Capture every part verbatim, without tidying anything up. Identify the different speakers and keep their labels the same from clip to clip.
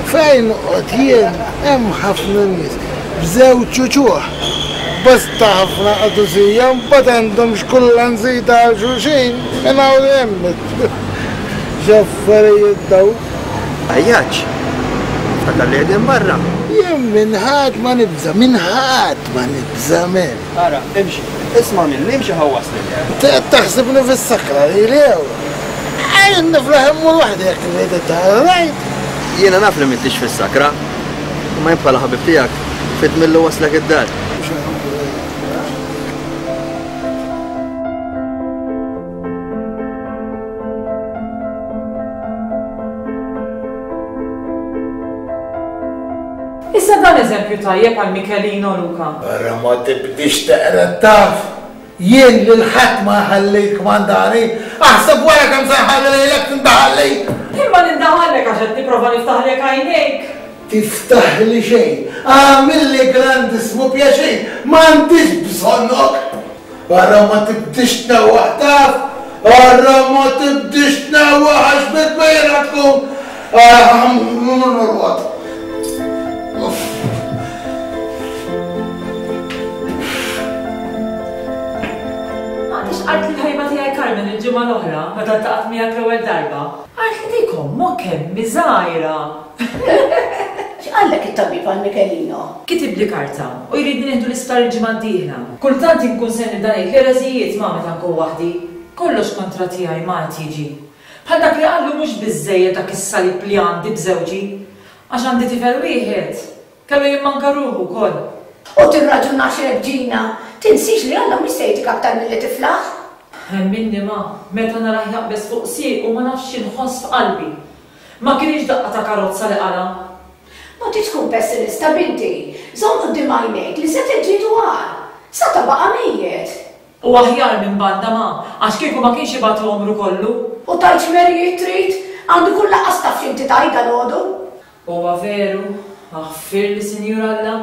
Speaker 1: Fejn noqgħod jien hemm ħafna nies b'żewġ uċuħ. Bosta ħafna qadusija mbagħad għandhom xkulla nżida għal xulxin minn hawn hemm. X'affarijiet daw.
Speaker 2: Għajjaċ, ftakar li qegħdin barra.
Speaker 1: Jien minn ħadd ma nibża', minn ħadd ma nibża' men.
Speaker 2: Ara, imxi, isma' minni, imxi ħawwaslek.
Speaker 1: Qed taħsibni fis-sakra li lew. Għajn niflaħ immur waħdi jekk trid rajt.
Speaker 2: Jiena naf li m'intix fis-sakra, imma jien bħala ħabib tiegħek fit millu waslek id-dar.
Speaker 3: Issa dan eżempju tajjeb għal Michelino Luca.
Speaker 1: Ara ma tibdix teqra taf. Jien lil ħadd ma ħallejt kmandani, aħseb wara kemm se nħalli lilek tindaħalli.
Speaker 3: Imma nindaħallek għax qed nipprova niftaħlek għajnejk.
Speaker 1: Tiftaħli xejn, għamilli grandissmu pjaċir, m'għandix bżonnok. Ara ma tibdix tnewwaħ taf, ara ma tibdix tnewwaħ għax bitbejna tkun. Norqod.
Speaker 3: Għandix qalt li l-ħajba tiegħi Carmen il-ġimgħa l-oħra meta ltaqgħet miegħek l-ewwel darba. Qalt li dik ommok kemm żgħira.
Speaker 4: X'qallek it-tabib għal Michelino?
Speaker 3: Kitibli karta u jridni nieħdu l-isptar il-ġimgħa d-dieħla. Kultant inkun se nibda ngħid l-ereżijiet ma meta nkun waħdi. Kollox kontra tiegħi ma qed jiġi. Bħal dak li qallu mhux biżżejjed dak is-salib li għandi b'żewġi. Għax għandi tifel wieħed, kellu jimmanka ruħu wkoll.
Speaker 4: U tirraġunax hekk Ġina, tinsix li Alla mhux se jtik aktar milli tiflaħ.
Speaker 3: Minni ma, meta narah jaqbeż fuq siequ ma nafx x'inħoss f'qalbi. Ma kienx daqqa ta' karozza li qala.
Speaker 4: Ma tridx tkun pessimista binti, żomm quddiem għajnejk li se tiġġiedu għar. Sa ta' baqa' mejjet.
Speaker 3: U aħjar minn banda ma, għax kieku ma kienx ibatu għomru kollu.
Speaker 4: U tgħidx merijiet trid, għandu kull laqqas taf x'inti tgħid dalgħodu.
Speaker 3: Huwa veru, aħfirli Sinjur Alla,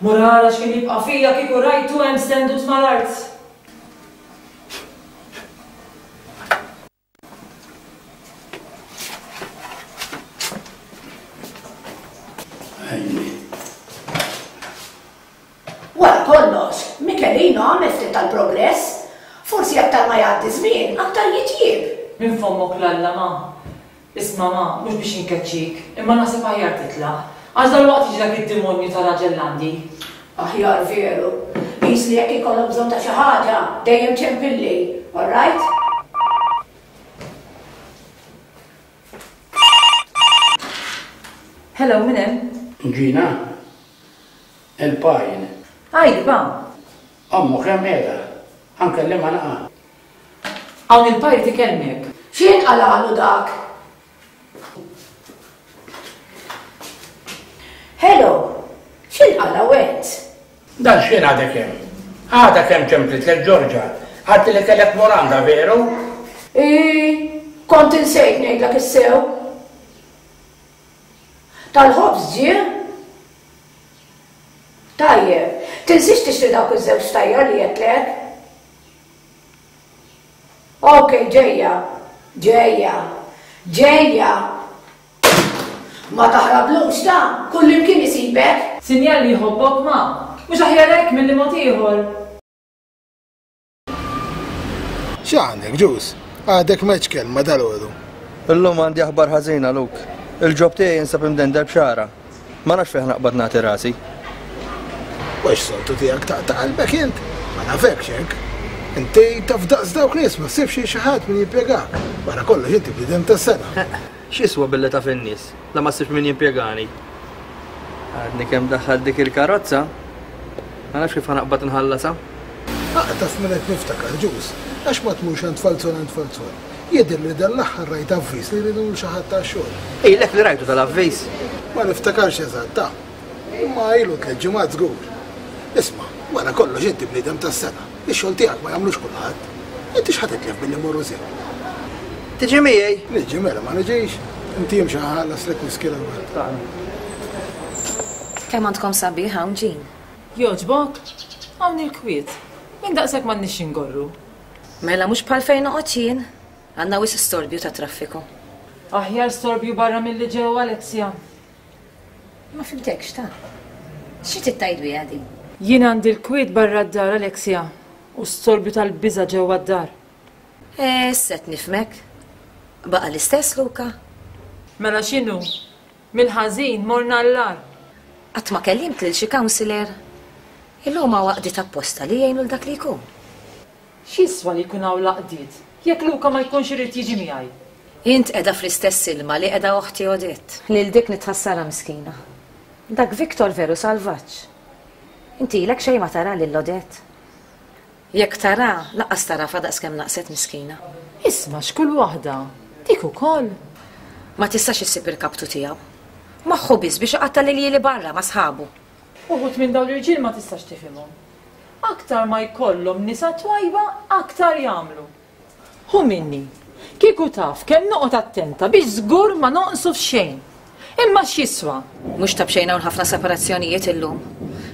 Speaker 3: mur ara x'kien jibqa' fija kieku rajtu hemm stendut mal-art.
Speaker 4: Wara kollox, Michelino għamel ftit tal-progress. Forsi aktar ma jgħaddi żmien, aktar jitjieb.
Speaker 3: Minn fommok l-Alla ma. Isma' ma, mhux biex inkeċċik, imma naħseb aħjar titlaq. Għax dalwaqt jiġi dak id-demonju ta' raġel għandi.
Speaker 4: Aħjar veru. Qis li jekk ikollok bżonn ta' xi ħaġa, dejjem ċempilli, all right?
Speaker 3: Hello, min hemm?
Speaker 5: Ġina, il-pajn.
Speaker 3: Għajdi, pa.
Speaker 5: Ommu kemm qiegħda? Ħa nkellimha naqa'.
Speaker 3: Hawn il-pajr tikellmek.
Speaker 4: X'in qalalu dak? Hello, x'in qala went?
Speaker 5: Dan x'in għadek hemm? Għadha kemm ċemplitlek Ġorġa, għad li kellek Moranda, veru?
Speaker 4: Ii, kont insejt ngħidlek is-sew. Tal-ħobż ġie? Tajjeb, tinsiex tixtri dawk iż-żewġ tajjar li għedtlek? Ok, ġejja, ġejja, ġejja. Ma taħrablux ta' kullimkien isibek.
Speaker 3: Sinjal li jħobbok ma, mhux aħjar hekk milli mod ieħor.
Speaker 1: X'għandek Ġus? Għadek m'għedx kelma dalgħodu.
Speaker 2: Illum għandi aħbar ħażina Luke. Il-ġob tiegħi jinsab imdendel b'xara. Ma nafx fejn naqbad nagħti rasi.
Speaker 1: Mhux soltu tiegħek taqta' qalbek int? Ma nafekx hekk. Inti taf daqs dawk nies ma ssibx xi ħadd min jimpjegak. Wara kollox inti bniedem tas-sena.
Speaker 2: X'jiswa billi taf in-nies, la ma ssibx min jimpjegani. Għadni kemm daħħalt dik il-karozza, ma nafx kif ħanaqbad nħallasha.
Speaker 1: Taf minn qed niftakar Ġus, għax ma tmurx għand Falzon għand Falzon. Jidher li dan l-aħħar rajt avviż li jridu xi ħadd tax-xogħol.
Speaker 2: Ilek li rajtu tal-avviż?
Speaker 1: Ma niftakarx eżatt ta' imma ilu tliet ġimgħat żgur. Isma', wara kollox inti bniedem tas-sena. Ix-xogħol tiegħek ma jagħmlux kulħadd. Inti x'ħa titlef billi mmorru sew?
Speaker 2: Tiġi miegħi?
Speaker 1: Niġi mela ma niġix. Inti imxi ħallas lek whisky l-ewwel.
Speaker 6: Kemm għandkom sabiħ hawn Ġin?
Speaker 3: Jogħġbok? Hawn il-kwiet. Minn daqshekk m'għandniex ingorru.
Speaker 6: Mela mhux bħal fejn noqgħod jien. Għandna wisq storbju ta' traffiku.
Speaker 3: Aħjar storbju barra milli ġewwa, Alexia.
Speaker 6: Ma fimtekx ta'. Xi trid tgħid biha din?
Speaker 3: Jien għandi l-kwiet barra d-dar, Alexia, u storbju tal-biża' ġewwa d-dar.
Speaker 6: Eh, set nifmek. Baqa' l-istess, Luka.
Speaker 3: Mela x'inhu? Mill-ħażin morna l-lar.
Speaker 6: Qatt ma kellimt lil xi counselor. Illum hawn għaqdiet apposta li jgħinu l dak li jkun.
Speaker 3: X'jiswa li jkun hawn l-għaqdiet jekk Luka ma jkunx irid jiġi miegħi?
Speaker 6: Int qiegħda fl-istess ilma li qiegħda oħti Odette. Lil dik nitħassarha miskina. Dak Victor veru salvaġġ. Inti ilek xejn ma tara lil Odette. Jekk tara, laqqas tarafa daqskemm naqset miskina.
Speaker 3: Isma' x'kull waħda, dik ukoll.
Speaker 6: Ma tistax issib il-kaptu tiegħu. Moħħu biss biex iqatta' l-iljieli barra ma' sħabu.
Speaker 3: Uħud minn dawn l-irġiel ma tistax tifhimhom. Aktar ma jkollhom nisa twajba, aktar jagħmlu. Hu minni, kieku taf kemm noqgħod attenta biex żgur ma noqsu f'xejn. Imma x'jiswa?
Speaker 6: Mhux ta' b'xejn hawn ħafna separazzjonijiet illum.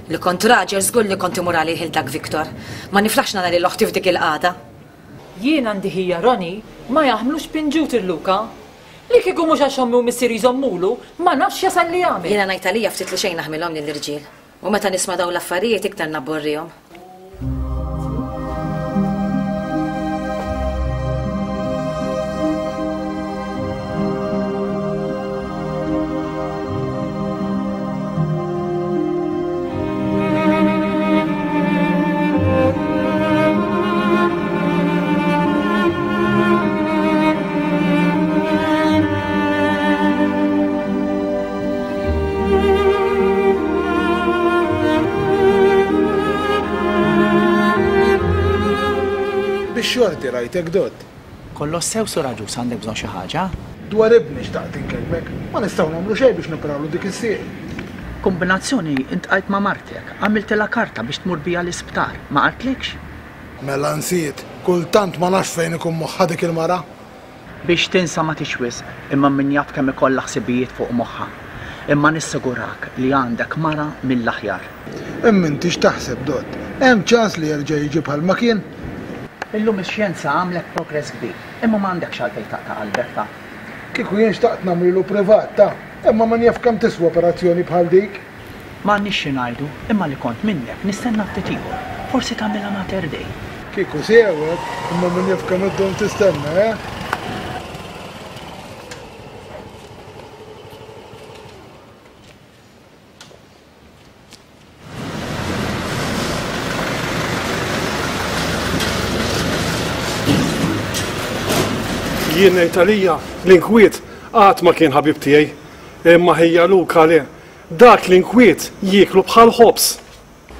Speaker 6: Li kont raġel żgur li kont imur għalih il dak Victor. Ma niflaħx nara lil oħti f'dik il-qagħda.
Speaker 3: Jien għandi ħija Roni ma jaħmlux pinġut il-Luka. Li kieku mhux għax ommi u missieri jżommulu, ma nafx jasal li jagħmel.
Speaker 6: Jiena ngħid għalija ftit li xejn naħmilhom lill-irġiel. U meta nisma' dawn l-affarijiet iktar nabborrihom.
Speaker 1: Xorti rajtek Dott.
Speaker 7: Kollox sew Sur Agius, għandek bżonn xi ħaġa?
Speaker 1: Dwar ibni xtaqt inkellmek, ma nistgħu nagħmlu xejn biex noprawlu dik is-sieq.
Speaker 7: Kombinazzjoni intqajt ma' martek, għamiltilha karta biex tmur bija l-isptar, ma qaltlikx?
Speaker 1: Mela nsiet, kultant ma nafx fejn ikun moħħha dik il-mara.
Speaker 7: Biex tinsa ma tix wisq, imma min jaf kemm ikollha ħsibijiet fuq moħħha. Imma nissigurak li għandek mara mill-aħjar.
Speaker 1: Imma inti x'taħseb Dott? Hemm ċans li jerġa' jiġi bħalma kien?
Speaker 7: Illum ix-xjenza għamlet progress kbir, imma ma għandekx għalfejn taqta' qalbek ta'.
Speaker 1: Kieku jien xtaqt nagħmlilu privat ta', imma min jaf kemm tiswa operazzjoni bħal dik.
Speaker 7: M'għandniex xi ngħidu, imma li kont minnek nistenna ftit ieħor, forsi tagħmilha Mater Dei.
Speaker 1: Kieku sewek, imma min jaf kemm iddum tistenna, eh?
Speaker 8: Jien ngħid għalija l-inkwiet qatt ma kien ħabib tiegħi, imma ħija Luka le. Dak l-inkwiet jieklu bħal ħobż.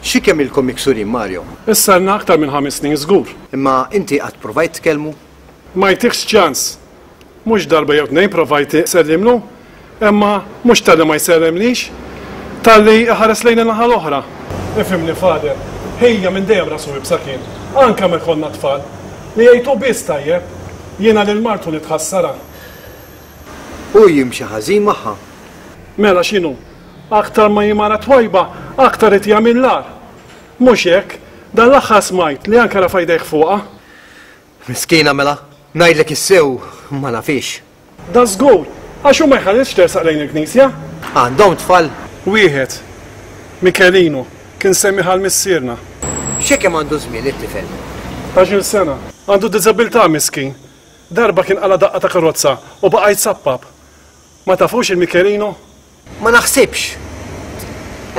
Speaker 9: Xi kemm ilkom miksurin, Mario?
Speaker 8: Issa lna aktar minn ħames snin żgur.
Speaker 9: Imma inti qatt provajt tkellmu?
Speaker 8: Ma jtikx ċans. Mhux darba jew tnejn provajt sellimlu, imma mhux talli ma jsellimlix, talli ħares lejn in-naħa l-oħra. Ifhimni Father, ħija minn dejjem rasu ibsa kien, anke meta konna tfal, li jgħidu biss tajjeb. Jiena lil martu nitħassara.
Speaker 9: U jimxi ħażin magħha.
Speaker 8: Mela x'inhu? Aktar ma jimara twajba, aktar qed jagħmel l-agħar. Mhux hekk, dan l-aħħar smajt li anke rafa' jdejh fuqha.
Speaker 9: Miskina mela, ngħidlek is-sew ma nafix.
Speaker 8: Da żgur, għax hu ma jħallisx tersaq lejn il-knisja.
Speaker 9: Għandhom tfal?
Speaker 8: Wieħed, Michelino, kien semmi ħal missierna.
Speaker 9: Xi kemm għandu żmien it-tifel?
Speaker 8: Tnax-il sena, għandu diżabilità miskin. Darba kien qala daqqa ta' karozza u baqa' jitsappab. Ma tafux il-Michelino?
Speaker 9: Ma naħsibx.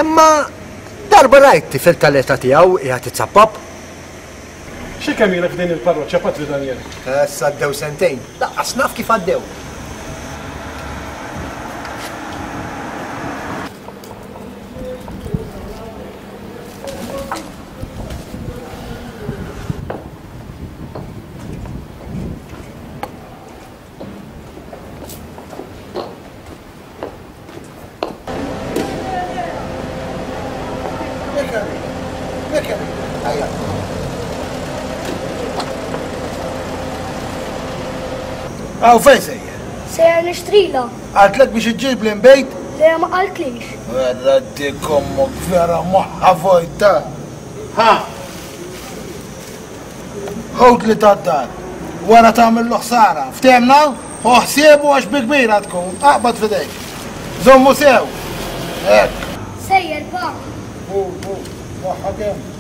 Speaker 9: Imma darba rajt tifel tal-età tiegħu qiegħed itsappab.
Speaker 8: Xi kemm ilek f'din il-parroċċa, Patri Daniel?
Speaker 9: Issa għaddew sentejn. Laqqas naf kif għaddew.
Speaker 1: Għaw fejn sejjer?
Speaker 10: Sejjer nixtrila.
Speaker 1: Qaltlek biex iġġib l-inbejt?
Speaker 10: Le, ma qaltlix.
Speaker 1: Vera dik ommok vera moħħa vojta. Ha! Ħut li tad-dar. Wara tagħmel ħsara. Ftehmna? Ħu ħsiebu għax bi kbira tkun, aqbad f'idejk. Żommu sew. Hekk.
Speaker 10: Sejjer pa.
Speaker 1: Bu, bu, waħħa kemm.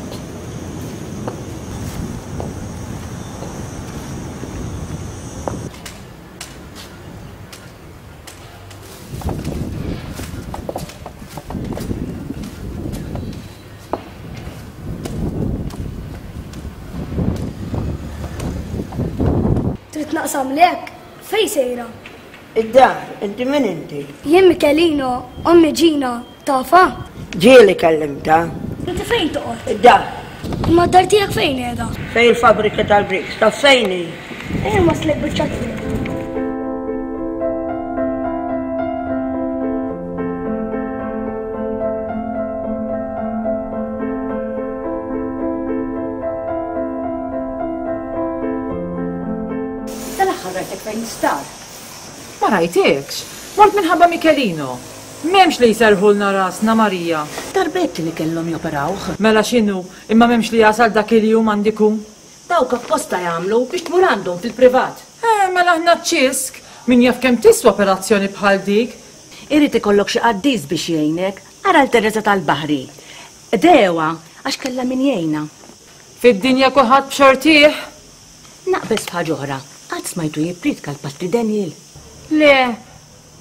Speaker 10: Trid naqsamlek? Fejn sejra?
Speaker 11: Id-dar, inti min inti?
Speaker 10: Jien Michelino, ommi Gina, tafha?
Speaker 11: Ġieli kellimtha.
Speaker 10: Inti fejn toqgħod?
Speaker 11: Id-dar.
Speaker 10: Imma d-dar tiegħek fejn qiegħda?
Speaker 11: Fejn il-fabbrika tal-bricks, taf fejn hi?
Speaker 10: Ejja nwasslek biċċa triq.
Speaker 12: Tal-aħħar rajtek fejn l-isptar.
Speaker 3: Ma rajtekx. Mort minħabba Michelino. M'hemmx li jserħulna rasna Marija.
Speaker 12: Darbetti li kellhom joperawh.
Speaker 3: Mela x'inhu, imma m'hemmx li jasal dak il-jum għandiku.
Speaker 12: Dawk apposta jagħmlu biex tmur għandhom fil-privat.
Speaker 3: Eh, mela aħna ċisk. Min jaf kemm tiswa operazzjoni bħal dik.
Speaker 12: Irid ikollok xi qaddis biex jgħinek. Ara l-Teresa tal-Baħri. Dewa, għax kellha min jgħinha.
Speaker 3: Fid-dinja kulħadd b'xortih.
Speaker 12: Naqbeż f'ħaġa oħra. Qatt smajtu jippriedka l-Patri Daniel?
Speaker 3: Le,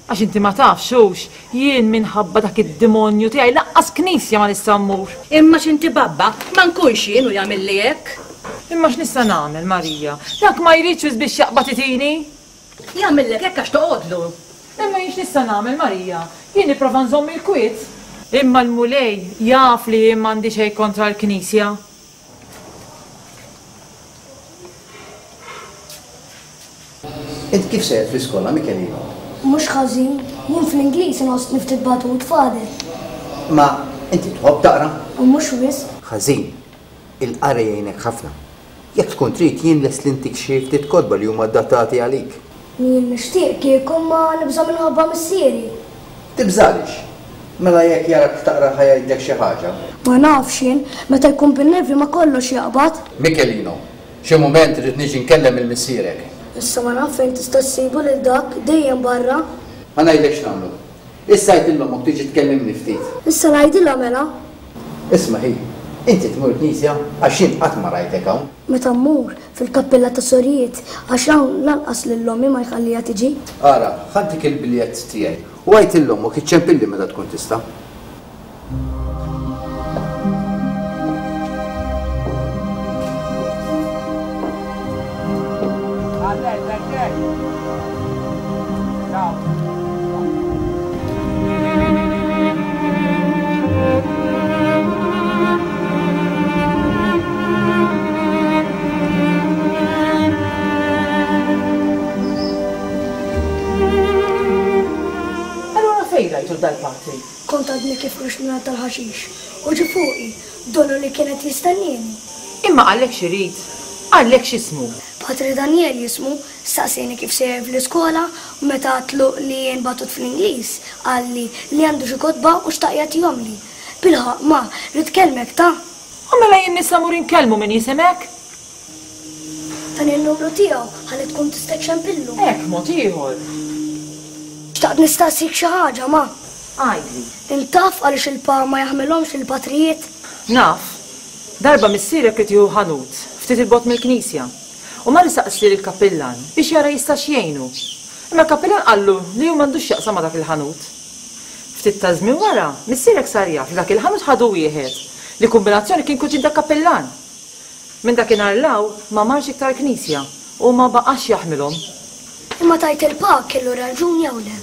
Speaker 3: għax inti ma tafx hux, jien minħabba dak id-demonju tiegħi laqqas knisja ma nista' mmur.
Speaker 12: Imma x'inti babba, ma nkunx jien u jagħmilli hekk.
Speaker 3: Imma x'nista' nagħmel, Marija? Dak ma jridx biex jaqbad itini.
Speaker 12: Jagħmillek hekk għax toqgħodlu.
Speaker 3: Imma jien x'nista' nagħmel, Marija? Jien nipprova nżomm il-kwiet. Imma l-Mulej jaf li jien m'għandi xejn kontra l-Knisja.
Speaker 9: Int kif sejjer fl-iskola, Michelino?
Speaker 10: Mhux ħażin, jien fl-Ingliż inħossni ftit batut fader.
Speaker 9: Ma inti tħobb taqra?
Speaker 10: U mhux wisq.
Speaker 9: Ħażin, il-qari jgħinek ħafna. Jekk tkun trid jien lest li ntik xi ftit kotba li huma adattati għalik.
Speaker 10: Jien nixtieq kieku ma nibża' minħabba missieri.
Speaker 9: Tibżalix? Mela jekk jarak taqra ħa jgħidlek xi ħaġa.
Speaker 10: Ma nafx jien, meta jkun bin-nervi ma kollox jaqbad.
Speaker 9: Michelino, xi mument irid niġi nkellem il-missierek.
Speaker 10: Issa ma naf fejn tista' ssibu lil dak dejjem barra.
Speaker 9: Ma ngħidlekx nagħmlu. Issa għid lil ommok tiġi tkellimni ftit.
Speaker 10: Issa ngħidilha mela.
Speaker 9: Isma' hi, inti tmur knisja għax jien qatt ma rajtek hawn.
Speaker 10: Meta mmur fil-kappella ta' sorijiet għax hawn lanqas lil ommi ma jħalliha tiġi.
Speaker 9: Ara, ħaddik il-biljett tiegħi u għid lil ommok iċċempilli meta tkun tista'.
Speaker 3: Allura fejn rajtu dal-patri?
Speaker 10: Kont għadni kif ħriġt minn tal-ħaxix u ġie fuqi donnu li kienet jistennini.
Speaker 3: Imma qallek x'irid, qallek x'ismu.
Speaker 10: Patri Daniel jismu, staqsejni kif sejjer fl-iskola u meta għatlu li jien batut fl-Ingliż, qalli li għandu xi kotba u xtaq jagħtihomli. Bilħaq ma, rrid kelmek ta'.
Speaker 3: U mela jien nista' mmur inkellmu min jisimek?
Speaker 10: Dan il-numru tiegħu ħalli tkun tista' ċċempillu.
Speaker 3: Hekk mod ieħor.
Speaker 10: Xtaqt nistaqsik xi ħaġa ma.
Speaker 3: Għidli.
Speaker 10: Intaf għaliex il-pa ma jaħmilhomx il-patrijiet?
Speaker 3: Naf. Darba missierek irid jieħu ħanut ftit il-bogħod mill-knisja. U mar isaqsi lill-kappillan biex jara jistax jgħinu. Imma l-kappillan qallu li hu m'għandux x'jaqsam ma' dak il-ħanut. Ftit ta' żmien wara, missierek sar jaf li dak il-ħanut ħadu wieħed li kombinazzjoni kien kuġin dak kappillan. Minn dakinhar 'l hawn ma marx iktar knisja u ma baqax jaħmilhom.
Speaker 10: Imma tajt il-pa kellu raġun jew le?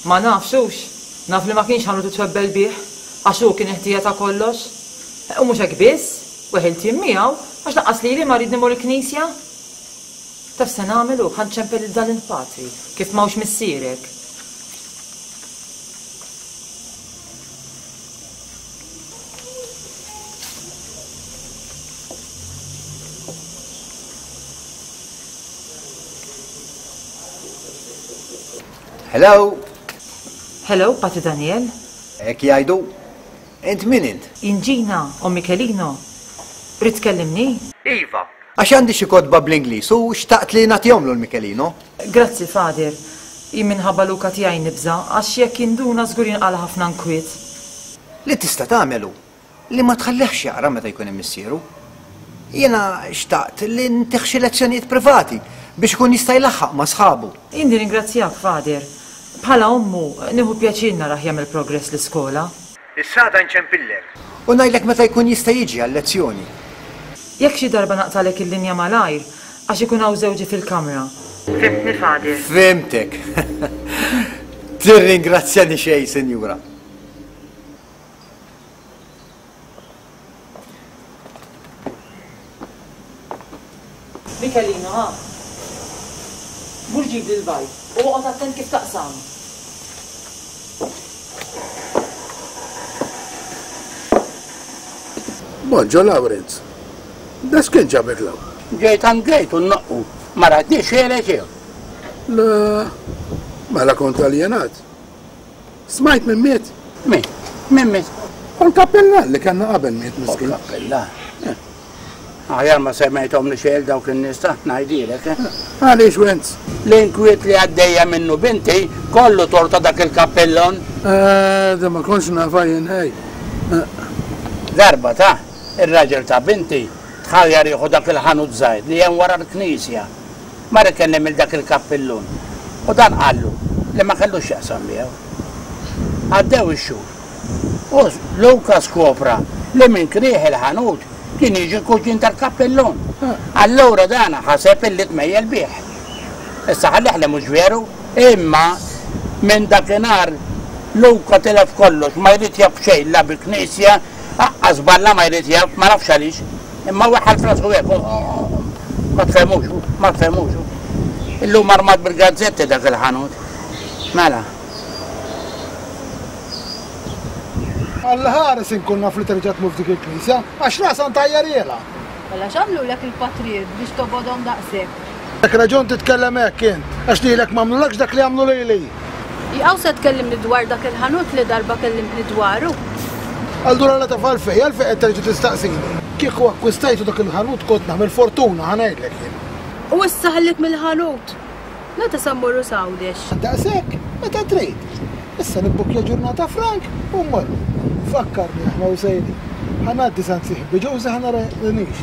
Speaker 3: Ma nafx hux, naf li ma kienx ħanut itwebbel bih, għax hu kien ħtija ta' kollox. U mhux hekk biss, weħilt jien miegħu għax lanqas lili ma rrid nimur il-knisja. Taf se nagħmel hu ħa nċempel lil dan il-patri kif m'hawnx missierek.
Speaker 9: Hello?
Speaker 3: Hello, Patri Daniel?
Speaker 9: Hekk jgħidu. Int min int?
Speaker 3: Jien Gina u Michelino. Rrid tkellimni?
Speaker 9: Iva, Għax għandi xi kotba bl-Ingliż u xtaqt li nagħtihomlu l-Michelino.
Speaker 3: Grazzi, Father. Jien minħabba Luca tiegħi nibża' għax jekk jinduna żgur jinqala' ħafna nkwiet.
Speaker 9: Li tista' tagħmel hu li ma tħallihx jaqra meta jkun hemm missieru. Jiena xtaqt li ntih xi lezzjonijiet privati biex ikun jista' jlaħħaq ma' sħabu.
Speaker 3: Jien nirringrazzjak, Father. Bħala ommu nieħu pjaċir narah jagħmel progress l-iskola.
Speaker 9: Issa għada nċempillek. U ngħidlek meta jkun jista' jiġi għal-lezzjoni.
Speaker 3: Jekk xi darba naqtalek il-linja malajr, għax ikun hawn żewġi fil-kamra. Fhimtni, Father?
Speaker 9: Fhimtek. Tirringrazzjani xejn, Sinjura.
Speaker 3: Michelino, ha? Mur ġibli l-bajd u oqgħod attent kif taqsam.
Speaker 1: Bonġo, Lawrence. Da x'kien ġabek law?
Speaker 5: Ġejt għand Gejt u nnoqqu. Ma ratniex xejn xejn.
Speaker 1: Le, mela kont aljenat. Smajt minn miet?
Speaker 5: Min? Min miet?
Speaker 1: U l-kappellan li kellna qabel miet miskin.
Speaker 5: U l-kappellan? Aħjar ma semmejthom li xejn dawk in-nies ta' ngħidilek.
Speaker 1: Għaliex Wenz?
Speaker 5: L-inkwiet li għaddejja minnu binti kollu torta dak il-kappellon.
Speaker 1: Eh, da ma kontx nafa jien ħej.
Speaker 5: Darba ta' ir-raġel ta' binti tħajjar jieħu dak il-ħanut żgħir li hemm wara l-knisja. Mar ikellem il dak il-kappellun. U dan qallu li ma kellux x'jaqsam miegħu. Għaddew ix-xhur. U Luca skopra li minn krieħ il-ħanut kien jiġi l-kuġin tal-kappellun. Allura dan ħaseb illi tmejjel bih. Issa ħallih li mhux veru, imma minn dakinhar Luca tilef kollox, ma jrid jaf xejn la bil-knisja, aqqas balla ma jrid jaf, ma nafx għaliex. Imma weħħal f'rasu hekk, ma tfehmux, ma tfehmux. Illum armat bil-gazzetti dak il-ħanut. Mela.
Speaker 1: Alla ħares inkun naf li terġa' tmur f'dik il-knisja, għax rasha ntajjarhielha.
Speaker 13: Mela x'għamlulek il-patrijiet biex tobgħodhom daqshekk?
Speaker 1: Dak raġun titkellem hekk int, għax lilek m'għamlulekx dak li għamlu lili.
Speaker 13: Jaqaw se tkellimni dwar dak il-ħanut li darba kellimtni dwaru.
Speaker 1: Allura la taf għalfejn, għalfejn qed terġa' tistaqsini. Kieku akkwistajtu dak il-ħanut kont nagħmel fortuna, ħa ngħidlek jien.
Speaker 13: U issa ħallik mill-ħanut. Meta se mmorru s'Għawdex?
Speaker 1: Daqshekk, meta trid. Issa nibbukja ġurnata frank u mmorru. Fakkarni aħna u sejrin. Ħa ngħaddi sant sieħbi Ġużi ħa nara nix.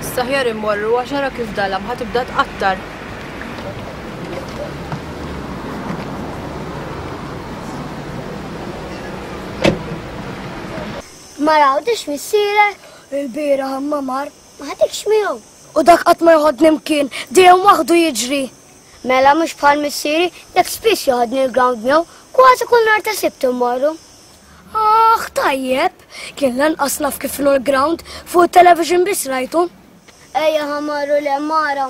Speaker 13: Issa ħjar immorru għax ara kif dalam ħa tibda tqattar.
Speaker 10: Ma rawdix missierek? Il-bieraħ imma mar, ma ħadikx miegħu. U dak qatt ma joħodni mkien, dejjem waħdu jiġri. Mela mhux bħal missieri, dak spiss joħodni l-ground miegħu, kważi kull nhar ta' Sibt immorru. Aħ, tajjeb, kien lanqas naf kif inhu l-ground, fuq it-television biss rajtu. Ejja ħa marru l-għemara.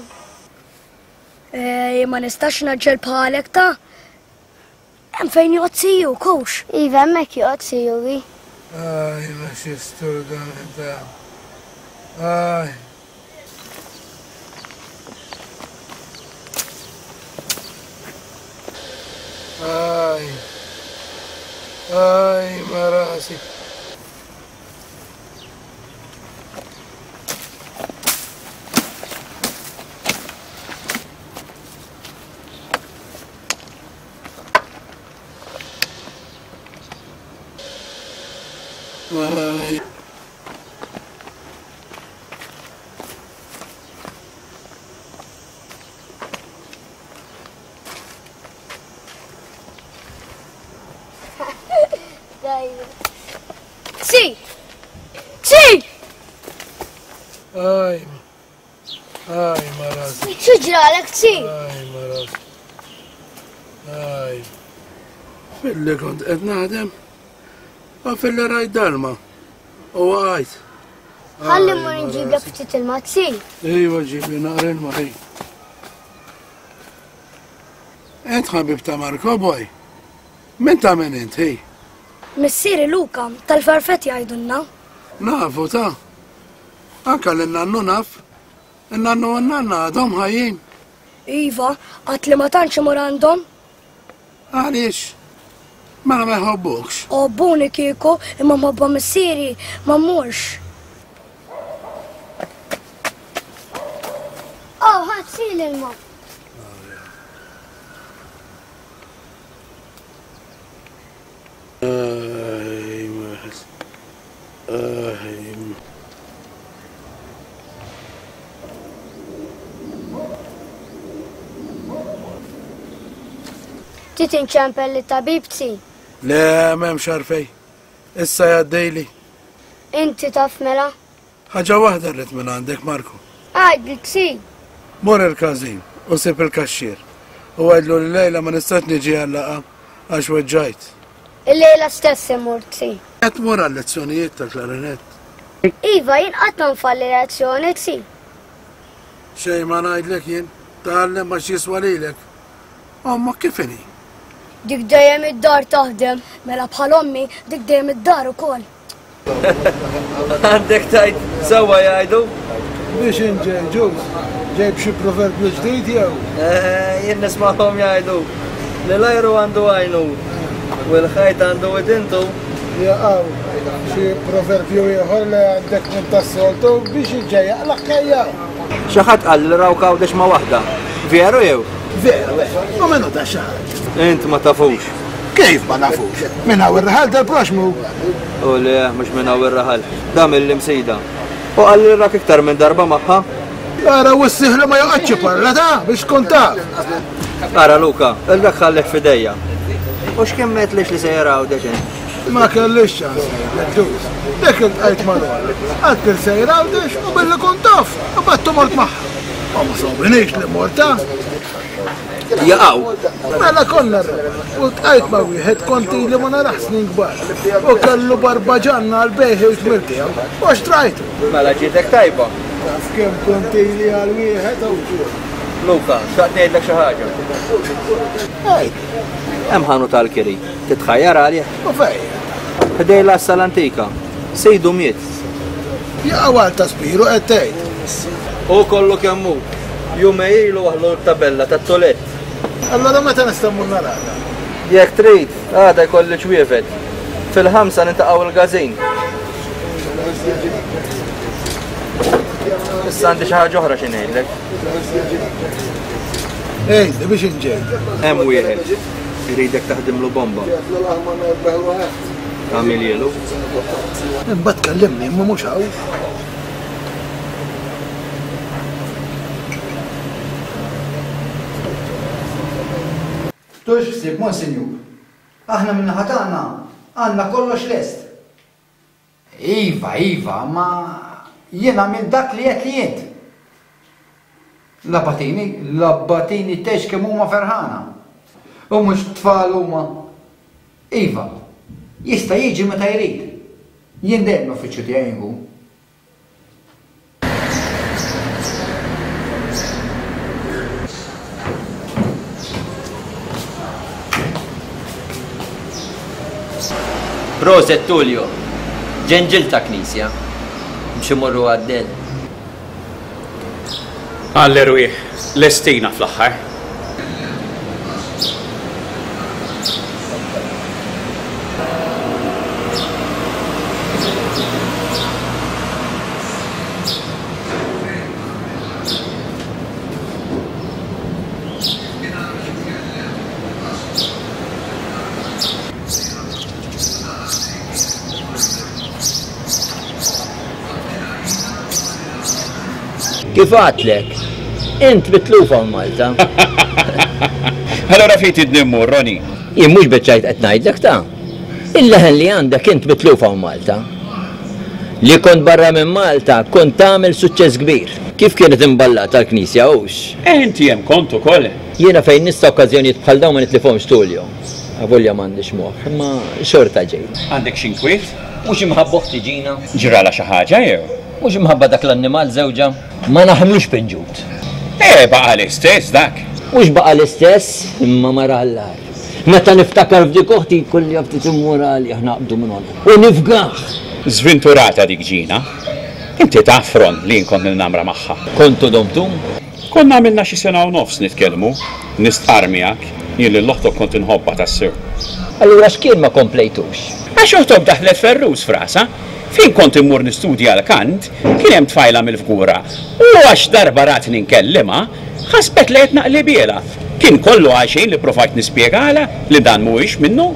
Speaker 10: Ej, ma nistax naġġel bħalek ta' Hemm fejn joqgħod siju, kux. Iva, hemmhekk joqgħod siju, vi.
Speaker 1: Aj, ma xistur dan ta' Aj. Aj. Aj, ma rasi. Aj.
Speaker 10: Si! Si!
Speaker 1: Aj. Aj, ma rasi.
Speaker 10: Xi ġralek, si?
Speaker 1: Aj, ma rasi. Aj. Filli kont qed naħdem, u filli rajt dalma. U waqajt.
Speaker 10: Ħalli mmur nġiblek ftit ilma, si.
Speaker 1: Ejwa, ġibli naqra ilma, ej. Int ħabib ta' Marco, boy. Min ta' min int, ej?
Speaker 10: Missieri Luca, tal-farfett jgħidulna.
Speaker 1: Nafu ta'. Anka l-nannu naf. Il-nannu u n-nanna għadhom ħajjin.
Speaker 10: Iva, għad li ma tantx imur għandhom.
Speaker 1: Għaliex? Mela ma jħobbukx.
Speaker 10: Obbuni kieku, imma mħobba missieri ma mmurx. l-ilma. Trid inċempel lit-tabib tsi?
Speaker 1: Le, m'hemmx għarfej. Issa jgħaddejli.
Speaker 10: Inti taf mela?
Speaker 1: Ħaġa waħda rrid minn għandek, Marku.
Speaker 10: Għajdli tsi.
Speaker 1: Mor il-każin u sib il-kaxxier. U għajdlu li lejla ma nistax niġi għal-laqgħa għax weġġajt.
Speaker 10: Il-lejla stess imur tsi.
Speaker 1: Qed tmur għal-lezzjonijiet tal-klarinett.
Speaker 10: Iva, jien qatt ma nfalli lezzjoni tsi.
Speaker 1: Xejn ma ngħidlek jien, tgħallem għax jiswa lilek. Omma kif inhi?
Speaker 10: Dik dejjem id-dar taħdem, mela bħal ommi dik dejjem id-dar ukoll.
Speaker 2: Għandek tajt sewwa jgħidu.
Speaker 1: Biex inġej ġuż, ġejb xi proverbju ġdid jew?
Speaker 2: Jien nismagħhom jgħidu li l-ajru għandu għajnu u l-ħajt għandu widintu.
Speaker 1: Jaqaw, xi proverbju ieħor li għandek minn tas-soltu biex inġej jaqlaq.
Speaker 2: Xi ħadd qal li raw Għawdex ma' waħda. Veru jew?
Speaker 1: Veru, u minnu ta' xaħat?
Speaker 2: Int ma tafux.
Speaker 1: Kif ma nafux? Minn hawn ir-raħal tal-proxmu.
Speaker 2: U le, mhux minn hawn ir-raħal. Da mill-Imsida. U qal li rak iktar minn darba magħha.
Speaker 1: Ara u s-siħla ma joqgħodx parla ta' biex tkun taf.
Speaker 2: Ara Luka, il-dak ħallek f'idejja. U x'kemm għedtlix li sejjer Għawdex int?
Speaker 1: Ma kellix ċans ngħidlek ġuż. Dik iltqajt ma' Lola. Għedt li sejjer Għawdex u billi kont taf, u battu mort magħha. Ma ma sobrinix li morta.
Speaker 2: Jaqaw.
Speaker 1: Mela konna r-raħal. U tqajt ma' wieħed konti li ma narax snin kbar. U kellu barbaġanna għal bejħi u tmir tiegħu. U xtrajtu.
Speaker 2: Mela ġietek tajba.
Speaker 1: Taf kemm konti li għal wieħed u ġur.
Speaker 2: Luka, xtaqt ngħidlek xi ħaġa.
Speaker 1: Għid.
Speaker 2: Hemm ħanut tal-kiri. Titħajjar għalih.
Speaker 1: U fejn?
Speaker 2: Ħdej l-għassa l-antika. Sejdu miet.
Speaker 1: Jaqaw għal ta' Spiru qed tgħid.
Speaker 2: U kollu kemm hu. Jumej ilu waħlu l-tabella tat-tolett.
Speaker 1: Allora meta nista' mmur narada?
Speaker 2: Jekk trid, għada jkolli ċwievet. Fil-ħamsa nintaqgħu il-każin. Issa għandi xi ħaġa oħra xi ngħidlek.
Speaker 1: Ej, biex inġej.
Speaker 2: Hemm wieħed iridek taħdimlu bomba. Tagħmilhielu.
Speaker 1: Imbagħad kellimni imma mhux hawn.
Speaker 9: Tux ħsieb, Monsinjur. Aħna min-naħa tagħna għandna kollox lest. Iva, iva, ma jien għamilt dak li qed li int. L-abbatini, l-abbatini tgħix kemm huma ferħana. U mhux tfal huma. Iva, jista' jiġi meta jrid. Jien dejjem l-uffiċċju tiegħi nkun.
Speaker 14: Proset Tullio, ġenġil ta' knisja, biex imorru għaddel.
Speaker 15: Għall-erwieħ, lestina fl-aħħar.
Speaker 14: Kif għatlek? Int mitlufa Malta.
Speaker 15: Allora fejn tridni mmur, Roni?
Speaker 14: Jien mhux biċċajt qed ngħidlek ta'. Il-leħen li għandek int mitlufa Malta. Li kont barra minn Malta kont tagħmel suċċess kbir. Kif kienet imballata l-knisja hux?
Speaker 15: Eh, inti hemm kont ukoll.
Speaker 14: Jiena fejn nista' okkażjonijiet bħal dawn ma nitlifhomx Tullio. Avolja m'għandix moħħ, imma xorta ġejt.
Speaker 15: Għandek xi inkwiet?
Speaker 14: Mhux imħabba oħti Ġina.
Speaker 15: Ġralha xi ħaġa jew?
Speaker 14: Mhux imħabba dak l-annimal żewġa. Ma naħmlux pinġut.
Speaker 15: Eh, baqa l-istess dak.
Speaker 14: Mhux baqa l-istess, imma mara għall-agħar. Meta niftakar f'dik oħti jkolli ftit immur għalih naqbdu minn għonqu. U nifgah.
Speaker 15: Żvinturata dik Ġina. Inti taf Ron li jien kont nilnamra magħha.
Speaker 14: Kontu domtu?
Speaker 15: Konna għamilna xi sena u nofs nitkellmu, nistqar miegħek, jien lil oħtok kont inħobbha tassew.
Speaker 14: Allura x'kien ma komplejtux?
Speaker 15: Għax oħtok daħlet ferrus f'rasha, Fejn kont immur nistudja l-kant, kien hemm tfajla mill-Fgura. U għax darba ratni nkellimha, ħasbet li qed naqlibielha. Kien kollu għalxejn li provajt nispjegalha li dan mhuwiex minnu.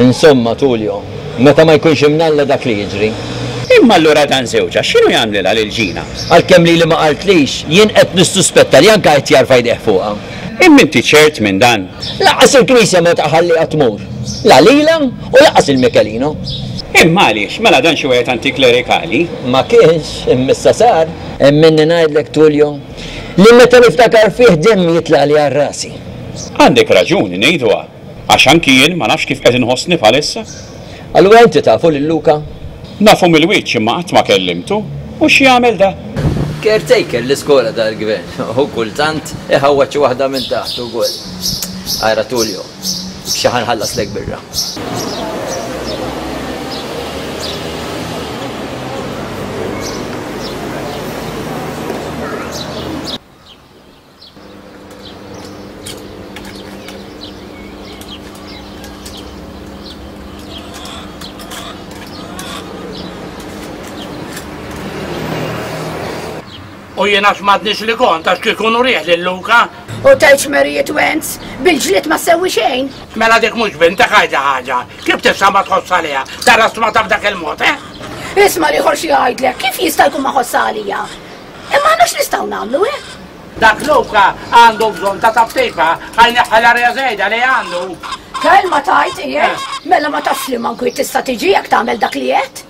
Speaker 14: Insomma, Tullio, meta ma jkunx imnalla dak li jiġri.
Speaker 15: Imma allura dan żewġha x'inhu jagħmlilha lil Ġina?
Speaker 14: Għalkemm lili ma qaltlix, jien qed nissuspetta li anke qed jarfa' jdejh fuqha.
Speaker 15: Imma inti ċert minn dan?
Speaker 14: Lanqas il-knisja ma tħalliha tmur. La lilha u lanqas il Michelino.
Speaker 15: Imma għaliex? Mela dan xi wieħed antiklerikali?
Speaker 14: Ma kienx, imma issa sar. Emminni ngħidlek, Tullio, li meta niftakar fih demmi jitlaqli għal rasi.
Speaker 15: Għandek raġun ngħiduha, għax anki jien ma nafx kif qed inħossni bħalissa.
Speaker 14: Allura inti tafu lil Luca?
Speaker 15: Nafu mill-wiċċ imma qatt ma kellimtu. U x'jagħmel da?
Speaker 14: Caretaker l-iskola tal-gvern. U kultant iħawwad xi waħda minn taħt ukoll. Ara Tullio, xi ħa nħallaslek birra.
Speaker 5: U jiena x'madniex li kont għax kieku nurih lil Luca.
Speaker 4: U tgħidx Mary Twins, bil-ġlied ma sewwi xejn.
Speaker 5: Mela dik mhux bintek għajda ħaġa. Kif tista' ma tħoss għaliha? Tara stmata b'dak il-mod, eh?
Speaker 4: Isma' l-ieħor xi jgħidlek, kif jista' jkun ma ħoss għalija? Imma aħna x'nistgħu nagħmlu, eh?
Speaker 5: Dak Luca għandu bżonn ta' taptifa ħa jneħħi l-arja żejda li għandu.
Speaker 4: Kelma tajt qiegħed, mela ma tafx li manku tista' tiġi jekk tagħmel dak li qed.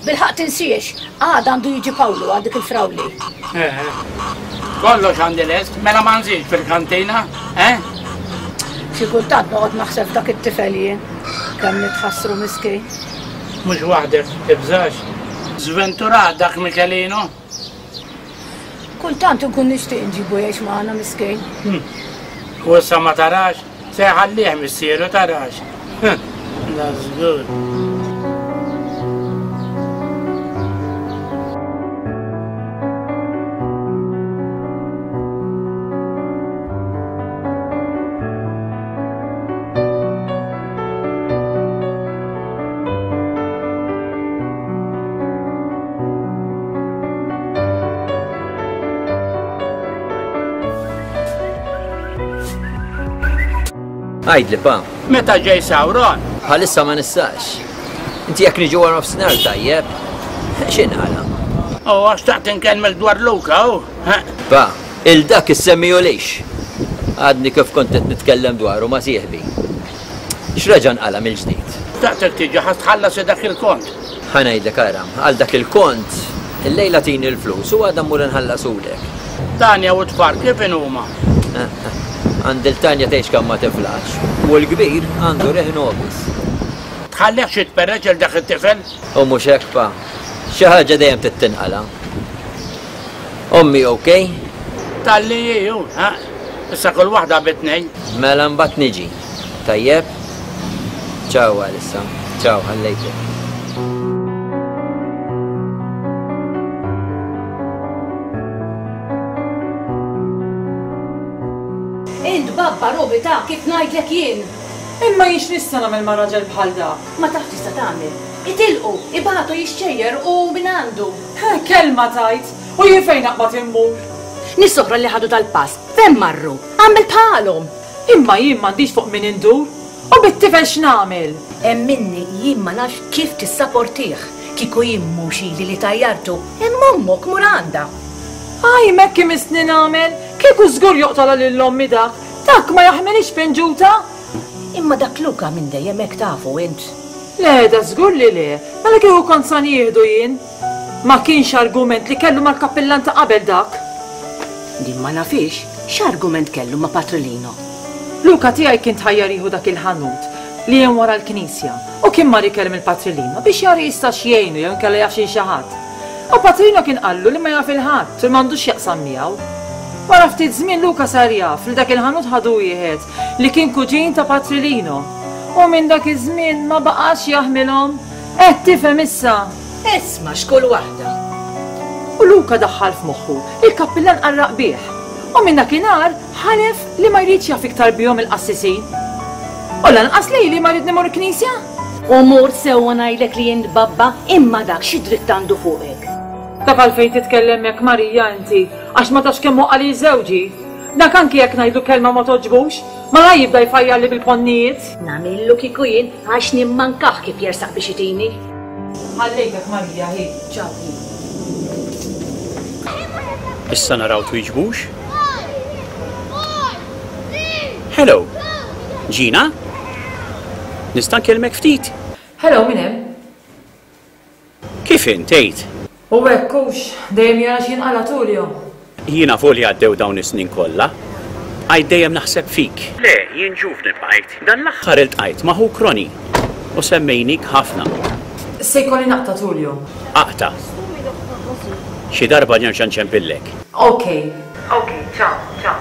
Speaker 4: Bilħaqq tinsiex, għada għandu jiġi Pawlu għal dik il-frawli.
Speaker 5: Eh, kollox għandi lest, mela ma nżidx fil-kantina, eh?
Speaker 4: Xi kultant noqgħod naħseb dak it-tifel jien, kemm nitħassru miskin.
Speaker 5: Mhux waħdek, tibżax. Żventurat dak Michelino.
Speaker 4: Kultant inkun nixtieq nġibu jgħix magħna miskin.
Speaker 5: U issa ma tarax, se jħallih missieru tarax. Da żgur.
Speaker 14: Għidli, pa.
Speaker 5: Meta ġej Sauron?
Speaker 14: Bħalissa ma nistax. Inti jekk niġu wara nofsinhar tajjeb, x'inqala?
Speaker 5: Oh, għax taqt inkellmek dwar Luca, oh.
Speaker 14: Pa, il dak issemmijulix. Għadni kif kont qed nitkellem dwaru ma' sieħbi. X'reġa' nqala mill-ġdid?
Speaker 5: Taqtek tiġi ħa tħallas dak il-kont.
Speaker 14: Ħa ngħidlek ara, għal dak il-kont, illejla tini l-flus u għadha mmur inħallasulek.
Speaker 5: Tanja u tfal kif inhuma?
Speaker 14: Għand il-Tanja tgħix kemm ma tiflax, u l-kbir għandu riħ nobis.
Speaker 5: Tħallihx jitperreġ il dak it-tifel?
Speaker 14: U mhux hekk pa. Xi ħaġa dejjem tittinqala. Ommi okej?
Speaker 5: Talli ju, ha? Issa kull waħda bi tnejn.
Speaker 14: Mela mbagħad niġi. Tajjeb? Ciao għalissa. Ciao, ħallejtek.
Speaker 12: Int babba Robi ta' kif ngħidlek jien.
Speaker 3: Imma jien x'nista' nagħmel ma' raġel bħal dak?
Speaker 12: Ma tafx tista' tagħmel. Itilqu, ibatu jixxejjer u min għandu.
Speaker 3: Kelma tajt, u jien fejn naqbad immur?
Speaker 12: Nies oħra li ħadu dal-pass, fejn marru? Għamel bħalhom.
Speaker 3: Imma jien m'għandix fuq min indur. U bit-tifel x'nagħmel?
Speaker 12: Emminni jien ma nafx kif tissaportih. Kieku jien mhux ili li tajjartu, imma ommok mur għandha.
Speaker 3: Aj, mekk imissni nagħmel, kieku żgur joqtolha lil ommi dak. Dak ma jaħmilix pinġuta.
Speaker 12: Imma dak Luca minn dejjem hekk tafu int.
Speaker 3: Le, da żgur li le, mela kieku kont sa nieħdu jien. Ma kienx argument li kellu mal-kappillan ta' qabel dak.
Speaker 12: Din ma nafix, x'argument kellu ma' Patrilino?
Speaker 3: Luca tiegħi kien tħajjar jieħu dak il-ħanut li hemm wara l-knisja u kien mar ikellem il-Patrilino biex jara jistax jgħinu jew inkella jaf xi ħadd. U Patrilino kien qallu li ma jaf il-ħadd u m'għandux jaqsam miegħu. Wara ftit żmien Luca sar jaf li dak il-ħanut ħadu wieħed li kien kuġin ta' Patrilino. U minn dak iż-żmien ma baqax jaħmilhom. Qed tifhem issa.
Speaker 12: Isma' x'kull waħda.
Speaker 3: U Luca daħħal f'moħħu il-kappillan qarraq bih. U minn dakinhar ħalef li ma jridx jaf iktar bihom il-qassisin. U lanqas lejli ma rrid nimur knisja.
Speaker 12: U mur sewwa ngħidlek li jien babba imma dak xi dritt għandu fuqek.
Speaker 3: Taf għalfejn titkellem hekk Marija inti, għax ma tafx kemm għali żewġi. Dak anki jekk ngħidlu kelma ma toġbux, ma jibda jfajjalli bil-ponnijiet.
Speaker 12: Nagħmillu kieku jien għax nimmankah kif jersaq biex itini.
Speaker 3: Ħallejtek Marija hi, ċaw hi.
Speaker 15: Issa naraw twiġbux? Hello, Gina? Nista' nkellmek ftit?
Speaker 3: Hello, min hemm?
Speaker 15: Kif int tgħid?
Speaker 3: U hekk hux, dejjem jara x'jinqala Tulio.
Speaker 15: Jiena volja għaddew dawn is-snin kollha. Għajt dejjem naħseb fik. Le, jien ġuvni bqajt. Dan l-aħħar iltqajt ma' ħuk Roni u semmejnik ħafna.
Speaker 3: Se jkolli naqta' Tulio.
Speaker 15: Aqta'. Xi darba nerġa' nċempillek.
Speaker 3: Okej. Okej, ciao, ciao.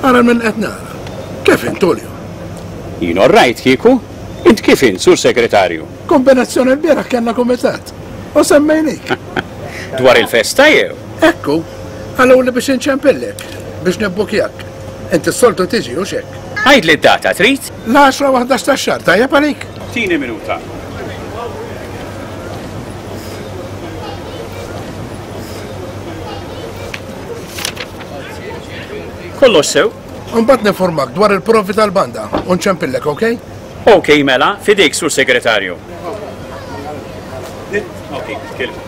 Speaker 16: Ara minn qed nara. Kif int, Tulio?
Speaker 15: Jien orrajt kieku. Int kif int, sur segretarju?
Speaker 16: Kombinazzjoni l-bieraħ kellna kumitat. U semmejnik.
Speaker 15: Dwar il-festa jew?
Speaker 16: Ekku, għallu li biex inċempillek, biex nibbukjak. Inti s-soltu tiġi u xek.
Speaker 15: Għidli d-data trid?
Speaker 16: L-għaxra u ħdax tax-xahar, tajjeb għalik?
Speaker 15: Tini minuta. Kollox sew.
Speaker 16: Mbagħad ninformak dwar il-provi tal-banda u nċempillek, okej?
Speaker 15: Okej, mela, fidejk sur segretarju. Okej, kelma.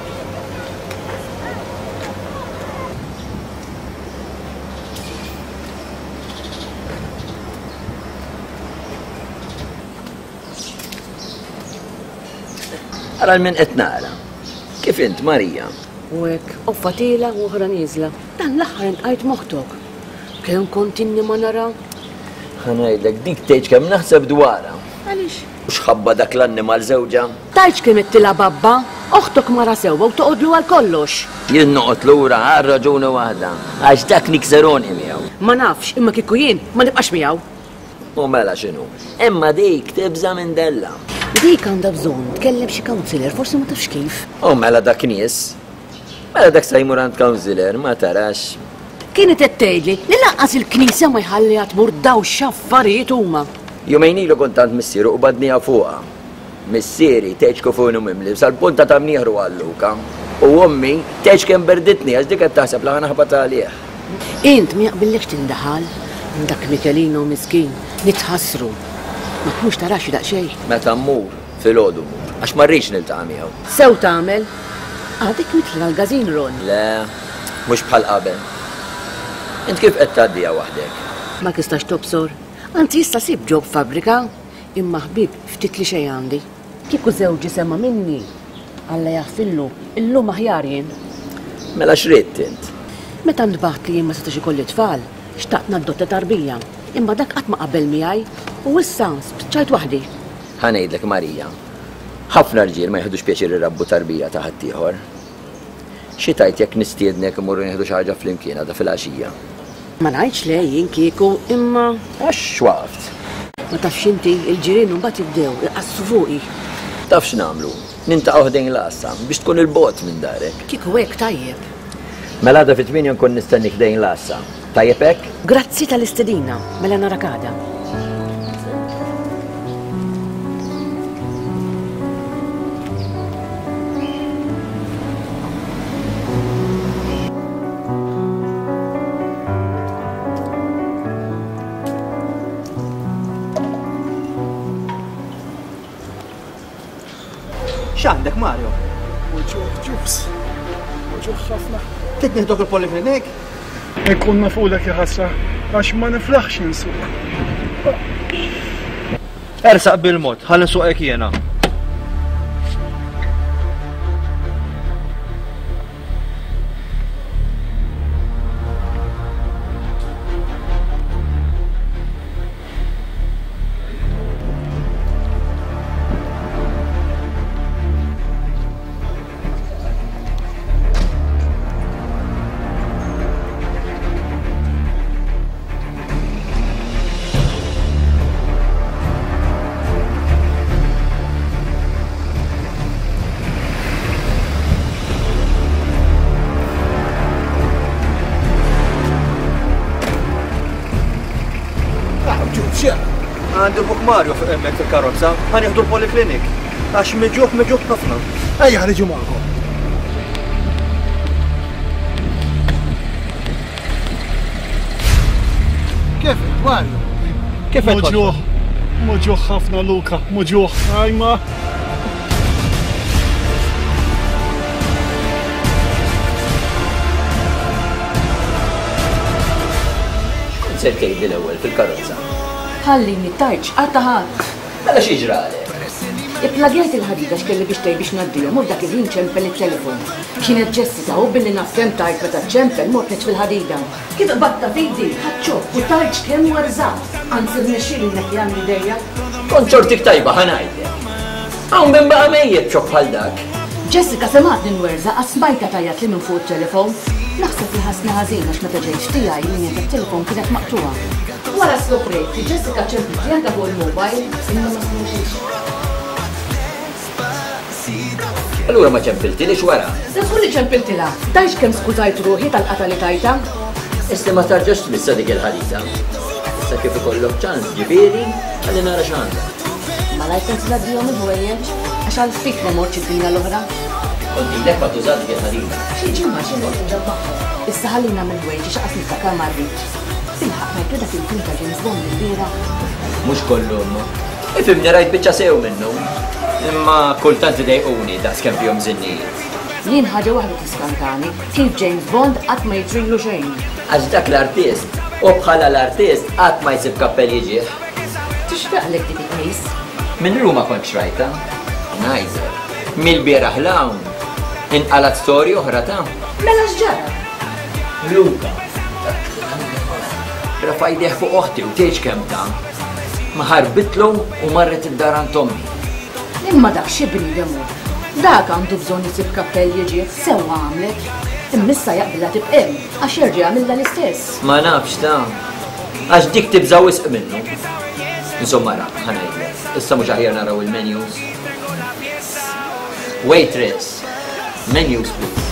Speaker 14: Ara l-min qed nara. Kif int, Marija?
Speaker 12: U hekk, offa tiela u oħra nieżla. Dan l-aħħar intqajt moħtok. Kemm kont inni ma nara?
Speaker 14: Ħa ngħidlek dik tgħidx kemm naħseb dwarha.
Speaker 12: Għaliex?
Speaker 14: U x'ħabba dak l-annimal żewġha?
Speaker 12: Tgħidx kemm qed tilha babba, oħtok mara sewwa u toqgħodlu għal kollox.
Speaker 14: Jien noqgħod lura għal raġuni waħda, għax dak nikseroni miegħu.
Speaker 12: Ma nafx, imma kieku jien ma nibqax miegħu.
Speaker 14: U mela x'inhu? Imma dik tibża' minn Della.
Speaker 12: Dik għandha bżonn tkellem xi counselor, forsi ma tafx kif.
Speaker 14: U mela dak nies. Mela dak se jmur għand counselor, ma tarax.
Speaker 12: Kienet qed tgħidli li lanqas il-knisja ma jħalliha tmur daw x'affarijiet huma.
Speaker 14: Jumejn ilu kont għand missieru u badniha fuqha. Missieri tgħidx kif inhu mimli sal-punta ta' mnieħru għal Luka. U ommi tgħidx kemm berditni għax dik qed taħseb li ħa naħbat għalih.
Speaker 12: Int ma jaqbillekx tindaħal dak Michelino miskin, nitħassru. Ma tmux tarax daqsxejn.
Speaker 14: Meta mmur filgħodu mmur, għax ma rridx niltaqa' miegħu.
Speaker 12: Sew tagħmel. Għadek mitla l-gażin Ron.
Speaker 14: Le, mhux bħal qabel. Int kif qed tgħaddiha waħdek?
Speaker 12: Ma tistax tobsor. Anzi issa sib ġob fabbrika, imma ħbieb ftit li xejn għandi. Kieku żewġi sema minni, Alla jaħfillu, illum aħjar jien.
Speaker 14: Mela x'ridt int?
Speaker 12: Meta ntbaħt li jien ma setax ikolli tfal, xtaqt nadotta tarbija, imma dak qatt ma qabel miegħi u issa spiċċajt waħdi.
Speaker 14: Ħa ngħidlek Marija, ħafna rġiel ma jieħdux pjaċir irabbu tarbija ta' ħaddieħor. Xi tgħid jekk nistiednek imorru nieħdu xi ħaġa flimkien għadha filgħaxija?
Speaker 12: Ma ngħidx le jien kieku, imma
Speaker 14: Għax x'waqft?
Speaker 12: Ma tafx inti, il-ġirien mbagħad jibdew iqassu fuqi.
Speaker 14: Taf x'nagħmlu? Nintaqgħu ħdejn l-għassa biex tkun il-bogħod minn darek.
Speaker 12: Kieku hekk tajjeb.
Speaker 14: Mela għada fit-tmienja nkun nistennik ħdejn l-għassa. Tajjeb hekk?
Speaker 12: Grazzi tal-istedina, mela narak għada.
Speaker 2: X'għandek Mario?
Speaker 8: Uġuħ ġus. Uġuħ ħafna.
Speaker 2: Trid nieħdok il-poliklinik?
Speaker 8: Inkun nafulek ja ħasra, għax ma niflaħx insuq.
Speaker 2: Ersaq bil-mod, ħalli nsuqek jiena.
Speaker 1: Muġugħ x'jara?
Speaker 2: Għandi ħuk Mario fuq hemmhekk fil-karozza, ħa nieħdu l-poliklinik. Għax miġuħ miġuħ ħafna.
Speaker 1: Ejja ħa niġu magħkom. Kif Mario?
Speaker 2: Kif qed
Speaker 8: Muġugħ, muġugħ ħafna Luca, muġugħ. Ajma.
Speaker 14: X'kont ser tgħidli l-ewwel fil-karozza?
Speaker 12: Ħallini tajċ, għatta ħadd.
Speaker 14: Mela xi ġralek?
Speaker 12: Ipplagajt il-ħadida x'kelli biex tgħid biex ngħaddihom u f'dak il-ħin ċempel it-telefon. Kienet Jessica u billi naf kemm tajt meta ċempel mort fil-ħadida. Kif qbadta fidi, ħadd u tajt kemm werżat. Anzi rnexxieli neħi għandi idejja.
Speaker 14: Kont xortik tajba ħa ngħidlek. Hawn min baqa' mejjet xokk bħal dak.
Speaker 12: Jessica semgħatni nwerża għax smajtha tgħajjat li minn fuq it-telefon. Naħseb li ħassni ħażin għax meta ġejt tiegħi l-linja tat-telefon kienet maqtugħa. Wara skoprejt li Jessica ċemplet li għandha fuq il-mobile imma ma smux.
Speaker 14: Allura ma ċempiltilix wara?
Speaker 12: Żgur li ċempiltilha. Tajx kemm skużajt ruħi tal-qata li tajta.
Speaker 14: Issa ma tarġax tmissa dik il-ħadida. Issa kif ikollok ċans ġifieri ħalli nara x'għandha.
Speaker 12: Malajr kont tgħaddihom il-ħwejjeġ għax għal ftit ma mortx id-dinja l-oħra.
Speaker 14: Kont ilek ma tuża dik il-ħadida.
Speaker 12: Xi ġimgħa xi noqgħod inġabbaħħom. Issa ħallina mill-ħwejjeġ għax qas niftakar ma rridx. Bilħaq rajtu dak il-film ta' James Bond il-bieraħ.
Speaker 14: Mhux kollu imma. Ifhimni rajt biċċa sew minnu. Imma kultant idejquni daqs kemm fihom żinnijiet.
Speaker 12: Jien ħaġa waħda tiskantani, kif James Bond qatt ma jiġrilu xejn.
Speaker 14: Għax dak l-artist, u bħala l-artist qatt ma jsib kappell jiġih.
Speaker 12: Tixtaqlek dik il-qmis?
Speaker 14: Minn Ruma kont xrajta. Ngħidlek, mill-bieraħ l-hawn inqalat storja oħra ta'
Speaker 12: Mela x'ġara?
Speaker 14: Luca. Rafa' jdejh fuq oħti u tgħidx kemm ta'. Ma ħarbitlu u marret id-dar għand ommi.
Speaker 12: Imma dak xi bniedem hu. Dak għandu bżonn isib kappell jiġih, sewwa għamlet. Imma issa jaqbilha tibqa' hemm għax jerġa' jagħmilha l-istess.
Speaker 14: Ma nafx ta' għax dik tibża' wisq minnu. Insomma ra, ħa ngħidlek. Issa mhux aħjar naraw il-menus. Waitress, menus please.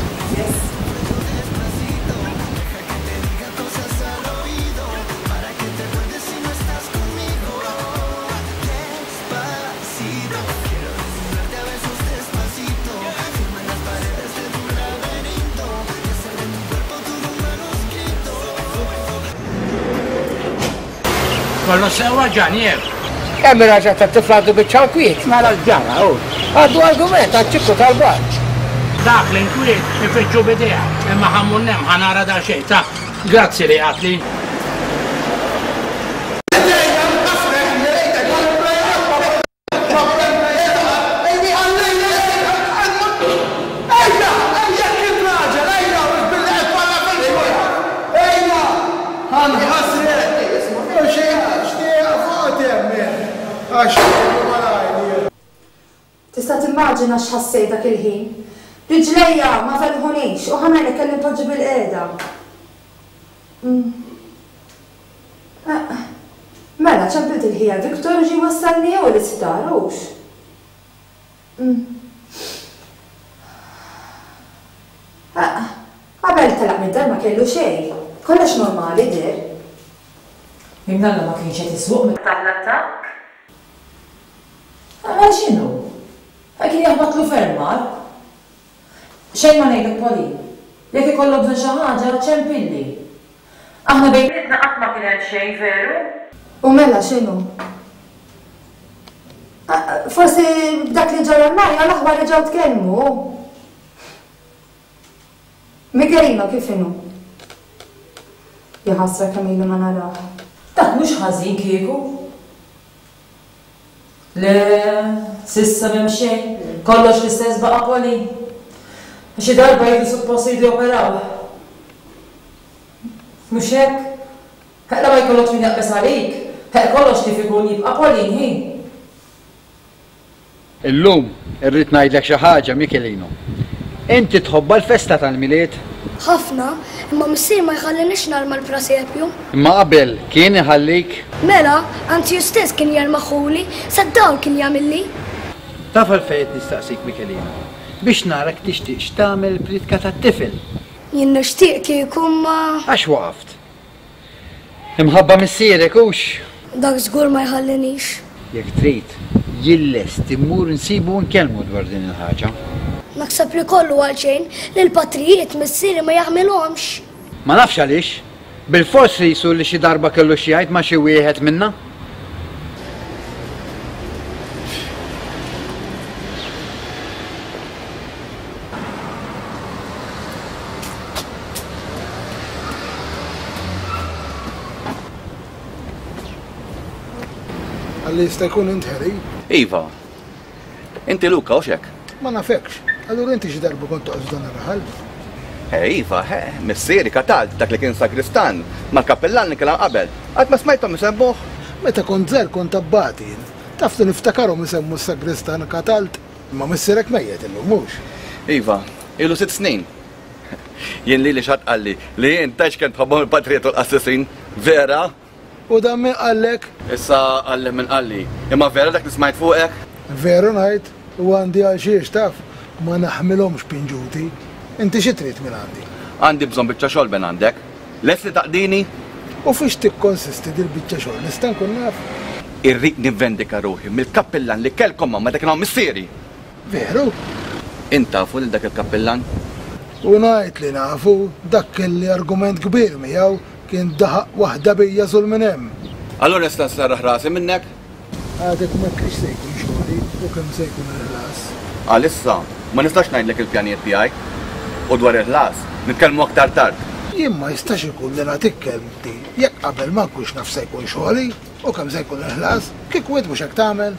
Speaker 5: Kollu sewa ġan, jew.
Speaker 17: Kemm ir-raġel tat-tifla għandu biċċa nkwiet?
Speaker 5: Mela l-ġara, hu.
Speaker 17: Għandu argument għaċ-ċikku tal-bar.
Speaker 5: Dak l-inkwiet ifittxu bidejha, imma ħammur nem ħanara da xejn ta' grazzi li għatli.
Speaker 6: Tista' timmaġina x'ħassejt dak il-ħin. Riġlejja ma felħunix u ħa ngħidlek kelli npoġġi bil-qiegħda. Mela, ċempilt il-ħija Victor u ġie wassalni jew l-isptar, hux? Qabel telaq mid-dar ma kellu xejn. Kollox normali deher.
Speaker 3: Imnalla ma kienx qed isuq meta l-attakk. Għal x'inhu? Kien jaħbatlu ferm mar. Xejn ma ngħidlek Pauline. Jekk ikollok bżonn xi ħaġa, ċempilli. Aħna bejnietna qatt ma kien hemm xejn veru.
Speaker 6: U mela x'inhu? Forsi b'dak li ġara l-Marja l-aħwa reġgħu tkellmu. Michelino kif inhu? Ja ħasra kemm ilu ma narah.
Speaker 3: Dak mhux ħażin kieku. Le, sissa m'hemm xejn, kollox l-istess baqa' Pauline. Xi darba jridu suppost jridu joperaw. Mhux hekk? Heqla ma jkollokx min jaqbeż għalik, heq kollox kif ikun jibqa' Pauline hi.
Speaker 9: Illum irrid ngħidlek xi ħaġa, Michelino. Inti tħobba l-festa tal-Milied?
Speaker 10: Ħafna, imma missier ma jħallinix narma l-prasepju.
Speaker 9: Imma qabel kien iħallik?
Speaker 10: Mela, anzi hu stess kien jarmaħuli, sa dawl kien jagħmilli.
Speaker 9: Taf għalfejn qed nistaqsik, Michelino, biex narak tixtieq tagħmel pritka tat-tifel.
Speaker 10: Jien nixtieq kieku ma.
Speaker 9: Għax waqaft. Imħabba missierek hux?
Speaker 10: Dak żgur ma jħallinix.
Speaker 9: Jekk trid, jien lest immur nsibu u nkellmu dwar din il-ħaġa.
Speaker 10: Naħseb li kollu għalxejn li l-patrijiet missieri ma jaħmilhomx.
Speaker 9: Ma nafx għaliex. Bil-fors qisu li xi darba kellu xi jgħid ma' xi wieħed minna.
Speaker 1: Għalli jista' jkun int Harry?
Speaker 18: Iva. Inti Luca, hux hekk?
Speaker 1: Ma nafekx. Allura inti xi darba kont toqgħod f'dan ir-raħal?
Speaker 18: Eh, iva, eh, missieri Katald, dak li kien sagristan, mal-kappellan li kien hawn qabel. Qatt ma smajthom isemmuh?
Speaker 1: Meta kont żgħir kont abbati jien. Taf li niftakarhom isemmu s-sagristan Katald, imma missierek mejjet illum mhux.
Speaker 18: Iva, ilu sitt snin. Jien lili xi ħadd qalli li jien tgħidx kemm tħobbhom il-patrijiet u l-qassisin. Vera?
Speaker 1: U dan min qallek?
Speaker 18: Issa qalli min qalli. Imma vera dak li smajt fuqek?
Speaker 1: Veru ngħid, u għandi għal xiex taf, ma naħmilhomx pinġuti. Inti xi trid minn għandi?
Speaker 18: Għandi bżonn biċċa xogħol minn għandek. Lest li taqdini?
Speaker 1: U fiex tikkonsisti dil-biċċa xogħol, nista' nkun naf?
Speaker 18: Irrid nivvendika ruħi mill-kappillan li kellkom ma' dak hawn missieri.
Speaker 1: Veru?
Speaker 18: Int tafu lil dak il-kappillan?
Speaker 1: U ngħid li nafu, dak kelli argument kbir miegħu kien daħaq waħda bija żul minn hemm.
Speaker 18: Allura nista' nserraħ rasi minnek?
Speaker 1: Għadek ma tgħidx se jkun xogħli u kemm se jkun il-ħlas.
Speaker 18: Għalissa ma nistax ngħidlek il-pjanijiet tiegħi. U dwar il-ħlas nitkellmu aktar tard.
Speaker 1: Jien ma jistax ikun li nagħtik kelmti jekk qabel ma nkunx naf se jkun xogħli u kemm se jkun il-ħlas, kieku int mhux hekk tagħmel.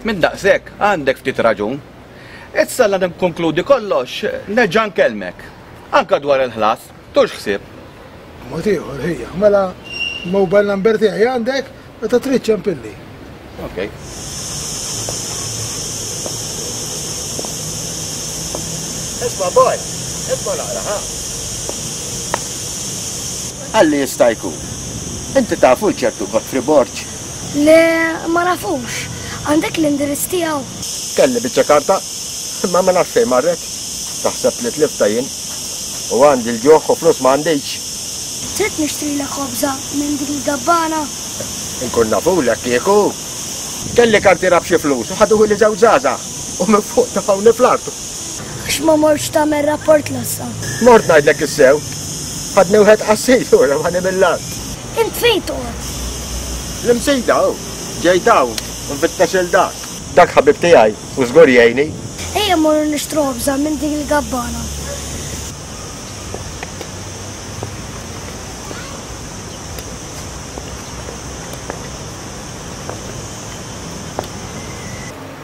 Speaker 18: Minn daqshekk għandek ftit raġun. Issa la nikkonkludi kollox, nerġa' nkellmek. Anka dwar il-ħlas, tux ħsieb.
Speaker 1: Mod ieħor ħija, mela mobile number tiegħi għandek meta trid ċempilli.
Speaker 18: Ok.
Speaker 19: Isma' boy, isma' naqra, ha? Għalli jista' jkun. Inti tafu ċertu Godfrey Borg?
Speaker 10: Le, ma nafux. Għandek l-indirizz tiegħu.
Speaker 19: Kelli biċċa karta, imma ma nafx fejn marret. Taħseb li tlifta jien. U għandi l-ġuħ u flus ma għandix.
Speaker 10: Trid nixtrilek ħobża minn dik il-gabbana?
Speaker 19: Inkun nafulek kieku. Kelli kartiera b'xi flus u ħaduhu li żewġ żgħażagħ u minn fuq tafawni fl-art.
Speaker 10: Għax ma mortx tagħmel rapport lassa.
Speaker 19: Mort ngħidlek is-sew. Ħadni wieħed qassis u remani mill-art.
Speaker 10: Int fejn toqgħod?
Speaker 19: L-Imsida hu. Ġejt hawn u nfittex il dak. Dak ħabib tiegħi u żgur jgħinni.
Speaker 10: Ejja mmorru nixtru ħobża minn dik il-gabbana.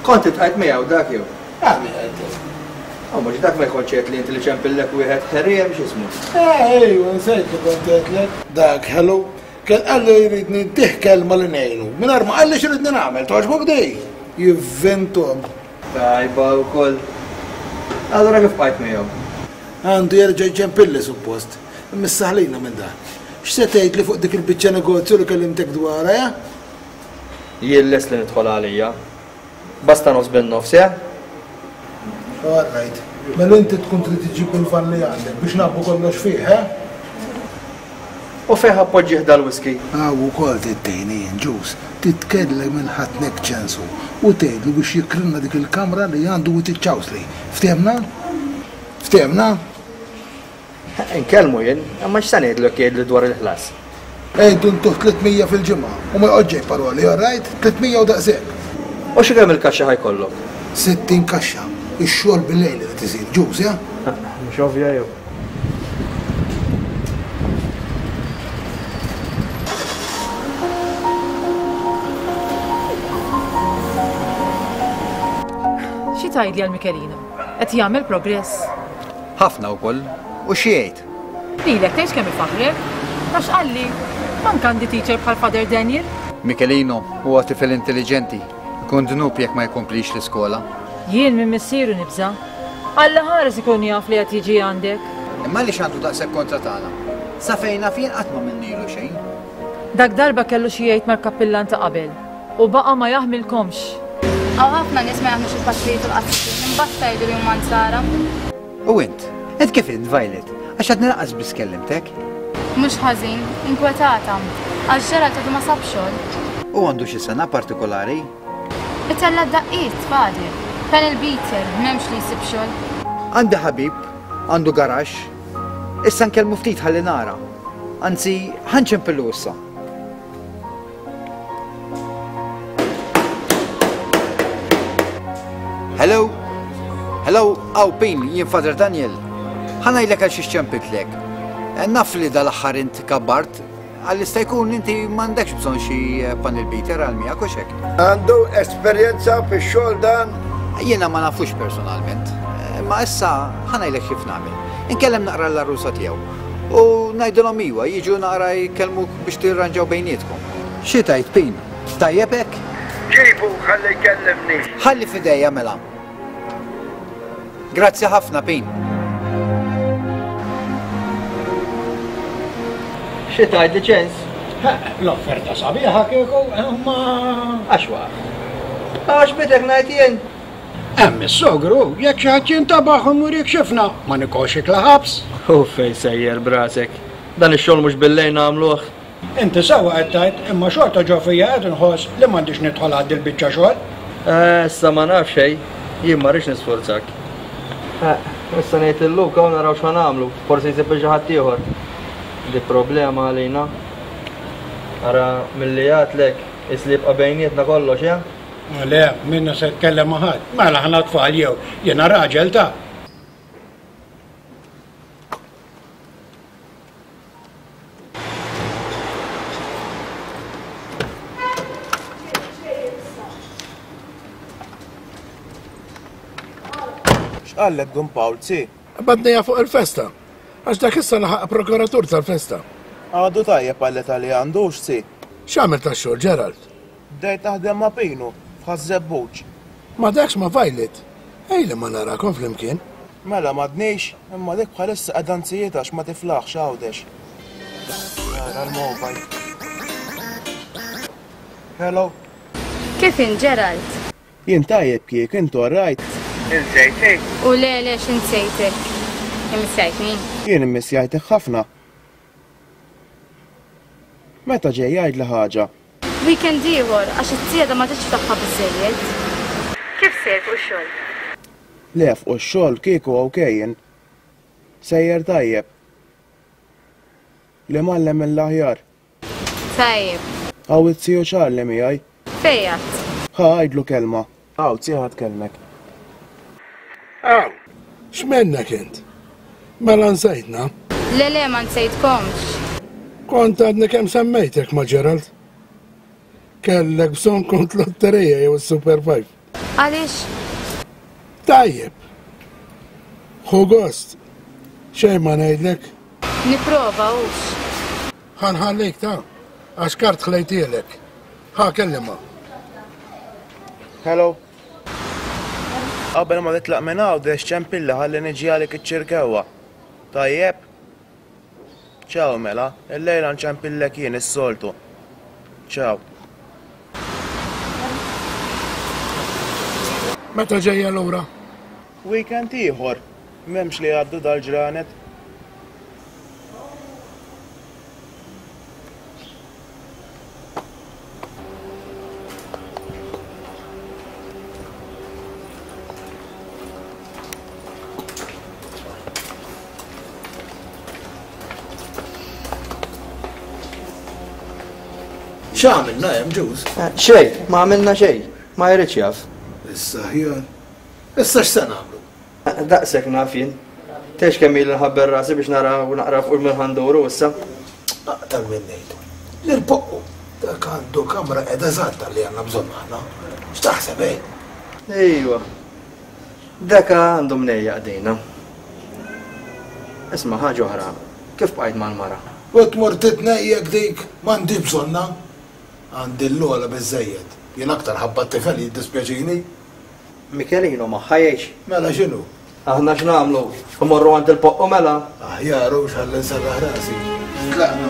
Speaker 2: Kont iltqajt miegħu dak jew?
Speaker 1: Ah, min qed?
Speaker 2: Oh, mhux dak ma jkontx qed li inti li ċempillek wieħed Harry hemm x'ismu.
Speaker 1: Eh, ejwa, nsejt li kont qedlek. Dak hello, kien qalli li jridni ntih kelma li ngħinu. Mingħajr ma qalli x'iridni nagħmel, togħġbok di? Jivvintom.
Speaker 2: Tajba wkoll. Allura kif bqajt miegħu?
Speaker 1: Għandu jerġa' jċempilli suppost. Imma issa ħlina minn dan. X'se tgħidli fuq dik il-biċċa negozju li kellimtek dwarha, ja?
Speaker 2: Jien lest li nidħol għalija. Basta nofs bin-nofs, ja?
Speaker 1: All right. Mela inti tkun trid iġġib il-van li għandek biex nagħbbu kollox fih, eh?
Speaker 2: U fejn ħappoġġih dal-whisky?
Speaker 1: Hawn ukoll trid tgħinni jien, Ġus. Titkellem minn ħatnek ċensu u tgħidlu biex jikrilna dik il-kamra li għandu u tiċċawsli. Ftehmna? Ftehmna?
Speaker 2: Inkellmu jien, imma x'se ngħidlu jekk jgħidli dwar il-ħlas?
Speaker 1: Għidu ntuh tliet mija fil-ġimgħa u ma joqgħodx ġej paroli, all right? Tliet mija u daqshekk.
Speaker 2: U xi kemm il-kaxxa ħajkollok?
Speaker 1: Sittin kaxxa. Ix-xogħol bil-lejl irid isir, Ġus, ja?
Speaker 2: Mhux ovvja jew?
Speaker 3: Xi tgħidli għal Michelino? Qed jagħmel progress?
Speaker 9: Ħafna wkoll. U xi jgħid?
Speaker 3: Lilek tgħidx kemm ifaħrek. Għax qalli, mank għandi teacher bħal Father Daniel.
Speaker 9: Michelino huwa tifel intelligenti. Ikun dnub jekk ma jkomplix l-iskola.
Speaker 3: Jien minn missieru nibża'. Alla ħares ikun jaf li qed jiġi għandek.
Speaker 9: Imma għaliex għandu daqshekk kontra tagħna? Sa fejn naf jien qatt ma minnilu xejn.
Speaker 3: Dak darba kellu xi jgħid mal-kappillan ta' qabel u baqa' ma jaħmilkomx.
Speaker 20: Hawn ħafna nies ma jaħmlux il-patrijiet u l-qassisin, imbagħad tgħidu li huma nsara.
Speaker 9: U int? Int kif int, Violet? Għax għadni lanqas biss kellimtek.
Speaker 20: Mhux ħażin, inkwetata. Għax Gerald għadu ma sab xogħol.
Speaker 9: U għandu xi sena partikolari?
Speaker 20: Itella' daqqiet, Father. Panel beater, m'hemmx li jsib xogħol.
Speaker 9: Għandi ħabib, għandu garaxx. Issa nkellmu ftit ħalli nara. Anzi, ħa nċempillu issa. Hello? Hello, aw Pin, jien Father Daniel. Ħa ngħidlek għal xiex ċempiltlek. Naf li dal-aħħar int kabbart, għal jista' jkun inti m'għandekx bżonn xi panel beater għal miegħek u xek.
Speaker 1: Għandu esperjenza fix-xogħol dan?
Speaker 9: Jiena ma nafux personalment, imma issa ħa ngħidlek kif nagħmel. Inkellem naqra l-għarusa tiegħu u ngħidilhom iwa jiġu naqra jkellmuk biex tirranġaw bejnietkom. Xi tgħid Pin? Tajjeb hekk?
Speaker 1: Ġibu ħalli jkellimni.
Speaker 9: Ħalli f'idejja mela. Grazzi ħafna Pin.
Speaker 2: Xi tgħid li ċens?
Speaker 21: L-offerta sabiħa kieku, ma.
Speaker 2: Għax waqf. Għax bidek ngħid jien.
Speaker 21: Hemm is-sogru, jekk xi ħadd jintabaħ u mur jikxifna, ma nikolx ikla ħabs.
Speaker 2: U fej sejjer brasek. Dan ix-xogħol mhux billejl nagħmluh.
Speaker 21: Inti sewwa qed tgħid, imma xorta ġo fija qed inħoss li m'għandix nidħol għad il-biċċa xogħol.
Speaker 2: Issa ma naf xejn, jien ma rridx nisforzak. Issa ngħid lil Luka u naraw x'ħa nagħmlu, forsi jsib xi ħadd ieħor. Di problema għalina. Ara milli għadtlek, is li jibqa' bejnietna kollox, ja?
Speaker 21: Le, minna se tkellem ma' ħadd. Mela aħna tfal jew jiena raġel ta'
Speaker 22: X'qallek Dun Pawl, zi?
Speaker 16: Badnija fuq il-festa. Għax dak issa laħaq prokuratur tal-festa.
Speaker 22: Għadu tajjeb għall-età li għandux, zi.
Speaker 16: X'għamel tax-xogħol, Gerald?
Speaker 22: Bdejt naħdem ma' Pinu, f'Ħaż-Żebbuġ.
Speaker 16: Ma dakx ma' Violet. Ejli ma narakom flimkien.
Speaker 22: Mela m'għadniex, imma dik bħalissa qiegħda nsijiet għax ma tiflaħx Għawdex. Ara l-mobile. Hello.
Speaker 20: Kif in Gerald?
Speaker 22: Jien tajjeb kiek, intu all right? Insejtek?
Speaker 20: U le le x'insejtek. Immissjajtni.
Speaker 22: Jien immissjajtek ħafna. Meta ġej jgħidli ħaġa?
Speaker 20: Weekend ieħor għax it-tieda ma ġietx tagħha biżejjed. Kif sejjer fuq ix-xogħol?
Speaker 22: Le fuq ix-xogħol kieku okej jien. Sejjer tajjeb. Li mgħallem mill-aħjar.
Speaker 20: Tajjeb.
Speaker 22: Hawn it-tiju Charlie miegħi.
Speaker 20: Fejn għad?
Speaker 22: Ħa għidlu kelma. Hawn tzi ħa tkellmek.
Speaker 16: Aw, x'mennek int? Mela nsejtna?
Speaker 20: Le le ma nsejtkomx.
Speaker 16: Kont għadni kemm semmejtek ma' Gerald. Kellek bżonn kont lotterija jew Super Five.
Speaker 20: Għaliex?
Speaker 16: Tajjeb. Ħu gost. Xejn ma ngħidlek.
Speaker 20: Nipprova hux.
Speaker 16: Ħa nħallik ta' għax kart ħlejtielek. Ħa kellimha.
Speaker 22: Hello. Qabel ma titlaq minn Għawdex ċempilli ħalli niġi għalik iċ-Ċirkewwa. Tajjeb? Ciao mela, illejla nċempillek jien is-soltu. Ciao.
Speaker 16: Meta ġejja lura?
Speaker 22: Weekend ieħor. M'hemmx li jgħaddu dal-ġranet.
Speaker 1: X'għamilna hemm ġuż?
Speaker 2: Xejn, ma għamilna xejn, ma jridx jaf.
Speaker 1: Issa ħjar. Issa x'se nagħmlu?
Speaker 2: Daqshekk naf jien. Tex kemm ili nħabber rasi biex nara u naqra fuq il-ħanduru issa.
Speaker 1: Aqtar minn ngħidu. L-irpoqqu dak għandu kamra qiegħda eżatta li għandna bżonn aħna. X'taħseb eh?
Speaker 2: Ejwa. Dak għandu mnejja qdejna. Isma' ħaġa oħra, kif bqajt mal-mara?
Speaker 1: U tmur titnejjek dik m'għandi bżonna. Għandi l-ogħla biżejjed. Jien aktar ħabba t-tifel jiddispjaċini.
Speaker 2: Michelino magħha jgħix.
Speaker 1: Mela x'inhu?
Speaker 2: Aħna x'nagħmlu? Imorru għand il-poqqu mela?
Speaker 1: Aħjar hux ħalli nserraħ rasi. Tlaqna.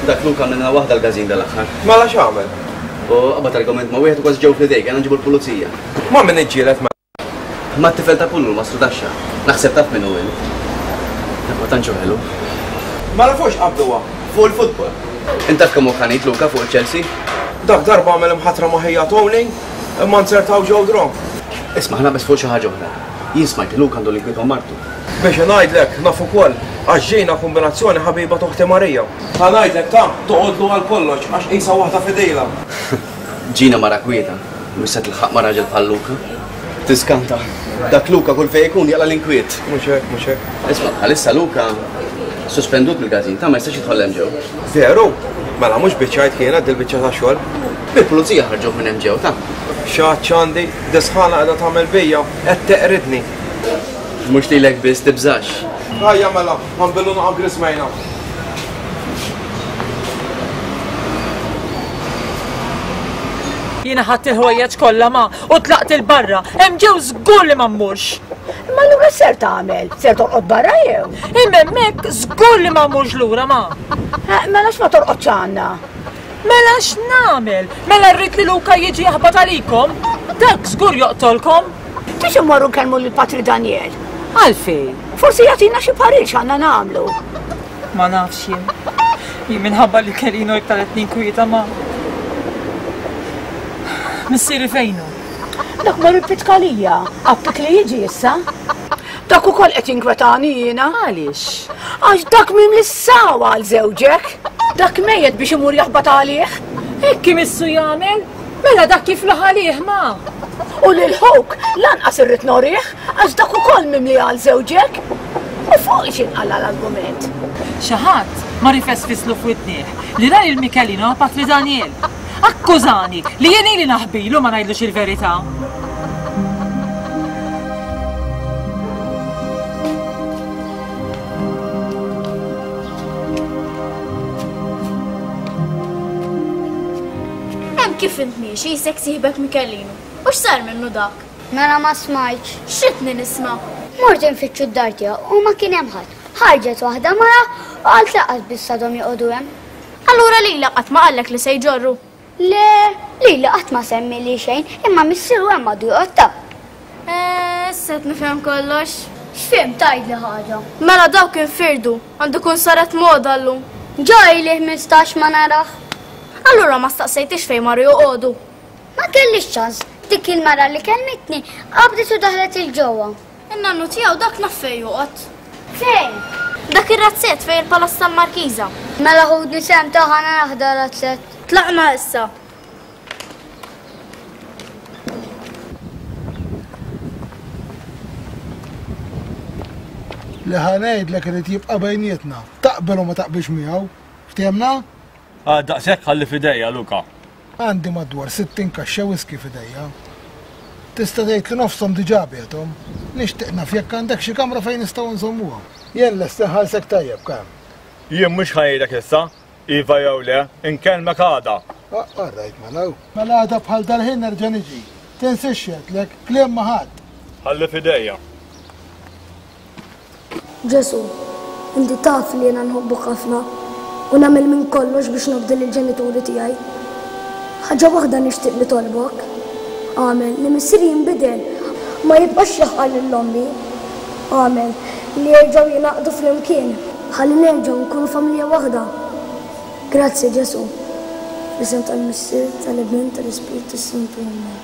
Speaker 23: Dak Luka għamilna waħda l-każin dal-aħħar.
Speaker 22: Mela x'għamel?
Speaker 23: U qabad argument ma' wieħed u kważi ġew fl-idejk, għandna nġibu l-pulizija.
Speaker 22: Ma' min iġġieled ma'
Speaker 23: Ma' t-tifel ta' Pullu, ma' Sudaxxa. Naħseb taf min hu int. Dak ma tantx hu ħelu.
Speaker 22: Ma nafux qabduha fuq il-futbol.
Speaker 23: Int taf kemm hu ħanit Luca fuq il-Chelsea?
Speaker 22: Dak darba għamel imħatra ma' ħija Tony, imma nzertaw ġew dron.
Speaker 23: Isma' ħa naqbeż fuq xi ħaġa oħra. Jien smajt li Luca għandu l-inkwiet ma' martu.
Speaker 22: Biex ngħidlek naf ukoll għax ġejna kombinazzjoni ħabiba t'oħti Marija. Ħa ngħidlek ta' toqgħodlu għal kollox għax qisha waħda fidejla.
Speaker 23: Ġina mara kwieta, mhux se tilħaq ma' raġel bħal Luca. Tiskanta. Dak Luca kull fejn ikun jaqla' l-inkwiet.
Speaker 22: Mhux hekk, mhux hekk.
Speaker 23: Isma' bħalissa Luca sospendut mill-każin ta' ma jistax jidħol hemm ġew.
Speaker 22: Veru? Mela mhux biċċajt kienet dil-biċċa ta' xogħol.
Speaker 23: Il-pulizija ħarġuh minn hemm ġew ta'.
Speaker 22: X'għadx għandi, disħana qiegħda tagħmel bija, qed teqridni.
Speaker 23: Mhux lilek biss tibżax.
Speaker 22: Ejja mela, ħa nbillu naqa' grismejna.
Speaker 3: Jiena ħadt il-ħwejjeġ kollha ma u tlaqt il barra. Hemm ġew żgur li ma mmurx.
Speaker 4: Imma allura x'ser tagħmel? Ser torqod barra jew?
Speaker 3: Imma hemmhekk żgur li ma mmurx lura ma.
Speaker 4: Eh, mela x'ma torqodx għandna?
Speaker 3: Mela x'nagħmel? Mela rrid li Luca jiġi jaħbat għalikom? Dak żgur joqtolkom.
Speaker 4: Biex immorru nkellmu lil Patri Daniel.
Speaker 3: Għalfejn?
Speaker 4: Forsi jagħtina xi parir x'għandna nagħmlu.
Speaker 3: Ma nafx jien. Jien minħabba li Kelino iktar qed ninkwieta ma. Missieri fejnu?
Speaker 4: Dak mar il-Pitkalija, appik li jiġi issa. Dak ukoll qed jinkwetani jiena.
Speaker 3: Għaliex?
Speaker 4: Għax dak mim li sawa għal żewġek. Dak mejjet biex imur jaħbat għalih.
Speaker 3: Hekk imissu jagħmel? Mela dak kif laħalih ma.
Speaker 4: U lil ħuk lanqas irrid norih għax dak ukoll mimli għal żewġek. U fuq x'inqala l-argument.
Speaker 3: Xi ħadd ma rifesfislu f'widnieh li ra lil Michelino ma' Patri Daniel. Akkużani li jien ili naħbilu ma ngħidlux il-verità.
Speaker 20: Hemm kif int miexi jisek sieħbek Michelino. U x'sar minnu dak?
Speaker 10: Mela ma smajtx.
Speaker 20: X'ritni nisma'?
Speaker 10: Mort infittxu d-dar tiegħu u ma kien hemm ħadd. Ħarġet waħda mara u qalt laqas biss għadhom joqogħdu hemm.
Speaker 20: Allura lilek qatt ma qallek li se jġorru?
Speaker 10: Le, lili qatt ma semmi li xejn, imma missieru hemm għadu joqgħod ta'.
Speaker 20: Eh, issa qed nifhem kollox.
Speaker 10: X'fhimt tgħidli ħaġa?
Speaker 20: Mela dawk infirdu, għandu jkun saret moda llum.
Speaker 10: Ġa ili ħmistax ma narah.
Speaker 20: Allura ma staqsejtix fejn marru joqogħdu?
Speaker 10: Ma kellix ċans, dik il-mara li kellmitni qabdet u daħlet il-ġewwa.
Speaker 20: In-nannu tiegħu dak naf fejn joqgħod.
Speaker 10: Fejn?
Speaker 20: Dak ir-razzett fejn il-palazz tal-Markiża.
Speaker 10: Mela ħudni sehem ta' ħana naħda razzett.
Speaker 20: Tlaqna issa.
Speaker 1: Li ħa ngħidlek irid jibqa' bejnietna. Taqbel u ma taqbilx miegħu. Ftehemna?
Speaker 7: Ah, daqshekk ħalli f'idejja, Luca.
Speaker 1: Għandi madwar sittin kaxxa whisky f'idejja. Tista' tgħid li nofshom diġà biegħthom. Nixtieq naf jekk għandek xi kamra fejn nistgħu nżommuha. Jien lest inħallsek tajjeb, kemm?
Speaker 7: Jien mhux ħajrek issa, iva jew le, inkellmek għada.
Speaker 1: Ah, all right, mela. Mela għada bħal dal-ħin nerġa' niġi. Tinsiex x'għedtlek, kliem ma' ħadd.
Speaker 7: Ħalli f'idejja.
Speaker 10: Ġesu, inti taf li jiena nħobbok ħafna u nagħmel minn kollox biex nobdi lill-ġenituri tiegħi. Ħaġa waħda nixtieq li tolbok. Agħmel li missieri jinbidel, ma jibqax jaħqar lil ommi. Agħmel li jerġgħu jingħaqdu flimkien, ħalli nerġgħu nkunu familja waħda. Grazzi Ġesu. Fl-isem tal-Missier, tal-Ibn, tal-Ispirtu s-Santu. Amen.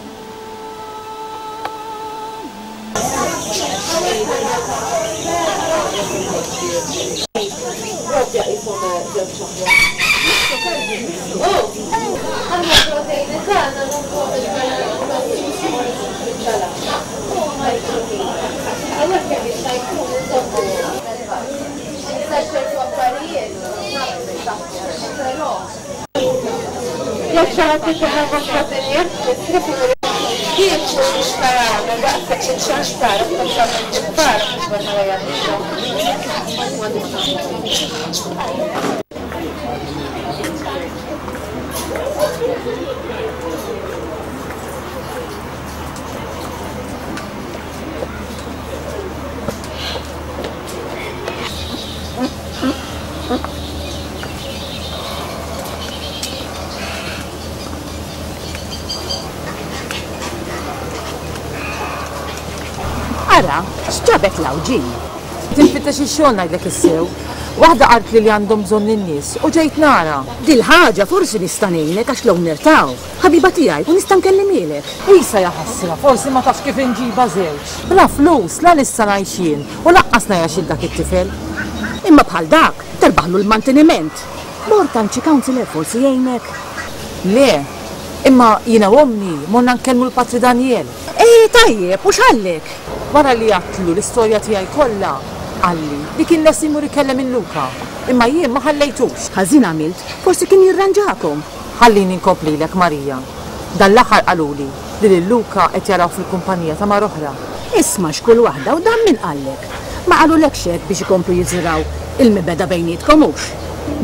Speaker 12: Ara, x'ġabek l-awġin?
Speaker 3: Ġejt infittex ix-xogħol ngħidlek issew. Waħda qaltli li għandhom bżonn in-nies u ġejt nara.
Speaker 12: Dil-ħaġa forsi nista' ngħinek għax l-owner taw. Ħabiba tiegħi u nista' nkellimhielek.
Speaker 3: Isa ja ħasra, forsi ma tafx kif inġiba żewġ. Bla flus, la lissa ngħixin u laqqas ngħix il dak it-tifel.
Speaker 12: Imma bħal dak terbaħlu l-manteniment. Mort għand xi counselor forsi jgħinek.
Speaker 3: Le, imma jiena u ommi morna nkellmu l-Patri Daniel.
Speaker 12: Eh, tajjeb, u x'għallek?
Speaker 3: Wara li għatlu l-istorja tiegħi kollha, qalli li kien lest imur ikellem lil Luca, imma jien ma ħallejtux.
Speaker 12: Ħażin għamilt, forsi kien jirranġakom.
Speaker 3: Ħallini nkomplilek Marija. Dan l-aħħar qaluli li lil Luca qed jaraw fil-kumpanija ta' mara oħra.
Speaker 12: Isma' x'kull waħda u dan min qallek. Ma qalulekx hekk biex ikomplu jiżraw il-mibeda bejnietkom hux.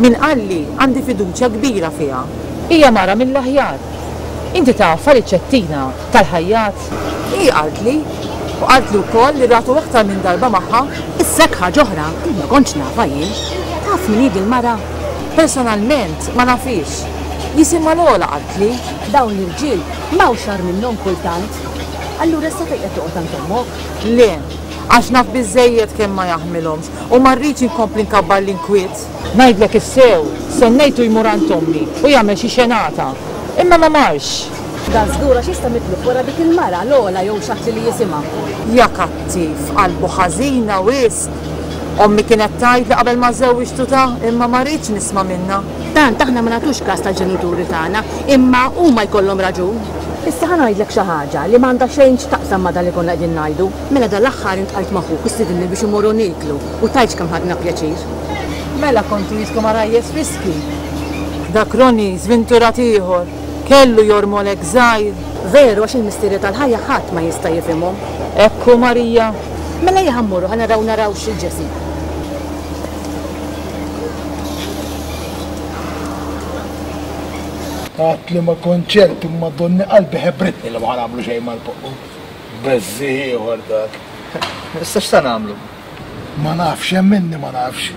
Speaker 3: Min qalli għandi fiduċja kbira fiha. Hija mara mill-aħjar. Inti tafha riċettina tal-ħajjat. Hi qaltli u qaltli wkoll li ratu aktar minn darba magħha.
Speaker 12: Issa hekk ħaġa oħra, ma kontx nafha jien. Taf min hi dil-mara?
Speaker 3: Personalment ma nafix. Jisimha Lola qaltli.
Speaker 12: Dawn l-irġiel m'hawnx agħar minnhom kultant. Allura issa fejn qed toqgħod għand ommok?
Speaker 3: Le, għax naf biżżejjed kemm ma jaħmilhomx u ma rridx inkompli nkabbar l-inkwiet. Ngħidlek issew, sennejtu jmur għand ommi u jagħmel xi xenata. Imma ma marx.
Speaker 12: Da żgur għax jista' mitluf wara dik il-mara Lola jew xi ħadd li jisimha.
Speaker 3: Ja kattiv, qalbu ħażina wisq. Ommi kienet tgħid li qabel ma żewwiġtu ta' imma ma rridx nisma' minnha.
Speaker 12: Tant aħna ma nagħtux każ tal-ġenituri tagħna, imma huma jkollhom raġun. Issa ħa ngħidlek xi ħaġa li m'għandha xejn x'taqsam ma' dan li konna qegħdin ngħidu. Mela dal-aħħar intqajt ma' ħuk u stidinni biex imorru nieklu u tgħidx kemm ħadna pjaċir.
Speaker 3: Mela kontu jiskom għarajjes friski. Dak Ronnie żvinturat ieħor, kellu jormolek żgħir.
Speaker 12: Veru għax il-misteri tal-ħajja ħadd ma jista' jifhimhom.
Speaker 3: Ekku Marija.
Speaker 12: Mela ejja ħa mmorru ħa naraw naraw x'il-Ġesì.
Speaker 1: Għat li ma kont ċert imma donni qalbi ħebritni li ma ħa nagħmlu xejn mal-poqqu. Beżżi ieħor dak.
Speaker 2: Issa x'sa nagħmlu?
Speaker 1: Ma nafx, hemm minni ma nafx.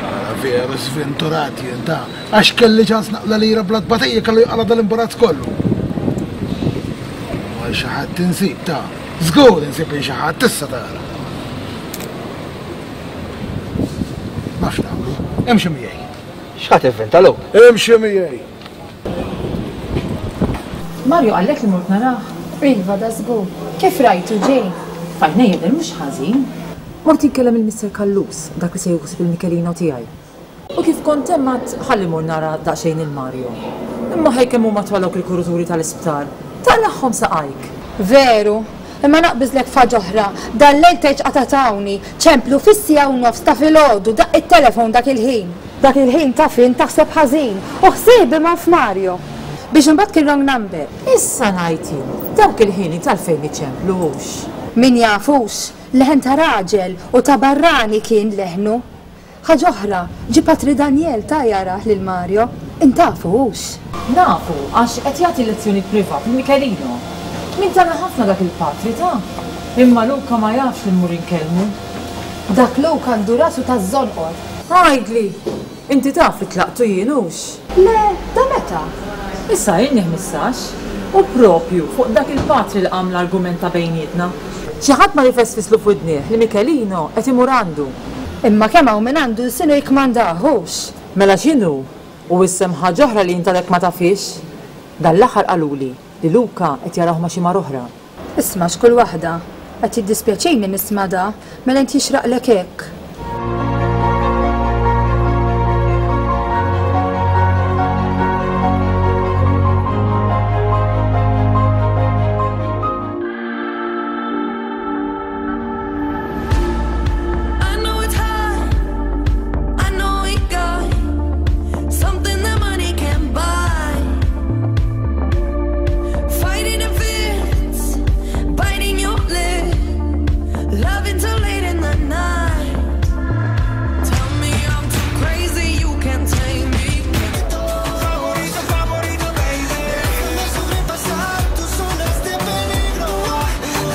Speaker 1: Ara veru sventurat jien ta' għax kelli ċans naqla lira bla tbatija kellu jqala dal-imbarazz kollu. Ma xi ħadd insib ta' żgur insib lil xi ħadd issa tara. Nafx nagħmlu, imxi miegħi.
Speaker 2: X'ħa tivvinta Luke?
Speaker 1: Imxi miegħi.
Speaker 3: Mario qallek li mort narah?
Speaker 11: Iva, da żgur. Kif rajtu ġej?
Speaker 3: Fajna jidher mhux ħażin. Mort inkellem il-Mister Callus, dak li se jieħu il-Michelino tiegħi. U kif kont hemm għad ħalli mur nara daqsxejn il-Mario. Imma ħej kemm huma twal dawk il-kuruturi tal-isptar. Taqlagħhom saqajk.
Speaker 11: Veru, imma naqbiżlek f'ħaġa oħra. Dan-lejl tgħidx qatatawni, ċemplu fis-siegħa u nofs ta' filgħodu, daqq it-telefon dak il-ħin. Dak il-ħin taf int taħseb ħażin u ħsiebi ma' f'Mario. Biex imbagħad kien wrong number.
Speaker 3: Issa ngħid jien, dawk il-ħin tal-fejn iċemplu hux.
Speaker 11: Min jafux, leħen ta' raġel u ta' barrani kien leħnu. Ħaġa oħra, ġie Patri Daniel ta' jarah lil Mario, intafu hux.
Speaker 3: Nafu, għax qed jagħti lezzjoni privat lil Michelino. Min tana ħafna dak il-patri ta' imma Luca ma jafx li mmur inkellmu.
Speaker 11: Dak Luca għandu rasu taż-żonqor.
Speaker 3: Għajdli, inti taf li tlaqtu jien hux?
Speaker 11: Le, ta' meta?
Speaker 3: Issa ilni ħmistax. U propju fuq dak il-patri li qam l-argument ta' bejnietna. Xi ħadd ma jifesfislu f'widnieh li Michelino qed imur għandu.
Speaker 11: Imma kemm hawn min għandu lsinu jikkmandahux.
Speaker 3: Mela x'inhu? U issem ħaġa oħra li intalek ma tafix? Dan l-aħħar qaluli li Luca qed jarah ma' xi mara oħra.
Speaker 11: Isma' x'kull waħda. Qed jiddispjaċini nisma' da, mela int jixraqlek hekk.
Speaker 13: I know it's hard. I know we got something that money can't buy. Fighting the fears, biting your lip, loving till late in the night. Tell me I'm too crazy, you can't tame me.
Speaker 15: Favorito, favorito, baby. Déjame sobrepasar tus zonas de peligro,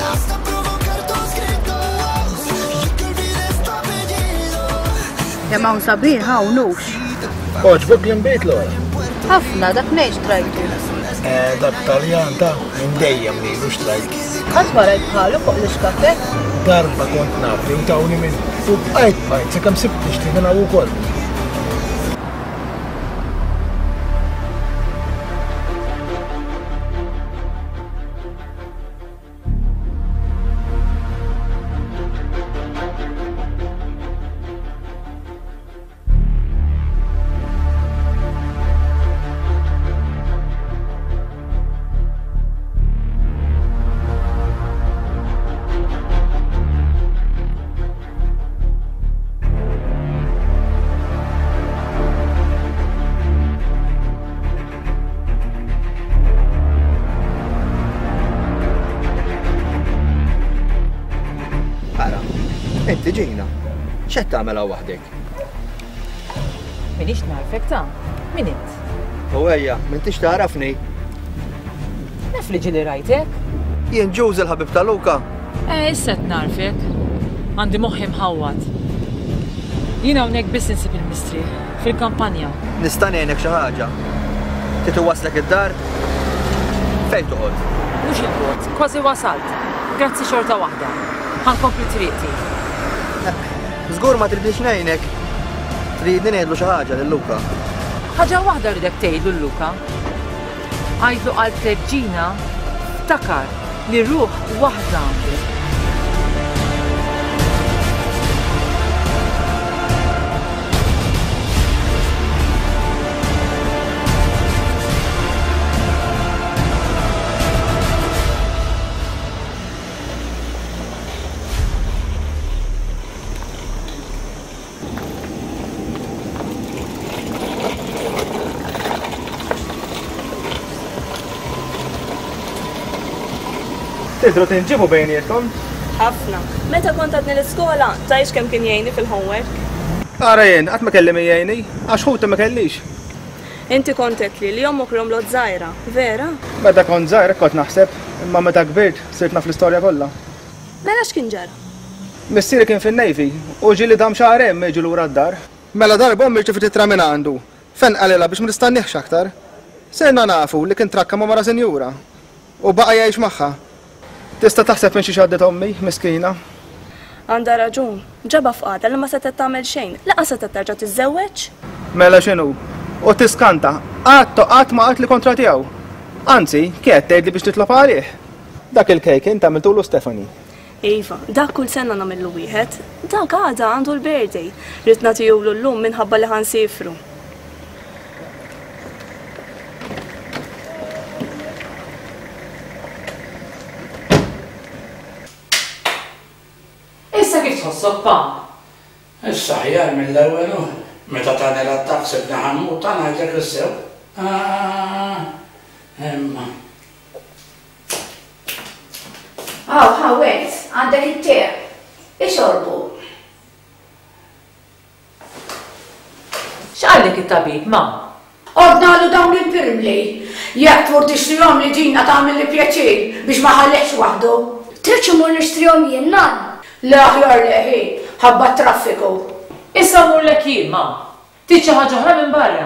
Speaker 15: hasta provocar tus gritos y que olvides tu apellido.
Speaker 4: Kemm hawn sabiħ hawn hux.
Speaker 1: Oġbok l-imbejt l-ora?
Speaker 4: Ħafna dak ngħix trajtu.
Speaker 1: Eh, dak Taljan ta' minn dejjem lilu xtrajt.
Speaker 4: Qatt ma rajt bħalu fuq l-iskafet.
Speaker 1: Darba kont naf li tawni minn u bqajt bqajt sakemm sibt nixtri minn hawn ukoll.
Speaker 2: Inti Ġina, x'qed tagħmel hawn waħdek?
Speaker 3: Minix narfek ta' min int?
Speaker 2: U ejja, m'intix tagħrafni.
Speaker 3: Naf li ġieli rajtek.
Speaker 2: Jien Ġuż il-ħabib ta' Luka.
Speaker 3: Eh, issa qed narfek. Għandi moħħi mħawwad. Jien hawnhekk biss insib il-mistrieħ, fil-kampanja.
Speaker 2: Nista' ngħinek xi ħaġa. Trid iwasslek id-dar? Fejn toqgħod?
Speaker 3: Mhux il-bogħod, kważi wasalt. Grazzi xorta waħda. Ħa nkompli triqti.
Speaker 2: Żgur ma tridniex ngħinek. Tridni ngħidlu xi ħaġa lil Luka.
Speaker 3: Ħaġa waħda rridek tgħidlu lil Luka. Għidlu qaltlek Ġina, ftakar li ruħ waħda għandu.
Speaker 22: Tidru tinġibu bejnietkom?
Speaker 8: Ħafna. Meta kont għadni l-iskola, tgħidx kemm kien jgħinni fil-homework.
Speaker 22: Ara jien, qatt ma kelli min jgħinni, għax ħuti ma kellix.
Speaker 8: Inti kont għedtli li ommok romlot żgħira, vera?
Speaker 22: Meta kont żgħir kont naħseb, imma meta kbirt sirt naf l-istorja kollha.
Speaker 8: Mela x'kien ġara?
Speaker 22: Missieri kien fin-Navy u ġieli dam xahrejn ma jiġu lura d-dar. Mela darba ommi rċeviet ittra minn għandu, fejn qalilha biex ma tistenniex aktar. Sirna nafu li kien trakka ma' mara sinjura u baqa' jgħix magħha. Tista' taħseb minn xi xaddet ommi, miskina.
Speaker 8: Għandha raġun, ġaba f'qagħda li ma setgħet tagħmel xejn, lanqas setgħet terġa' tiżżewweġ.
Speaker 22: Mela x'inhu? U tiskanta, qatt qatt ma qatt li kontra tiegħu. Anzi, kienet tgħidli biex titlob għalih. Dak il-kejk int għamiltulu Stefani.
Speaker 8: Iva, dak kull sena nagħmillu wieħed. Dak għada għandu l-birthday. Rid nagħtihulu llum minħabba li ħansifru.
Speaker 3: Issa kif tħossok, pa?
Speaker 5: Issa aħjar mill-ewwel hu. Meta tani l-attakk sibni ħammut, ngħidlek is-sew. Imma.
Speaker 4: Aw, ħawet, għandek it-te. Ixorbu.
Speaker 3: X'qallek it-tabib, ma?
Speaker 4: Ordnalu dawn il-pirmli. Jekk tmur tixtrihom li Ġina tagħmel li pjaċir biex ma ħallihx waħdu.
Speaker 10: Tridx imur nixtrihom jien nan?
Speaker 4: Le aħjar leħi, ħabba traffiku.
Speaker 3: Issa mmurlek jien, ma. Trid xi ħaġa oħra minn barra.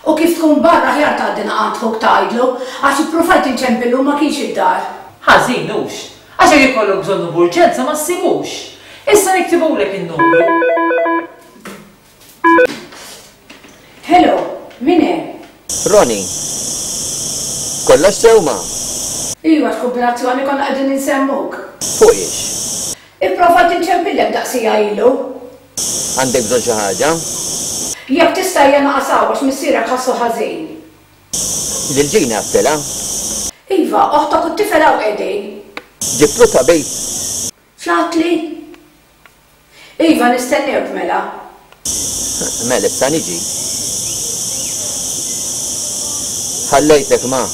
Speaker 4: U kif tkun barra aħjar tgħaddi naqgħand ħuk tgħidlu, għax ippruvajt inċempillu ma kienx id-dar.
Speaker 3: Ħażin hux, għax jekk ikollok bżonnu b'urġenza ma ssibux. Issa niktibulek in-numru.
Speaker 4: Hello, min hemm?
Speaker 19: Ronnie. Kollox sew ma?
Speaker 4: Iva, x'kombinazzjoni konna qegħdin insemmuk.
Speaker 19: Fuq ix?
Speaker 4: Ipprova tinċempillek daqsija ilu.
Speaker 19: Għandek bżonn xi ħaġa?
Speaker 4: Jekk tista' hija naqas hawn għax missierek ħassu ħażin.
Speaker 19: Lil Ġina għedtilha?
Speaker 4: Iva, oħtok u t-tifel hawn qegħdin.
Speaker 19: Ġibtlu tabib.
Speaker 4: X'għadtli? Iva, nistennewk mela.
Speaker 19: Mela issa niġi. Ħallejtek ma.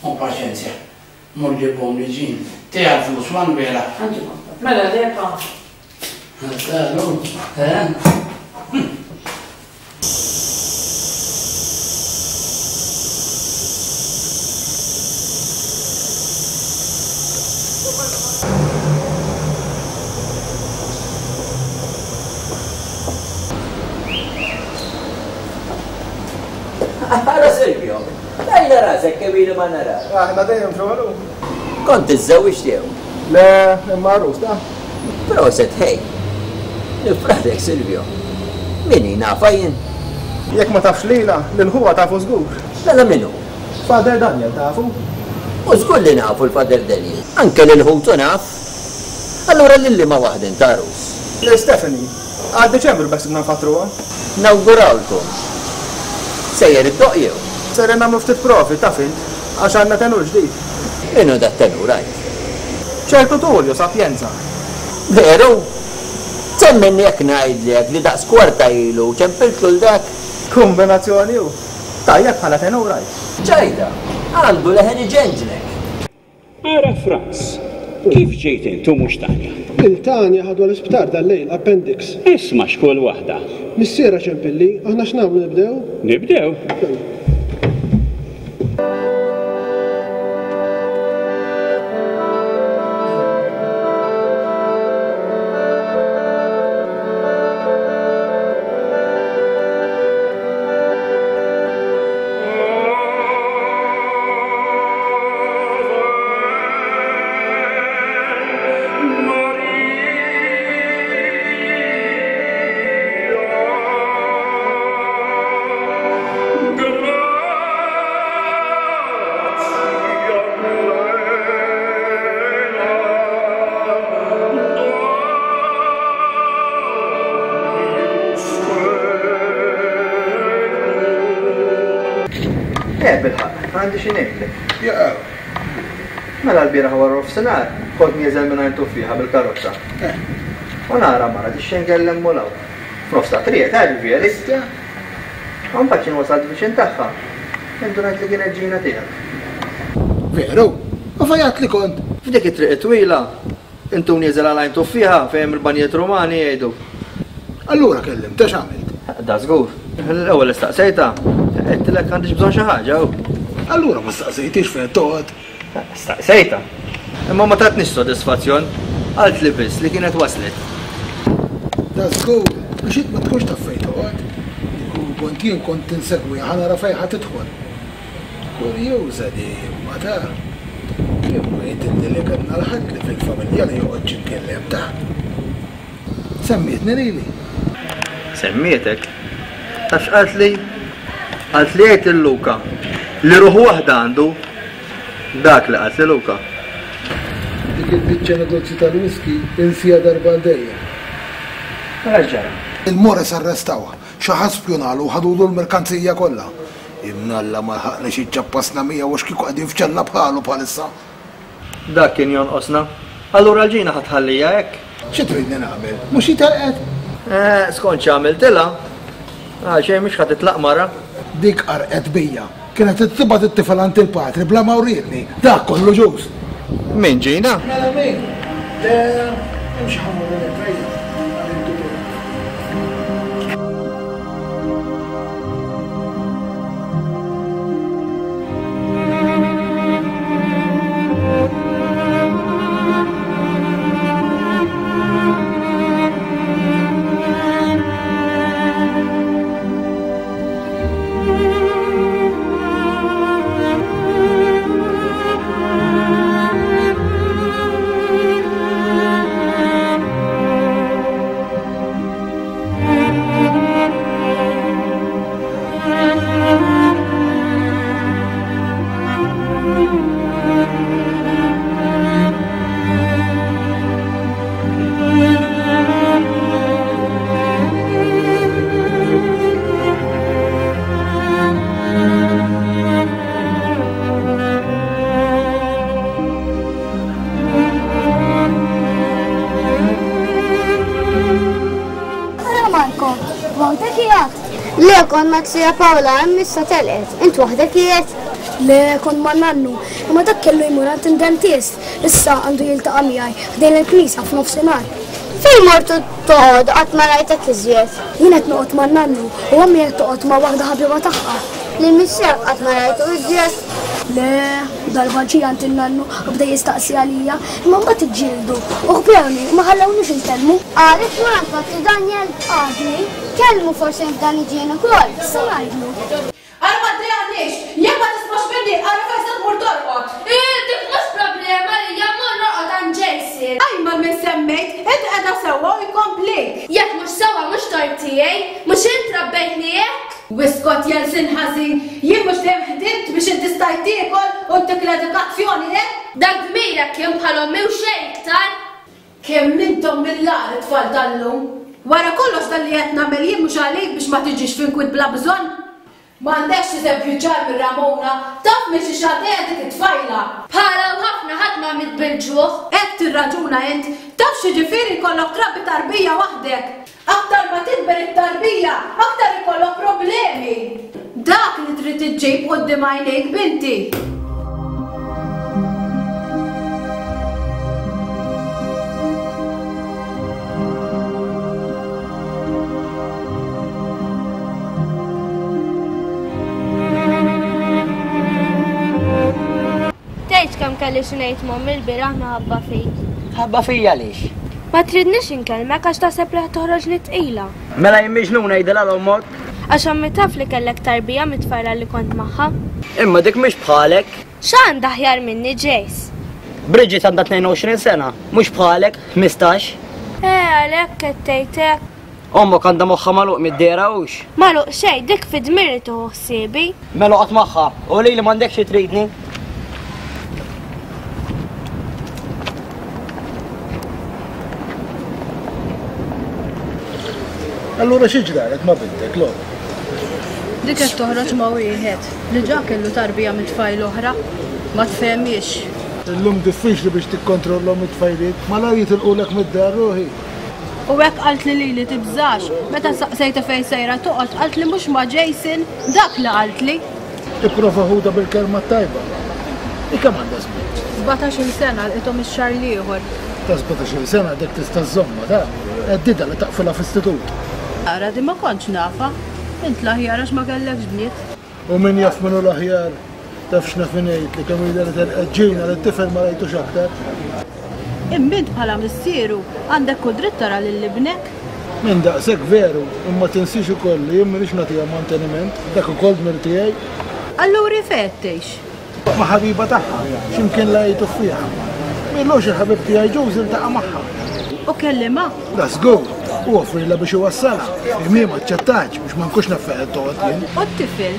Speaker 5: U paċenzja, mur ġibhom li ġin. Tiegħek flus Manuela.
Speaker 3: Mela lepa.
Speaker 5: Eh?
Speaker 6: rasek kemm ilu ma nara.
Speaker 22: Aħna dejjem xogħlu.
Speaker 6: Kont iżżewwiġt jew?
Speaker 22: Le, imma għarus ta.
Speaker 6: Proset ħej. Nifraħlek Silvio. Min hi nafha jien?
Speaker 22: Jekk ma tafx lilha, lil ħuha tafu żgur.
Speaker 6: Mela min hu?
Speaker 22: Father Daniel tafu.
Speaker 6: U żgur li nafu l-Father Daniel. Anke lil ħutu naf. Allura lil liema waħda int għarus?
Speaker 22: Lil Stephanie. Għal Diċembru beħsibna nfattruha.
Speaker 6: Nawgurawlkom. Sejjer iddoqq jew?
Speaker 22: Sejrin nagħmlu ftit provi, taf int, għax għandna tenur ġdid.
Speaker 6: Min hu dat-tenur għid?
Speaker 22: Ċertu Tullio Sapienza.
Speaker 6: Veru? Temmen jekk ngħidlek li daqs kwarta ilu ċempiltlu l dak?
Speaker 22: Kombinazzjoni hu. Tajjeb bħala tenur għid.
Speaker 6: Ċajta, għandu leħen iġenġnek.
Speaker 14: Ara Franz, kif ġejt int u mhux Tanja?
Speaker 17: Il Tanja ħadwa l-isptar dal-lejl, appendix.
Speaker 14: Isma' x'kull waħda.
Speaker 17: Missierha ċempilli, aħna x'nagħmlu nibdew?
Speaker 14: Nibdew?
Speaker 2: Eh, bilħaqq, għandi xi ngħidlek. Mela l-bieraħ wara nofsinhar kont nieżel minn għajn tuffieħa bil-karozza. U nara mara tixxengel 'l hemm u 'l hawn. F'nofs ta' triq, ta' ġifieri. U mbagħad x'inhu wasalt viċin tagħha, indunajt li kienet ġina tiegħek.
Speaker 1: Veru? U fejn li kont?
Speaker 2: F'dik it-triq it-twila, intu nieżel għal għajn tuffieħa fejn hemm il-banjiet Rumani jgħidu.
Speaker 1: Allura kellimtha x'għamilt?
Speaker 2: Da żgur. L-ewwel istaqsejtha, għedtilek għandix bżonn xi ħaġa u.
Speaker 1: Allura ma staqsejtix fejn toqgħod?
Speaker 2: Staqsejtha. Imma ma tatnix sodisfazzjon. Qaltli biss li kienet waslet.
Speaker 1: Da żgur, biex int ma tkunx taf fejn toqgħod. Kieku kont jien kont insegwiha ħa nara fejn ħa tidħol. Kurjuża di imma ta. Imma jidhirli li kellna l-ħadd li fil-familja li joqgħod x'imkien 'l hemm taħt. Semmietni lili.
Speaker 2: Semmietek? Taf x'qaltli? Qaltli għid lil Luca li ruħ waħda għandu. Dak li qaltli Luca.
Speaker 1: Dik il-biċċa negozju tal-whisky insieha darba għal dejjem.
Speaker 2: Mela x'ġara?
Speaker 1: Il-Mores arrestawha, xi ħadd spjunalu u ħadulu l-merkanzija kollha. Imnalla ma lħaqniex iċċappasna miegħu għax kieku qegħdin f'ċella bħalu bħalissa.
Speaker 2: Dak kien jonqosna. Allura l-ġina ħa tħallija hekk?
Speaker 1: Xi tridni nagħmel? Mhux hi telqet?
Speaker 2: Eh, skont x'għamiltilha. Għal xejn mhux ħa titlaq mara.
Speaker 1: Dik qarqet bija. Kienet tibgħat it-tifel għand il-patri bla ma wrietni. Dak kollu ġuż.
Speaker 2: Min ġina?
Speaker 1: Mela min? Le, imxi ħa mmorru nittrejja.
Speaker 10: Le, kont ma' Zija Paola, hemm issa telqet. Int waħdek qiegħed?
Speaker 24: Le, kont ma' nannu. Imma dak kellu jmur għand id-dentist. Issa għandu jiltaqa' miegħi ħdejn il-knisja f'nofsinhar.
Speaker 10: Fejn mortu toqgħod qatt ma rajtek iżjed?
Speaker 24: Jien qed noqgħod ma' nannu u ommi qed toqgħod ma' waħda ħabiba tagħha.
Speaker 10: Lil missierek qatt ma rajtu iżjed?
Speaker 24: Le, darba ġie għand in-nannu u bda jistaqsi għalija, imma mbagħad iġġieldu u ħbewni u ma ħallewniex inkellmu.
Speaker 10: Għarif ma Patri Daniel?
Speaker 24: Għadni.
Speaker 10: Kellmu forsi f'dan iġien ukoll.
Speaker 24: Issa ngħidlu.
Speaker 25: Ara ma ddejjaqniex, jekk ma tismax minni
Speaker 9: Oskot jelsin ħażin, jien mhux dejjem ħdimt biex inti stajt tiekol u ntik l-edukazzjoni, eh?
Speaker 20: Dak dmirek kien bħal ommi u xejn iktar.
Speaker 9: Kemm intom mill-agħar it-tfal tal-lum. Wara kollox dan li qed nagħmel jien mhux għalik biex ma tiġix f'inkwiet bla bżonn. M'għandekx eżempju ċar minn Ramona, taf minn xi xagħdejja dik it-tfajla.
Speaker 20: Bħala u ħafna ħadd ma miet bil-ġuħ.
Speaker 9: Hekk tirraġuna int, taf x'jiġifieri jkollok trabbi tarbija waħdek. Aktar ma tikber it-tarbija, aktar ikollok problemi. Dak li trid iġġib quddiem għajnejk binti.
Speaker 20: Tgħidx kemm kelli xi ngħid m'ommi l-bieraħ minħabba fik.
Speaker 16: Ħabba fija għaliex?
Speaker 20: Ma tridnix inkellmek għax taħseb li ħa toħroġni tqila.
Speaker 16: Mela jien miġnun ngħidilha l-ommok.
Speaker 20: Għax ommi taf li kellek tarbija mit-tfajla li kont magħha.
Speaker 16: Imma dik mhix bħalek.
Speaker 20: X'għandha aħjar minni Jace?
Speaker 16: Bridget għandha tnejn u għoxrin sena, mhux bħalek, ħmistax.
Speaker 20: Eh, għalhekk qed tgħid hekk.
Speaker 16: Ommok għandha moħħha magħluq mid-dehra hux?
Speaker 20: Magħluq xejn, dik fi dmiri tieħu ħsiebi.
Speaker 16: Mela oqgħod magħha, u lili m'għandekx xi tridni.
Speaker 1: Allura xi ġralek ma' bintek, Lora?
Speaker 9: Dik qed toħroġ ma' wieħed li ġa kellu tarbija minn tfajl oħra, ma tfehmiex.
Speaker 1: Illum diffiċli biex tikkontrollhom it-tfajliet, malajr jitilqulek mid-dar ruħi.
Speaker 9: U hekk qaltli lili tibżax, meta saqsejtha fejn sejra toqgħod qaltli mhux ma' Jason, dak li qaltli.
Speaker 1: Ipprova ħuda bil-kelma t-tajba. I kemm għandha żmien?
Speaker 9: Sbatax-il sena lqithom ix-xahar l-ieħor.
Speaker 1: Ta' sbatax-il sena dik tista' żżommha, ta' għeddidha li taqfilha f'istitut.
Speaker 9: Ara di ma kontx nafa. Int l-aħjar għax ma kellekx bniet.
Speaker 1: U min jaf min hu l-aħjar? Taf x'naf ngħid li kemm ilha li telqet ġejna li t-tifel ma rajtux aktar.
Speaker 9: Imma int bħala missieru għandek kull dritt tara lil ibnek.
Speaker 1: Minn daqshekk veru, imma tinsiex ukoll li jien m'iniex nagħtiha manteniment, dak ukoll dmir tiegħi.
Speaker 9: Allura fejn qed tgħix?
Speaker 1: Ma' ħabiba tagħha, x'imkien la jgħidu fiha. M'ilux il-ħabib tiegħi Ġuż iltaqa' magħha.
Speaker 9: U kellimha?
Speaker 1: Da żgur, u offrilha biex iwassalha. Imma hi ma aċċettatx biex ma nkunx naf fejn qed toqgħod jien.
Speaker 9: U t-tifel?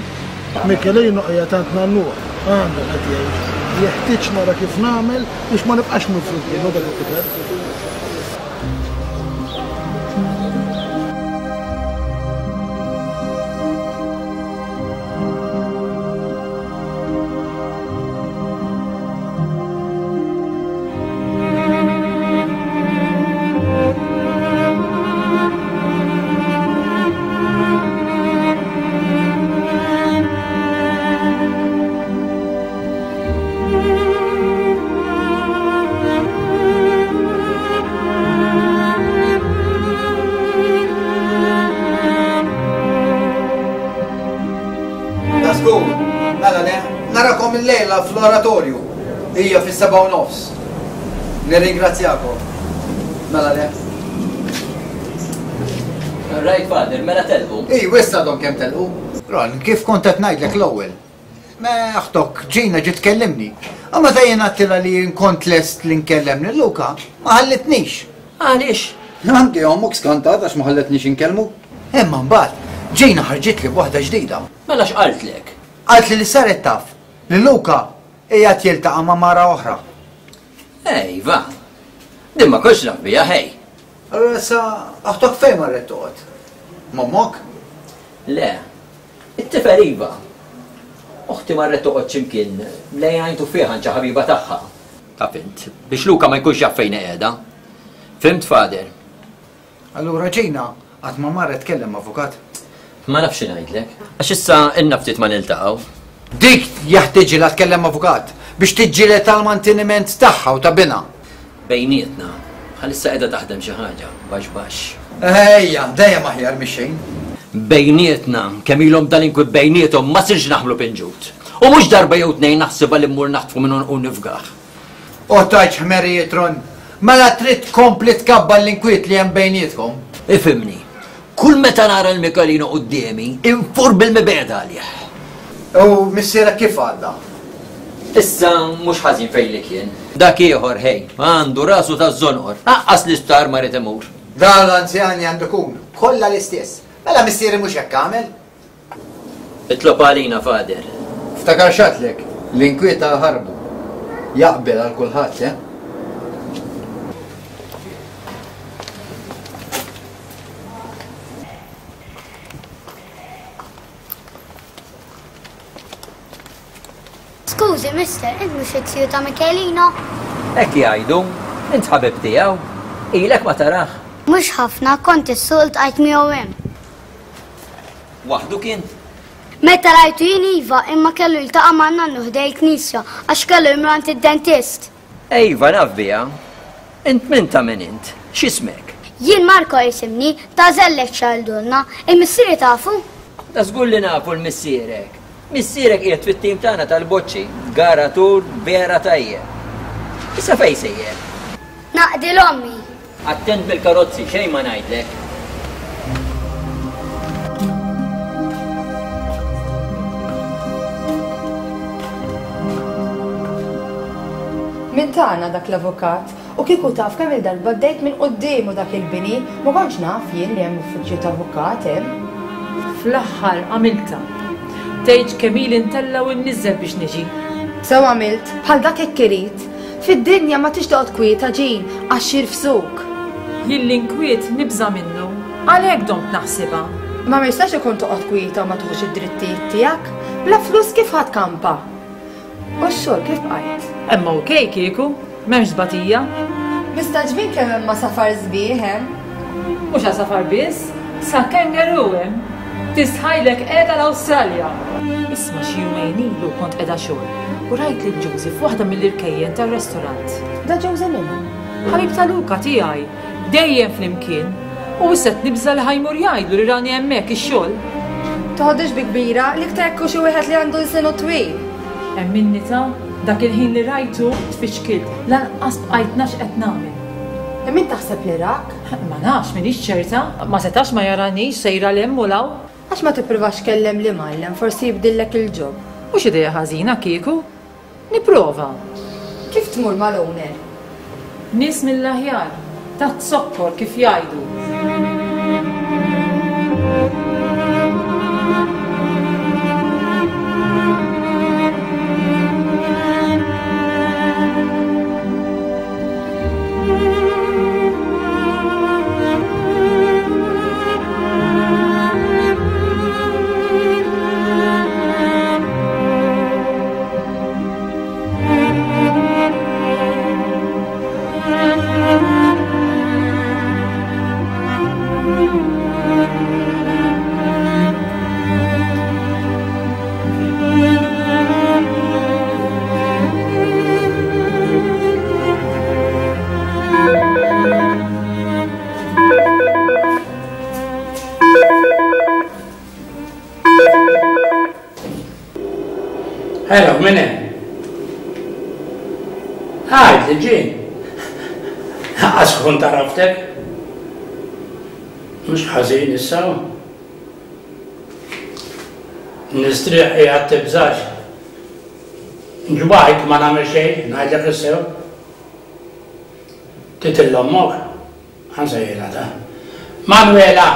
Speaker 1: Michelino qiegħed għand nannuh, għandu qed jgħix. Jeħtieġ nara kif nagħmel biex ma nibqax mifrud minnu dak it-tifel.
Speaker 18: Narakom il-lejla fl-oratorju. Hija fis-seba' u nofs. Nirringrazzjakom. Mela le.
Speaker 6: Right, father, mela telqu.
Speaker 18: Ej, wissa għadhom kemm telqu. Ron, kif kont qed ngħidlek l-ewwel? Me aħtok, Ġina ġiet tkellimni. U meta jien għedtilha li jien kont lest li nkellem lil Luka, ma ħallitnix.
Speaker 6: Għaliex?
Speaker 18: Anki ommok skantat għax ma ħalletnix inkellmu. Imma mbagħad Ġina ħarġitli b'waħda ġdida.
Speaker 6: Mela x'qaltlek?
Speaker 18: Qaltli li saret taf li Luka qiegħed jiltaqa' ma' mara oħra.
Speaker 6: Ej, va. Din ma kontx naf biha, ħej.
Speaker 18: Allura issa aħtok fejn marret toqgħod? M'ommok?
Speaker 6: Le. It-tifel iva. Oħti marret toqgħod x'imkien lejn għajn tuffieħa għand xi ħabiba tagħha. Taf int, biex Luka ma jkunx jaf fejn qiegħda. Fimt, father?
Speaker 18: Allura Ġina qatt ma marret tkellem avukat?
Speaker 6: Ma nafx xi ngħidlek, għax issa ilna ftit ma niltaqgħu.
Speaker 18: Dik jeħtieġilha tkellem avukat biex tiġġieled għall-manteniment tagħha u ta' binha.
Speaker 6: Bejnietna, bħalissa qiegħda taħdem xi ħaġa, baxx baxx.
Speaker 18: Ejja, dejjem aħjar mix-xejn.
Speaker 6: Bejnietna, kemm ilhom dal-inkwiet bejniethom ma sirx naħmlu pinġut. U mhux darba jew tnejn naħsibha li mmur naħtfu minn u nifgah.
Speaker 18: U tajtx ħmerijiet Ron, mela trid tkompli tkabbar l-inkwiet li hemm bejnietkom.
Speaker 6: Ifhimni, kull meta nara l-Michelino quddiemi, infur bil-mibegħda għalih.
Speaker 18: U missierek kif għadda?
Speaker 6: Issa mhux ħażin fejn li kien. Dak ieħor ħej, għandu rasu taż-żonqor, aqqas l-isptar ma rid imur.
Speaker 18: Dan l-anzjani għandu jkun kollha l-istess. Mela missieri mhux hekk għamel.
Speaker 6: Itlob għalina, Father.
Speaker 18: Ftakar x'għedtlek, l-inkwiet ħarbu. Jaqbel għal kulħadd, eh?
Speaker 10: Skużi, mister, int mhux it-tiju ta' Michelino?
Speaker 6: Hekk jgħidu, int ħabib tiegħu. Ilek ma tarah.
Speaker 10: Mhux ħafna, kont is-suq ltqajt miegħu hemm.
Speaker 6: Waħdu kien?
Speaker 10: Meta rajtu jien iva, imma kellu jiltaqa' ma' nannu ħdej il-knisja għax kellu jmur għand id-dentist.
Speaker 6: Ejva, naf biha. Int min ta' min int? X'ismek?
Speaker 10: Jien Marco jisimni, ta' żellek xaldulna, il-missieri tafu?
Speaker 6: Ta' żgur li nafu l-missierek. Missierek qiegħed fit-tim tagħna tal-boċċi, garatur vera tajjeb. Issa fejn sejjer?
Speaker 10: Naqdi l-ommi.
Speaker 6: Attent bil-karozzi, xejn ma ngħidlek.
Speaker 11: Min tagħna dak l-avukat, u kieku taf kemm il-darba għaddejt minn quddiemu dak il-bini, ma kontx naf jien li hemm uffiċċju ta' avukat hemm.
Speaker 3: Fl-aħħar għamiltha. Tgħidx kemm ili ntella' u nniżżel biex niġi.
Speaker 11: Sew għamilt, bħal dak hekk irid. Fid-dinja ma tix toqgħod kwieta ġin għax jirfsuk.
Speaker 3: Jien l-inkwiet nibża' minnu, għalhekk domt naħsibha.
Speaker 11: Ma ma jistax ikun toqgħod kwieta u ma tieħux id-drittijiet tiegħek. Bla flus kif ħadd kampa? U x-xogħol kif bqajt?
Speaker 3: Hemm okej kieku, m'hemmx tbatija.
Speaker 11: Mistagħġbin kemm hemm għasafar sbieħ hemm.
Speaker 3: Mhux għasafar biss, sa kangaroo hemm. Tistħajlek qiegħda l-Awstralja. Isma' xi jumejn ilu kont qiegħda xogħol u rajt lil Josie f'waħda mill-irkejjen tar-restorant.
Speaker 11: Da Josie min hu?
Speaker 3: Ħabib ta' Luca tiegħi, dejjem flimkien. U issa qed nibża' li ħajmur jgħidlu li rani hemmhekk ix-xogħol.
Speaker 11: Toħodix bi kbira, l-iktar hekk hu xi wieħed li għandu lsienu twil.
Speaker 3: Hemm minni ta' dak il-ħin li rajtu tfixkilt, lanqas bqajt naf x'qed nagħmel.
Speaker 11: E min taħseb li rak?
Speaker 3: Ma nafx, m'iniex ċerta, ma setax ma jaranix sejra 'l hemm u 'l hawn.
Speaker 11: Għax ma tippruvax kellem li mgħallem, forsi jibdillek il-ġob.
Speaker 3: Mhux idea ħażina kieku. Nipprova.
Speaker 11: Kif tmur mal-owner?
Speaker 3: Nies mill-aħjar, ta' zokkor kif jgħidu.
Speaker 5: Hello, min hemm? Għajd li ġie. Għas kont għaraftek. Mhux ħażin issa. Nistrieħ qiegħed tibżax. Ġbajt ma nagħmel xejn, ngħidlek is-sew. Titil ommok. Ħansejjilha ta. Manuela,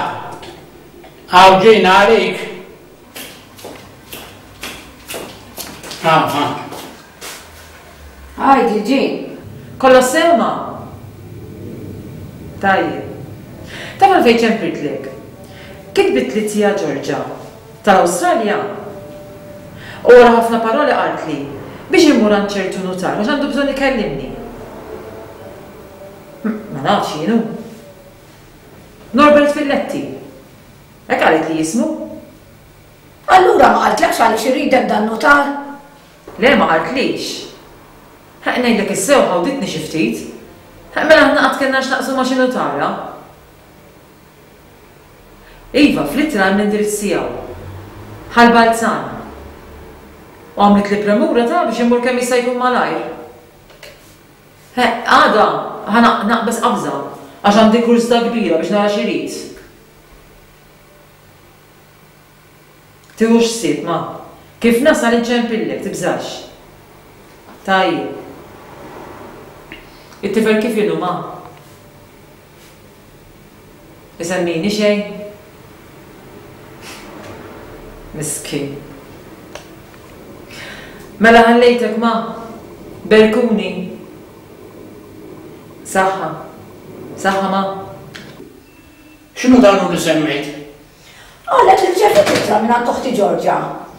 Speaker 5: hawn ġejna għalik.
Speaker 3: Għajdi, ġin. Kollox sew ma? Tajjeb. Taf għalfejn ċempiltlek? Kitbit li tija Ġorġa tal-Awstralja. U wara ħafna paroli qaltli biex immur għand ċertu nutar għax għandu bżonn ikellimni. Ma nafx jienu. Norbert Filletti. Hekk qalet li jismu.
Speaker 4: Allura ma qaltlekx għaliex iridek dan nutar?
Speaker 3: Le, ma qaltlix. Ħa ngħidlek is-sew ħawditni xi ftit. Mela aħna qatt kellna x'naqsmu ma' xi nutara. Iva, fl-ittra hemm l-indirizz tiegħu. Ħal Balzan. U għamlet li premura ta' biex immur kemm jista' jkun malajr. Għada ħa naqbeż qabża għax għandi kurżità kbira biex nara x'irid. Tiħux ħsieb, ma. Kif nasal inċempillek, tibżax. Tajjeb. It-tifel kif inhu, ma? Isemmini xejn? Miskin. Mela ħallejtek ma. Berkuni. Saħħa. Saħħa ma.
Speaker 5: X'inhu dan li semmejt?
Speaker 4: Qalet li rċeviet ittra mingħand oħti Ġorġa.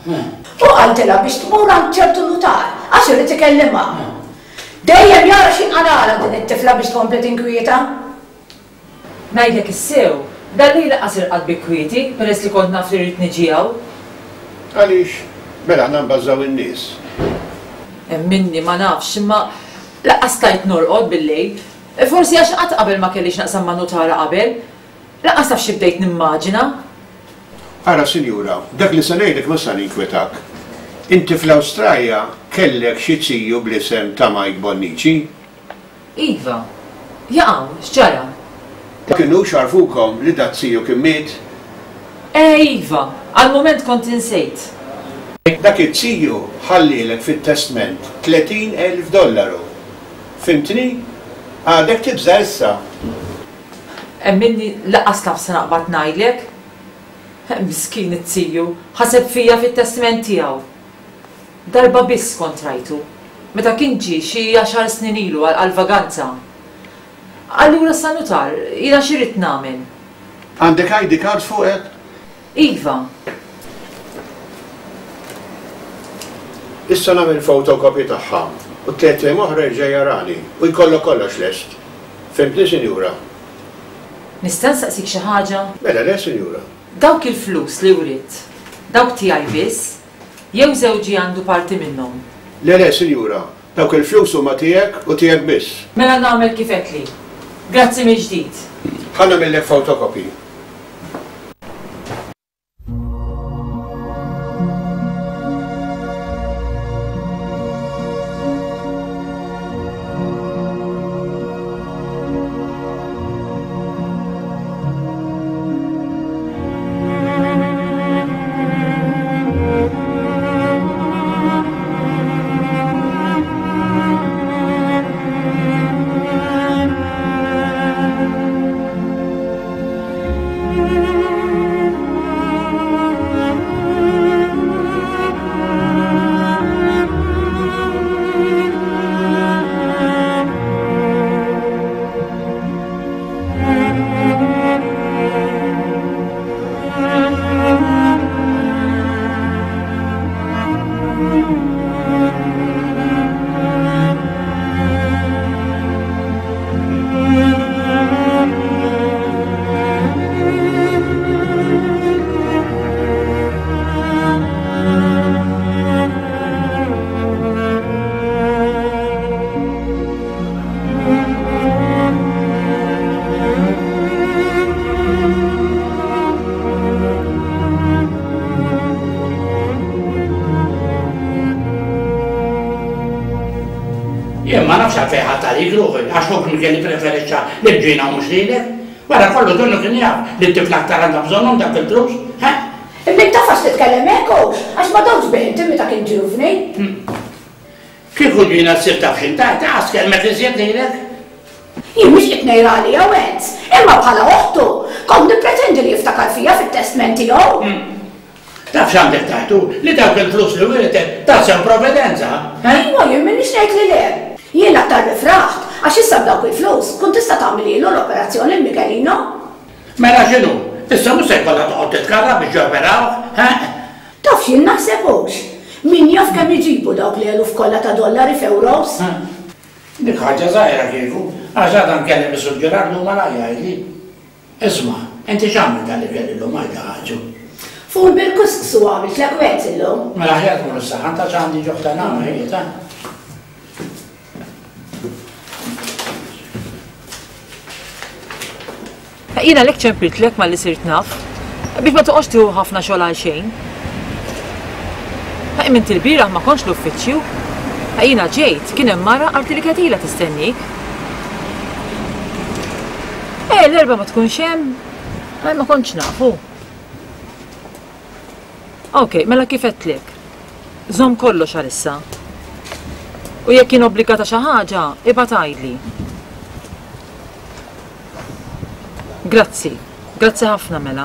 Speaker 4: U qaltilha biex tmur għand ċertu nutar għax irid ikellimha. Dejjem jara x'inqalgħalha din it-tifla biex tkompli tinkwieta.
Speaker 3: Ngħidlek is-sew, dal-lejl lanqas irqadt bi kwieti peress li kont naf li rrid niġi hawn.
Speaker 7: Għaliex? Mela aħna nbażżaw in-nies.
Speaker 3: Minni ma nafx, imma lanqas stajt norqod bil-lejl. Forsi għax qatt qabel ma kellix naqsam ma' nutara qabel. Lanqas taf xi bdejt nimmaġina.
Speaker 7: Ara sinjura, dak li se ngħidlek ma sa ninkwetak. Inti fl-Awstralja kellek xi ziju bl-isem ta' Mike Bonnici?
Speaker 3: Iva. Jaqaw, x'ġara?
Speaker 7: Kinux għarfukom li dat ziju kien miet?
Speaker 3: Eh iva, għal-mument kont insejt.
Speaker 7: Dak it-ziju ħallielek fit-testment tletin elf dollaru. Fimtni? Għadek tibża' issa.
Speaker 3: Emminni lanqas taf se naqbad ngħidlek. Miskin it-ziju, ħaseb fija fit-testment tiegħu. Darba biss kont rajtu, meta kien ġie xi għaxar snin ilu għal-vaganza. Allura sa nutar, jiena xi rrid nagħmel?
Speaker 7: Għandek I D card fuqek?
Speaker 3: Iva.
Speaker 7: Issa nagħmel fotokopji tagħha u tliet ijiem oħra jerġa' jarani u jkollok kollox lest. Fimtni, sinjura?
Speaker 3: Nista' nsaqsik xi ħaġa?
Speaker 7: Mela le, sinjura.
Speaker 3: Dawk il-flus li writt, dawk tiegħi biss, jew żewġi għandu parti minnhom?
Speaker 7: Le, le, sinjura, dawk il-flus huma tiegħek u tiegħek biss.
Speaker 3: Mela nagħmel kif għedtli. Grazzi mill-ġdid.
Speaker 7: Ħa nagħmillek fotokopji.
Speaker 5: Jien ma nafx għalfejn ħadd għalik ruħi, għax ħuk kien ippreferixxa li ġina u mhux lilek. Wara kollu donnu kien jaf li t-tifla aktar għandha bżonnhom dak il-flus, ha?
Speaker 4: Imma taf għax titkellem hekk hux, għax ma dawx bih inti meta kien ġuvni.
Speaker 5: Kieku ġina ssir taf x'int tgħid, għas kelmek iżjed lilek.
Speaker 4: Jien mhux qed ngħid għalija Wenz, imma bħala oħtu kont nippretendi li jiftakar fija fit-testment tiegħu.
Speaker 5: Taf x'għandek taħtu li dawk il-flus li wirtet tassew provvidenza, eh?
Speaker 4: Iva, jien m'iniex ngħid li le. Jien aktar rifraħt għax issa b'dawk il-flus kont tista' tagħmel l-operazzjoni l Michelino.
Speaker 5: Mela x'inhu? Issa mhux se jkollha toqgħod titkarra biex joperaw, eh?
Speaker 4: Taf x'jien naħseb hux. Min jaf kemm iġibu dawk li eluf kollha ta' dollari f'euros?
Speaker 5: Dik ħaġa żgħira kieku, għax għadha nkellem is-Sur Gerardu malajja jgħidli. Isma', inti x'għamilt dan li kelli llum għajda ħaġu?
Speaker 4: Ful bil-kusqsu għamilt lek wet illum.
Speaker 5: Mela aħjar tmur is-saħan ta' x'għandi ġuħ ta' nagħmel ħejja ta'.
Speaker 3: Jiena lek ċempiltlek malli sirt naf, biex ma toqgħodx tieħu ħafna xogħol għal xejn. Imma inti l-bieraħ ma kontx l-uffiċċju. Jiena ġejt, kien hemm mara qalti li kienet ilha tistennik. Eh, l-erba' ma tkunx hemm? Eh, ma kontx nafu. Ok, mela kif għedtlek? Żomm kollox għalissa. U jekk jien obbligata xi ħaġa, ibgħat għidli. Grazzi, grazzi ħafna mela.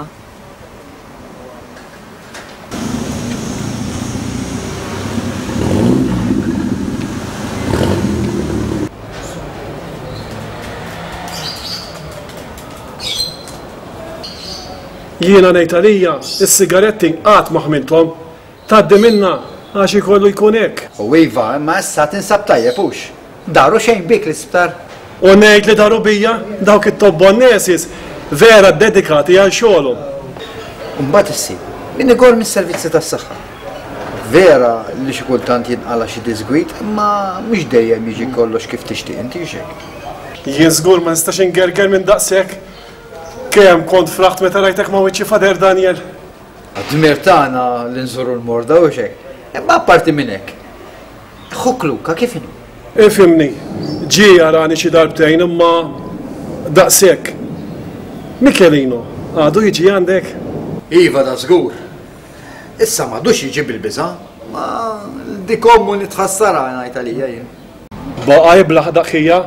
Speaker 12: Jiena ngħid għalija, is-sigaretti qatt ma ħmilthom. Tgħaddi minnha għax ikollu jkun hekk.
Speaker 18: U iva, imma issa tinsab tajjeb hux. Daru xejn bik l-isptar.
Speaker 12: U ngħid li daru bija dawk it-tobba nurses vera dedikati għal xogħolhom.
Speaker 18: Imbagħad issib min igor mis-servizzi tas-saħħa. Vera li xi kultant jinqala xi disgwid, imma mhux dejjem jiġi kollox kif tixtieq inti xejn.
Speaker 12: Jien żgur ma nistax ingerger minn daqshekk. Kemm kont fraħt meta rajtek ma' wiċċi Fader Daniel.
Speaker 18: Dmir tagħna li nżuru l-morda u xejn. Imma apparti minn hekk. Ħuk Luka kif inhu?
Speaker 12: Ifhimni, ġie jarani xi darbtejn imma daqshekk. Michelino, għadu jiġi għandek?
Speaker 18: Iva da żgur. Issa m'għadux jiġi bil-biża', ma dik ommu nitħassarha ngħid għalija jien.
Speaker 12: Baqa' jiblaħ daqħija,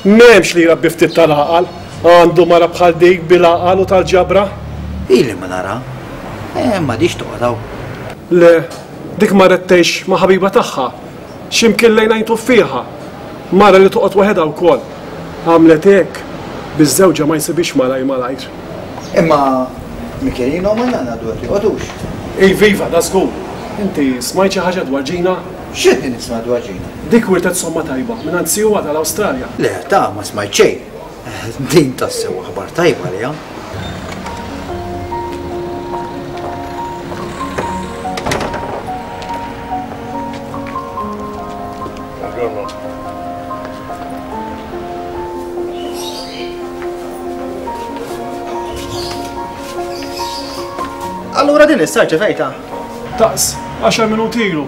Speaker 12: m'hemmx li jrabbi ftit tal-għaqal, għandu mara bħal dik bil-għaqal u tal-ġabra.
Speaker 18: Ili ma nara, eh, m'għadix toqgħod hawn.
Speaker 12: Le, dik marret tgħix ma' ħabiba tagħha, x'imkien lejn għajn tuffieħa. Mara li toqgħod waħedha wkoll. Għamlet hekk biex żewġha ma jsibix malajr malajr.
Speaker 18: Imma Michelino ma nagħna dwar joqgħodux.
Speaker 12: Iva, iva, da żgur. Inti smajt xi ħaġa dwar Ġina?
Speaker 18: X'qed nisma' dwar Ġina?
Speaker 12: Dik wirtet somma tajba mingħand siwa tal-Awstralja.
Speaker 18: Le, ta' ma smajt xejn. Din tassew aħbar tajba għaliha.
Speaker 22: Allura din issa rċevejta?
Speaker 12: Daqs, għaxar minuti ilu.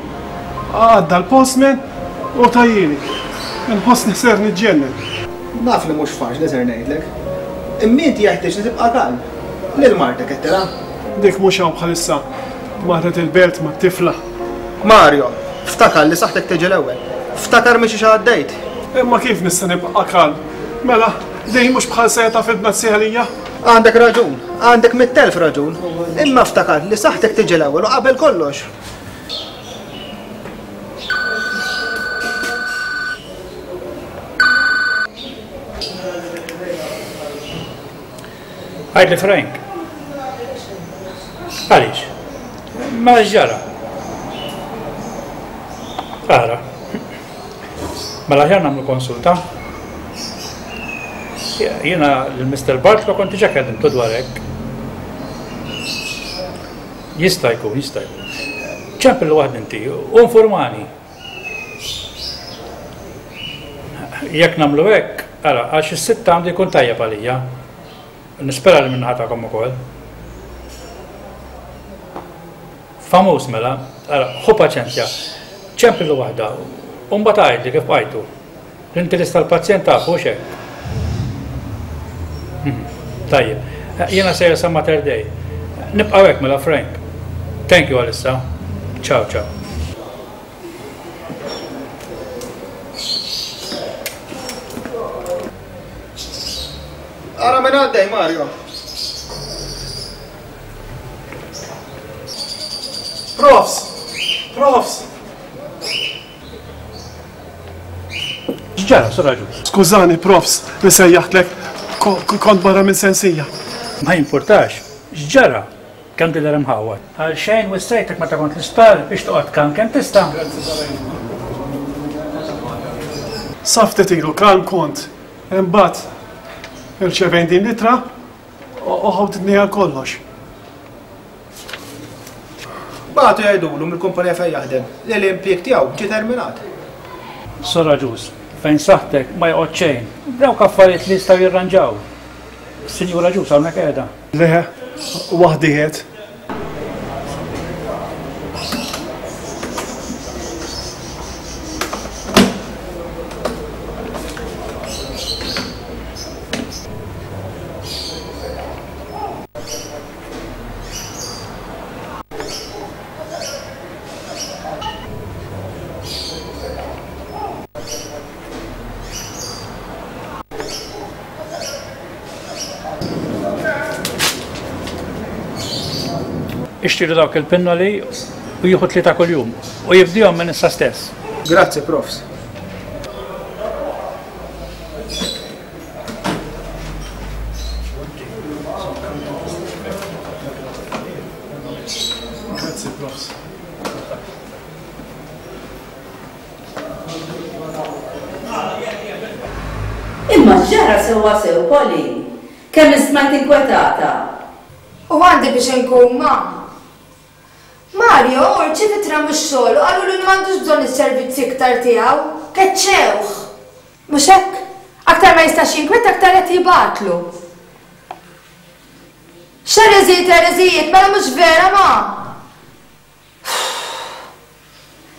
Speaker 12: Għadda l-postman u tajjini. Inħossni ser niġġennen.
Speaker 22: Naf li mhux faċli ser ngħidlek. Imma inti jeħtieġ li tibqa' kalm. Lil martek qed tilha.
Speaker 12: Dik mhux hawn bħalissa. Marret il-belt mat-tifla.
Speaker 22: Mario, ftakar li saħħtek tiġi l-ewwel. Ftakar minn xi għaddejt.
Speaker 12: Imma kif nista' nibqa' kalm? Mela, din mhux bħal seta fil-bnazzi għalija?
Speaker 22: Għandek raġun, għandek mitt elf raġun. Imma ftakar li saħħtek tiġi l-ewwel u qabel kollox.
Speaker 14: Għidli Frank. Għaliex? Ma ġara. Ara. Mela aħjar nagħmlu konsulta. Jiena lil Mister Bartolo kont diġà kellimtu dwar hekk. Jista' jkun, jista' jkun. Ċempillu waħd inti u informani. Jekk nagħmlu hekk, ara, għax is-sitta għandu jkun tajjeb għalija. Nispera li minnaħa tagħkom ukoll. Famuż mela, ara, ħu paċenzja. Ċempillu waħda, u mbagħad għidli kif bqajtu. L-interess tal-pazjent tafu hekk. Tajjeb, jiena sejjer sa Mater Dei. Nibqgħu hekk mela Frank. Thank you għalissa. Ciao, ciao.
Speaker 22: Ara minn għaddej, Mario.
Speaker 12: Profs! Profs!
Speaker 14: X'ġara, Sur Agius?
Speaker 12: Skużani, profs, li sejjaħtlek. Kont barra minn sensija.
Speaker 14: Ma jimpurtax, x'ġara? Kemm tidher imħawwad. Għal xejn wissejtek meta kont l-isptar biex toqgħod kalm kemm tista'.
Speaker 12: Sa ftit ilu kalm kont. Imbagħad irċevejn din l-ittra u ħawditni għal kollox.
Speaker 22: Bagħtu jgħidulu mill-kumpanija fejn jaħdem li l-impjieg tiegħu ġie terminat.
Speaker 14: Sur Agius, fejn saħħtek ma joqgħod xejn. Dawk affarijiet li jistgħu jirranġaw. Sinjura Agius hawnhekk qiegħda.
Speaker 12: Le, waħdi qed.
Speaker 14: Ixtiru dawk il-pinnoli u jieħu tlieta kuljum u jibdihom minn issa stess.
Speaker 22: Grazzi, profs.
Speaker 13: x'ġara sewwa sew, Polly? Kemm ismajt inkwetata?
Speaker 11: U għandi biex inkun ma. Mario rċieva ittra mix-xogħol u qalulu li m'għandux bżonn is-servizzi iktar tiegħu. Keċċewh. Mhux hekk? Aktar ma jistax jinkweta aktar qed jibgħatlu. X'ereżijiet ereżijiet, mela mhux vera ma.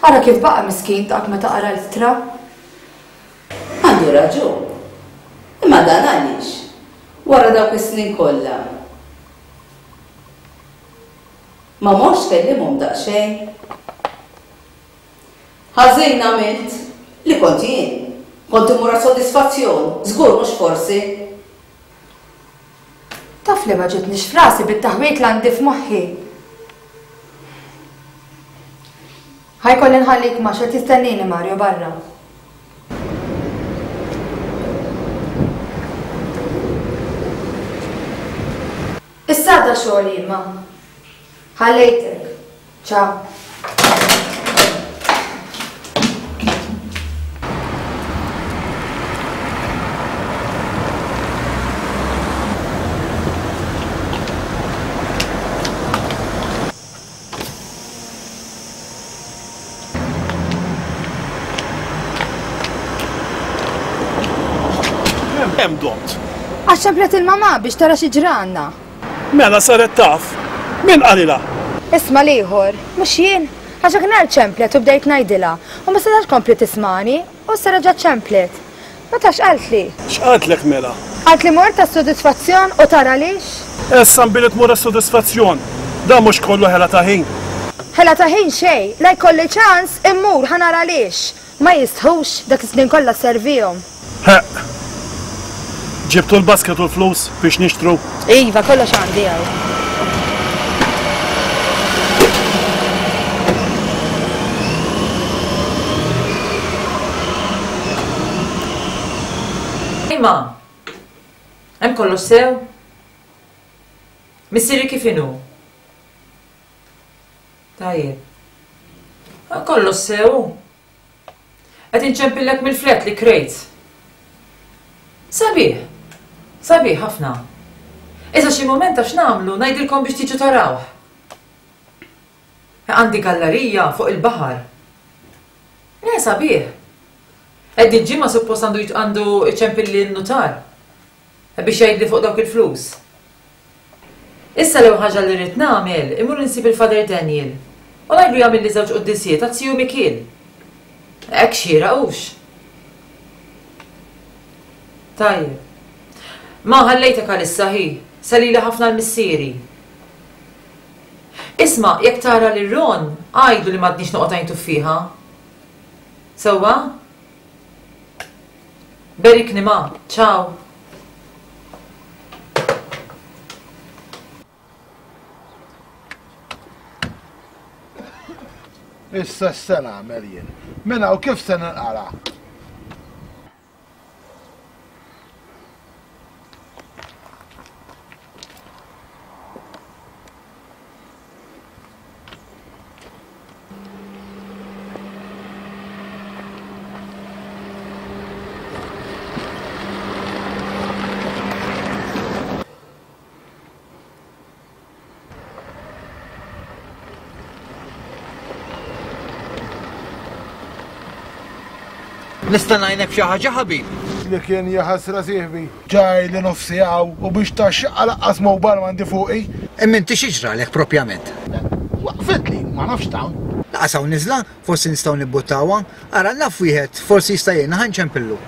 Speaker 11: Ara kif baqa' miskin dak meta qara l-ittra.
Speaker 13: Għandu raġun. Imma dan għaliex? Wara dawk is-snin kollha. Ma morx kellimhom daqsxejn. Ħażin għamilt li kont jien. Kont immur għas-sodisfazzjon, żgur mhux forsi.
Speaker 11: Taf li ma ġietnix f'rasi bit-taħwit li għandi f'moħħi. Ħa jkolli nħallik ma x'qed jistennini Mario barra. Issa għadha xogħol jien ma. Ħallejtek. Ciao.
Speaker 12: Hemm domt.
Speaker 11: Għax ċemplet il-mamà biex tara xi ġranna.
Speaker 12: Mela saret taf. Min qalilha?
Speaker 11: Isma' l-ieħor, mhux jien. Għax dak nhar ċemplet u bdejt ngħidilha u ma setax kompli tismani u issa reġgħet ċemplet. Ma tafx qaltli.
Speaker 12: X'qaltlek mela?
Speaker 11: Qaltli mort għas-sodisfazzjon u tara għaliex.
Speaker 12: Issa nbili tmur għas-sodisfazzjon. Dan mhux kollu ħela ta' ħin.
Speaker 11: Ħela ta' ħin xejn, la jkolli ċans immur ħa nara għaliex. Ma jistħux dak is-snin kollha sservihom.
Speaker 12: Ħeqq. Ġibtu l-basket u l-flus biex nixtru?
Speaker 11: Iva, kollox għandi hawn.
Speaker 3: Imma, hemm kollox sew? Missieri kif inhu? Tajjeb. Hemm kollox sew? Qed inċempillek mill-flat li krejt. Sabiħ. Sabiħ ħafna. Issa xi mument għax nagħmlu ngħidilkom biex tiġu tarawh. Għandi gallerija fuq il-baħar. Le sabiħ. Qed ġimgħa suppost għandu għandu iċempilli n-nutar biex jgħidli fuq dawk il-flus. Issa l-ewwel ħaġa li rrid nagħmel imur insib il-Father Daniel u ngħidlu jagħmilli żewġ quddisiet għat-tiju Mikiel. Hekk xieraq hux. Tajjeb. Ma ħallejtek għalissa hi, salili ħafna l-missieri. Isma', jekk tara lil Ron, għidlu li m'għadnix noqgħod għajn tuffiħa. Sewwa? Berikni ma, ciao.
Speaker 1: Issa x'se nagħmel jien? Minn hawn kif se ninqala'?
Speaker 18: Nista' ngħinek f'xi ħaġa ħabib?
Speaker 1: Li kien jaħasra sieħbi. Ġaj li nofsi hawn u biex tax-xaqqa laqqas mobile m'għandi fuqi.
Speaker 18: Imma inti xi ġralek propjament?
Speaker 1: Waqfitli, ma nafx t'hawn.
Speaker 18: Laqas hawn niżla, forsi nistgħu nibbuttawha. Ara naf wieħed, forsi jista' jgħinna ħa nċempillu.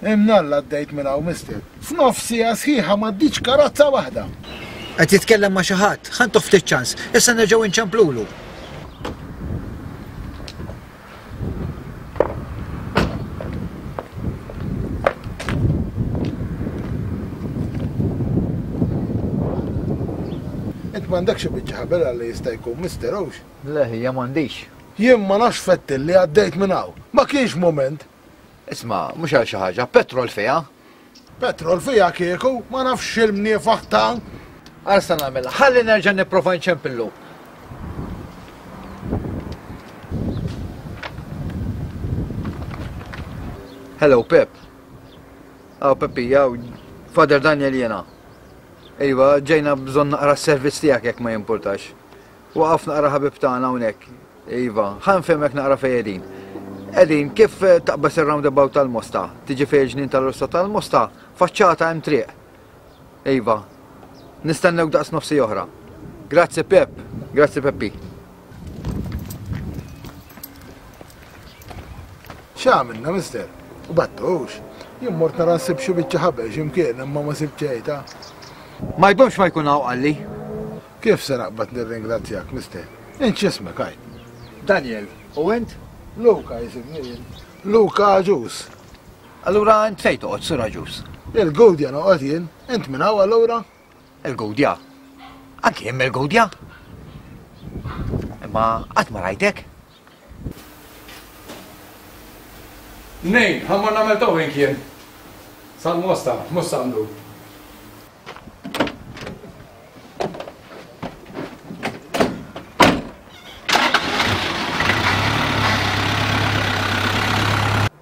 Speaker 1: Imnalla għaddejt minn hawn mister. F'nofs siegħa sħiħa m'għaddietx karozza waħda.
Speaker 18: Qed jitkellem ma' xi ħadd, ħa ntuh ftit ċans, issa nerġgħu nċemplulu.
Speaker 1: Int m'għandekx xi biċċa ħabel għal li jista' jkun mister hux?
Speaker 18: Le ħija m'għandix.
Speaker 1: Jien ma nafx fettil li għaddejt minn hawn. Ma kienx mument.
Speaker 18: Isma', mhux għal xi ħaġa, petrol fiha.
Speaker 1: Petrol fiha kieku, ma nafx x'il-mniefaħ ta'.
Speaker 18: Għal sa nagħmilha, ħalli nerġa' nipprova nċempillu. Hello, Pep. Aw, Peppi, aw, Father Daniel jena. Iva, ġejna bżonn naqra s-servizz tiegħek jekk ma jimpurtax. Waqaf naqra ħabib tagħna hawnhekk. Iva, ħa nfehmek naqra fejn qegħdin. Qegħdin kif taqbeż ir-roundabout tal-Mosta, tiġi fejn il-ġnien tal-Rossa tal-Mosta, faċċata hemm triq. Iva, nistennewk daqs nofsi oħra. Grazzi Pep, grazzi Peppi.
Speaker 1: X'għamilna, mister? U battux. Jien mort nara nsib xi biċċa ħabel x'imkien imma ma sibt xejn ta'.
Speaker 18: Ma jdumx ma jkun hawn qalli.
Speaker 1: Kif se naqbad nirringrazzjak, mister? Int x'ismek għid?
Speaker 18: Daniel, u int?
Speaker 1: Luka jisimni jien. Luka Agius.
Speaker 18: Allura int fejn toqgħod, Sur Agius?
Speaker 1: Il-Gudja noqgħod jien. Int minn hawn allura?
Speaker 18: Il-Gudja? Anki jien mill-Gudja? Imma qatt ma rajtek.
Speaker 8: Nejn, ħammar nagħmel towing jien. Sal-Mosta, mhux sandu.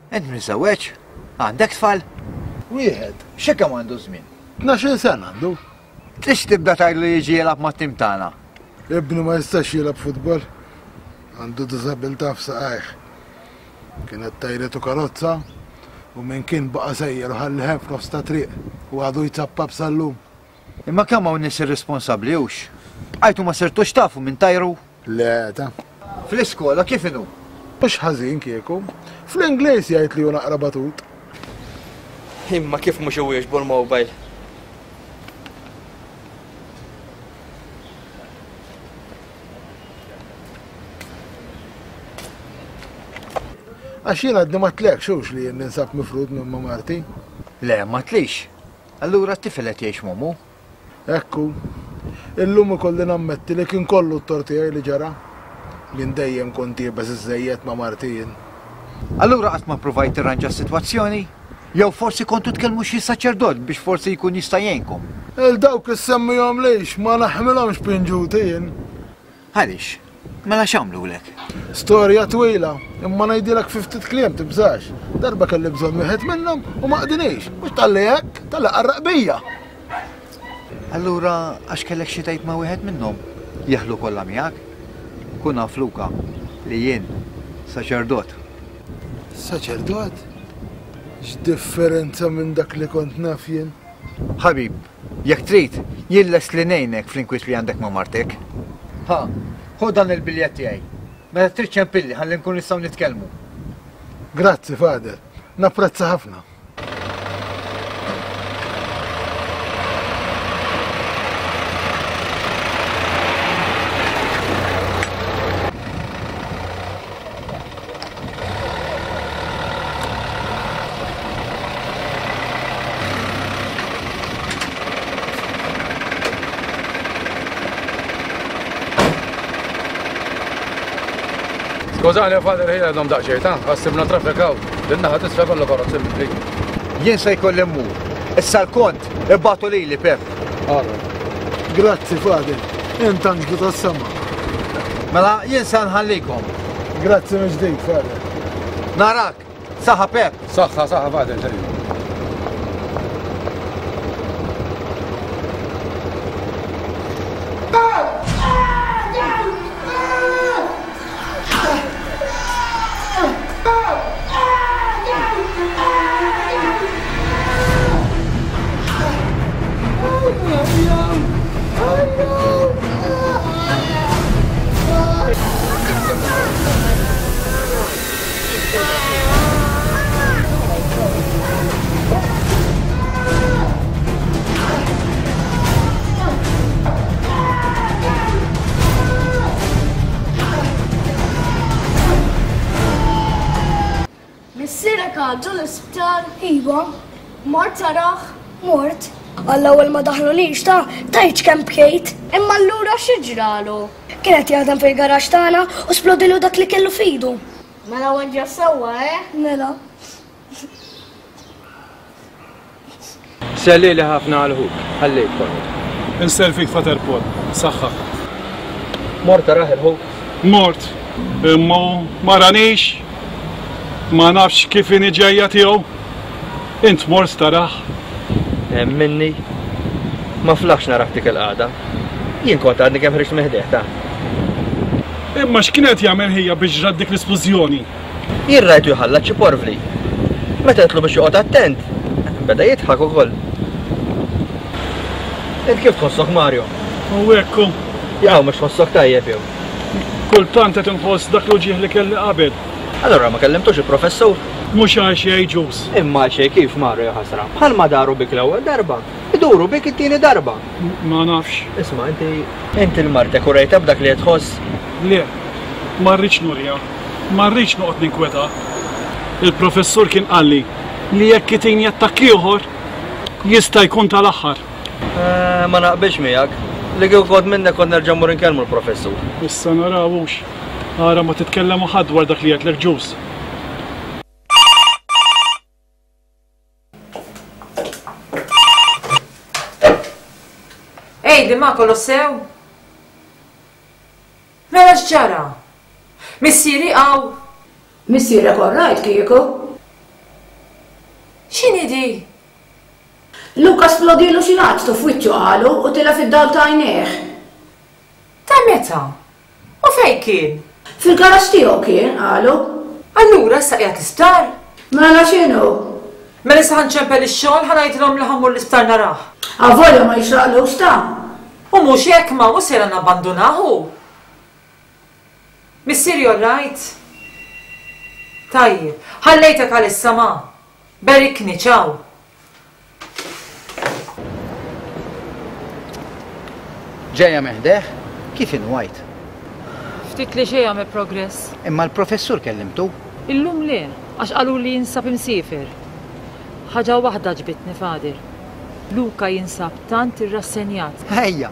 Speaker 18: Int miżewweġ? Għandek tfal?
Speaker 1: Wieħed.
Speaker 18: Xi kemm għandu żmien?
Speaker 1: Tnax-il sena għandu.
Speaker 18: Trix tibda tgħidlu jiġi jilgħab mat-tim tagħna?
Speaker 1: Ibni ma jistax jilgħab futbol. Għandu diżabilità f'saqajh. Kienet tajretu karozza u minn kien baqa' sejjer u ħalli hemm f'nofs ta' triq u għadu jzappab sal-lum.
Speaker 18: Imma kemm hawn nies irresponsabbli hux? Bqajtu ma sirtux tafu minn tajru?
Speaker 1: Le, ta'.
Speaker 18: Fl-iskola kif inhu?
Speaker 1: Mhux ħażin kieku. Fl-Ingliż jgħid li hu naqra batut.
Speaker 2: Imma kif mhux iwieġbu l-mobile?
Speaker 1: Għax jien għadni ma tlekx hux li jien ninsab mifrud minn ma' marti.
Speaker 18: Le, ma tlix. Allura t-tifel qed jgħix m'ommu?
Speaker 1: Ekku. Illum ikolli nammetti li kien kollu t-tort tiegħi li ġara. Jien dejjem kont iebes iżżejjed ma' marti jien.
Speaker 18: Allura qatt ma ppruvajt tirranġa s-sitwazzjoni? Jew forsi kontu tkellmu xi saċerdot biex forsi jkun jista' jgħinkom?
Speaker 1: Il dawk issemmihomlix, ma naħmilhomx pinġuti jien.
Speaker 18: Għaliex? Mela x'għamlulek?
Speaker 1: Storja twila, imma ngħidilek fi ftit kliem tibżax. Darba kelli bżonn wieħed minnhom u ma qdinix. Mhux talli hekk, talli qarraq bija.
Speaker 18: Allura għax kellek xi tgħid ma' wieħed minnhom, jeħlu kollha miegħek? Kun naf Luka li jien saċerdot.
Speaker 1: Saċerdot? X'differenza minn dak li kont naf jien.
Speaker 18: Ħabib, jekk trid, jien lest li ngħinek fl-inkwiet li għandek ma' martek. Ha, ħu dan il-biljett tiegħi. Meta trid ċempilli ħalli nkun nistgħu nitkellmu.
Speaker 1: Grazzi, Father. Napprezza ħafna.
Speaker 8: Skużani, Father, ħija għadhom daqsxejn, ta' għassibna traffic out. Din-naħa tisfa kollu karozzi mibli.
Speaker 18: Jien se jkolli mmur. Issa l-kont ibatu lili, Pep.
Speaker 8: Għara.
Speaker 1: Grazzi, Father. Int anġlu tas-sema.
Speaker 18: Mela, jien se nħallikom.
Speaker 1: Grazzi mill-ġdid, Father.
Speaker 18: Narak. Saħħa, Pep.
Speaker 8: Saħħa, saħħa, Father, ġej.
Speaker 10: Missierek għadu l-isptar? Iva. Mort taraħ? Mort. Għall-ewwel ma daħlunix ta' tgħidx kemm bkejt. Imma allura xi ġralu? Kien qed jaħdem fil-garaxx tagħna u splodilu dak li kellu f'idu. Mela weġġa' sewwa, eh? Mela.
Speaker 8: Sellili ħafna għal ħuk, ħallejtkom.
Speaker 12: Insellfik Father Paul, saħħa.
Speaker 2: Mort taraħ il-ħuk?
Speaker 12: Mort, imma ma ranix. Ma nafx kif inhi ġejja tiegħu. Int mort tarah.
Speaker 2: Minni. Ma flaħx narak dik il-qagħda. Jien kont għadni kemm ħriġt minn ħdejh ta.
Speaker 12: Imma x'kien qed jagħmel ħija biex ġrat dik l-isplużjoni?
Speaker 2: Jien rajtu jħallat xi porvli. Meta għedtlu biex joqgħod attent, beda jidħak ukoll. Int kif tħossok Mario?
Speaker 12: U hekk hu.
Speaker 2: Jew mhux tħossok tajjeb jew.
Speaker 12: Kultant qed inħoss dak l-uġigħ li kelli qabel.
Speaker 2: Allura ma kellimtux il-professur?
Speaker 12: Mhux għal xejn Ġus.
Speaker 2: Imma għal xejn kif Mario ja ħasra. Bħalma daru bik l-ewwel darba, iduru bik it-tieni darba.
Speaker 12: Ma nafx.
Speaker 2: Isma' inti inti 'l martek urejtha b'dak li qed tħoss?
Speaker 12: Le, ma rridx nuriha. Ma rridx noqgħod ninkweta. Il-professur kien qalli li jekk itini attakk ieħor jista' jkun tal-aħħar.
Speaker 2: Eh, ma naqbilx miegħek. Li kieku kont minnek kont nerġa' mmur inkellmu l-professur.
Speaker 12: Issa naraw hux. Ara ma titkellem ma' ħadd dwar dak li għedtlek Ġus.
Speaker 3: Għidli ma kollox sew? Mela x'ġara? Missieri hawn?
Speaker 4: Missierek all right kieku?
Speaker 3: X'inhi di?
Speaker 4: Luca splodilu xi laċtu f'wiċċu qalu u tilef id-dawl ta' għajnejh.
Speaker 3: Ta' meta? U fejn kien?
Speaker 4: Fil-garaxx tiegħu kien, qalu.
Speaker 3: Allura issa qiegħed l-isptar?
Speaker 4: Mela x'inhu?
Speaker 3: Mela issa ħa nċempel ix-xogħol ħa ngħidilhom li ħa mmur l-isptar narah.
Speaker 4: Avolja ma jixraqlux ta'.
Speaker 3: U mhux hekk ma mhux sejra nabbandunah hu. Missieri all right? Tajjeb, ħallejtek għalissa ma. Berikni, ciao.
Speaker 18: Ġejja minn ħdejh? Kif inhu għid?
Speaker 3: Ftit li xejn għamel progress.
Speaker 18: Imma l-professur kellimtu?
Speaker 3: Illum le, għax qaluli jinsab imsiefer. Ħaġa waħda għaġbitni, Father. Luca jinsab tant irrassenjat.
Speaker 18: Ejja,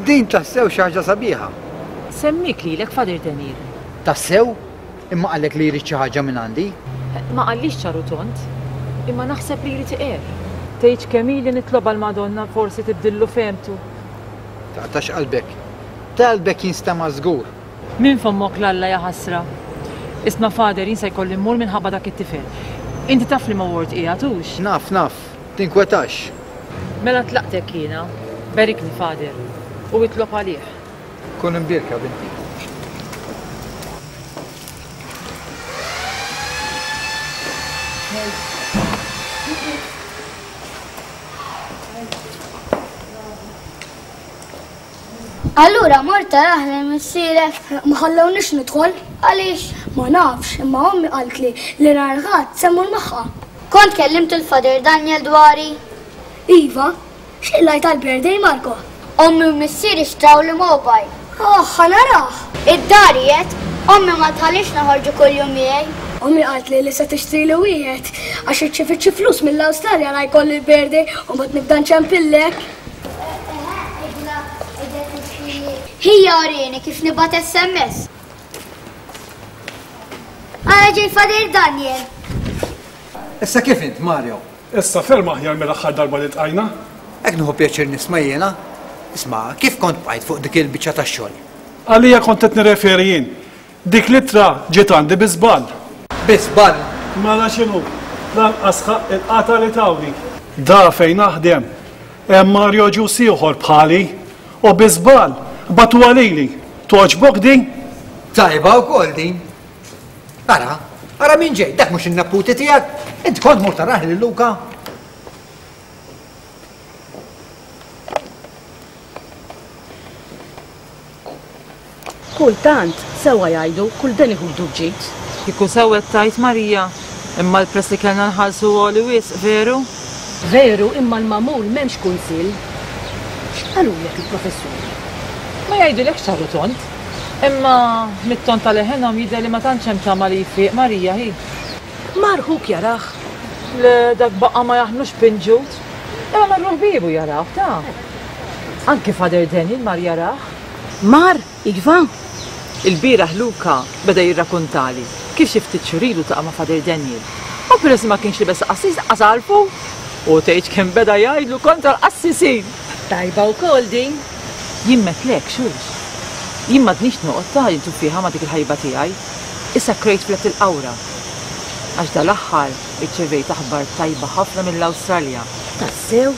Speaker 18: din tassew xi ħaġa sabiħa.
Speaker 3: Semmiek lilek, Father Daniel.
Speaker 18: Tassew? Imma qallek li jrid xi ħaġa minn għandi?
Speaker 3: Ma qallix ċar u tond, imma naħseb li jrid iqerr. Tgħidx kemm ili nitlobha l-Madonna forsi tibdillu fehmtu.
Speaker 18: Taqtax qalbek. Talbek jinstema' żgur.
Speaker 3: Minn fommok 'l Alla ja ħasra. Isma' Father, jien se jkolli mmur minħabba dak it-tifel. Inti taf liema ward qiegħed hux?
Speaker 18: Naf, naf. Tinkwetax.
Speaker 3: Mela tlaqtek jiena. Berikni, Father. U itlob għalih.
Speaker 18: Kun imbierka, binti.
Speaker 10: Allura mort tarah lil missierek? Ma ħallewniex nidħol. Għaliex? Ma nafx, imma ommi qaltli li nhar il-Ħadd se mmur magħha. Kont kellimt il-Father Daniel dwari? Iva, x'qlajt għall-birthday Marco? Ommi u missieri xtrawli mobile. Oh, ħa narah! Id-dar qiegħed, ommi ma tħallix noħorġu kuljum miegħi. Ommi qaltli li se tixtrili wieħed għax irċievit xi flus mill-Awstralja la jkolli l-birthday u mbagħad nibda nċempillek. Ħija urini kif nibgħat S M S. Ara ġej Father Daniel.
Speaker 18: Issa kif int, Mario?
Speaker 12: Issa ferm aħjar mill-aħħar darba li tqajna.
Speaker 18: Hekk nieħu pjaċir nisma' jiena. Isma', kif kont bqajt fuq dik il-biċċa tax-xogħol?
Speaker 12: Għalija kont qed nirreferi jien. Dik l-ittra ġiet għandi bi żball.
Speaker 18: Bi żball?
Speaker 12: Mela x'inhu? Lanqas ħaqq il-qata li tawni. Da fejn naħdem. Hemm Mario Ġus ieħor bħali u bi żball bagħtuha lili. Togħġbok din?
Speaker 18: Tajba wkoll din. Ara, ara min ġej, dak mhux in-neputi tiegħek. Int kont mur tarah lil Luca.
Speaker 15: Kultant, sewwa jgħidu, kull deni ħudu b'ġid.
Speaker 3: Kieku sewwa qed tgħid Marija, imma l-prezz li kellna nħallsu għoli wisq, veru?
Speaker 15: Veru, imma l-magħmul m'hemmx kunsill. X'qalulek il-professuri?
Speaker 3: Ma jgħidulekx ċar u tond. Imma mit-ton ta' leħenhom jidher li ma tantx hemm tama li jfiq Marija hi.
Speaker 15: Mar ħuk jarah?
Speaker 3: Le, dak baqa' ma jaħmlux pinġut. Imma marru ħbiebu jarah, ta'. Anki Father Daniel mar jarah.
Speaker 15: Mar, iva?
Speaker 3: Il-bieraħ Luca beda jirrakuntali kif xi ftit xhur ilu taqa' ma' Father Daniel. U peress li ma kienx libes qassis lanqas għarfu. U tgħidx kemm beda jgħidlu kontra l-qassisin.
Speaker 15: Tajba wkoll din.
Speaker 3: Jien metlek, xux. Jien m'għadnix noqgħod ta' intu fiha ma' dik il-ħajba tiegħi. Issa krejt flet il-qawra. Għax dal-aħħar irċevejt aħbar tajba ħafna mill-Awstralja.
Speaker 15: Tassew?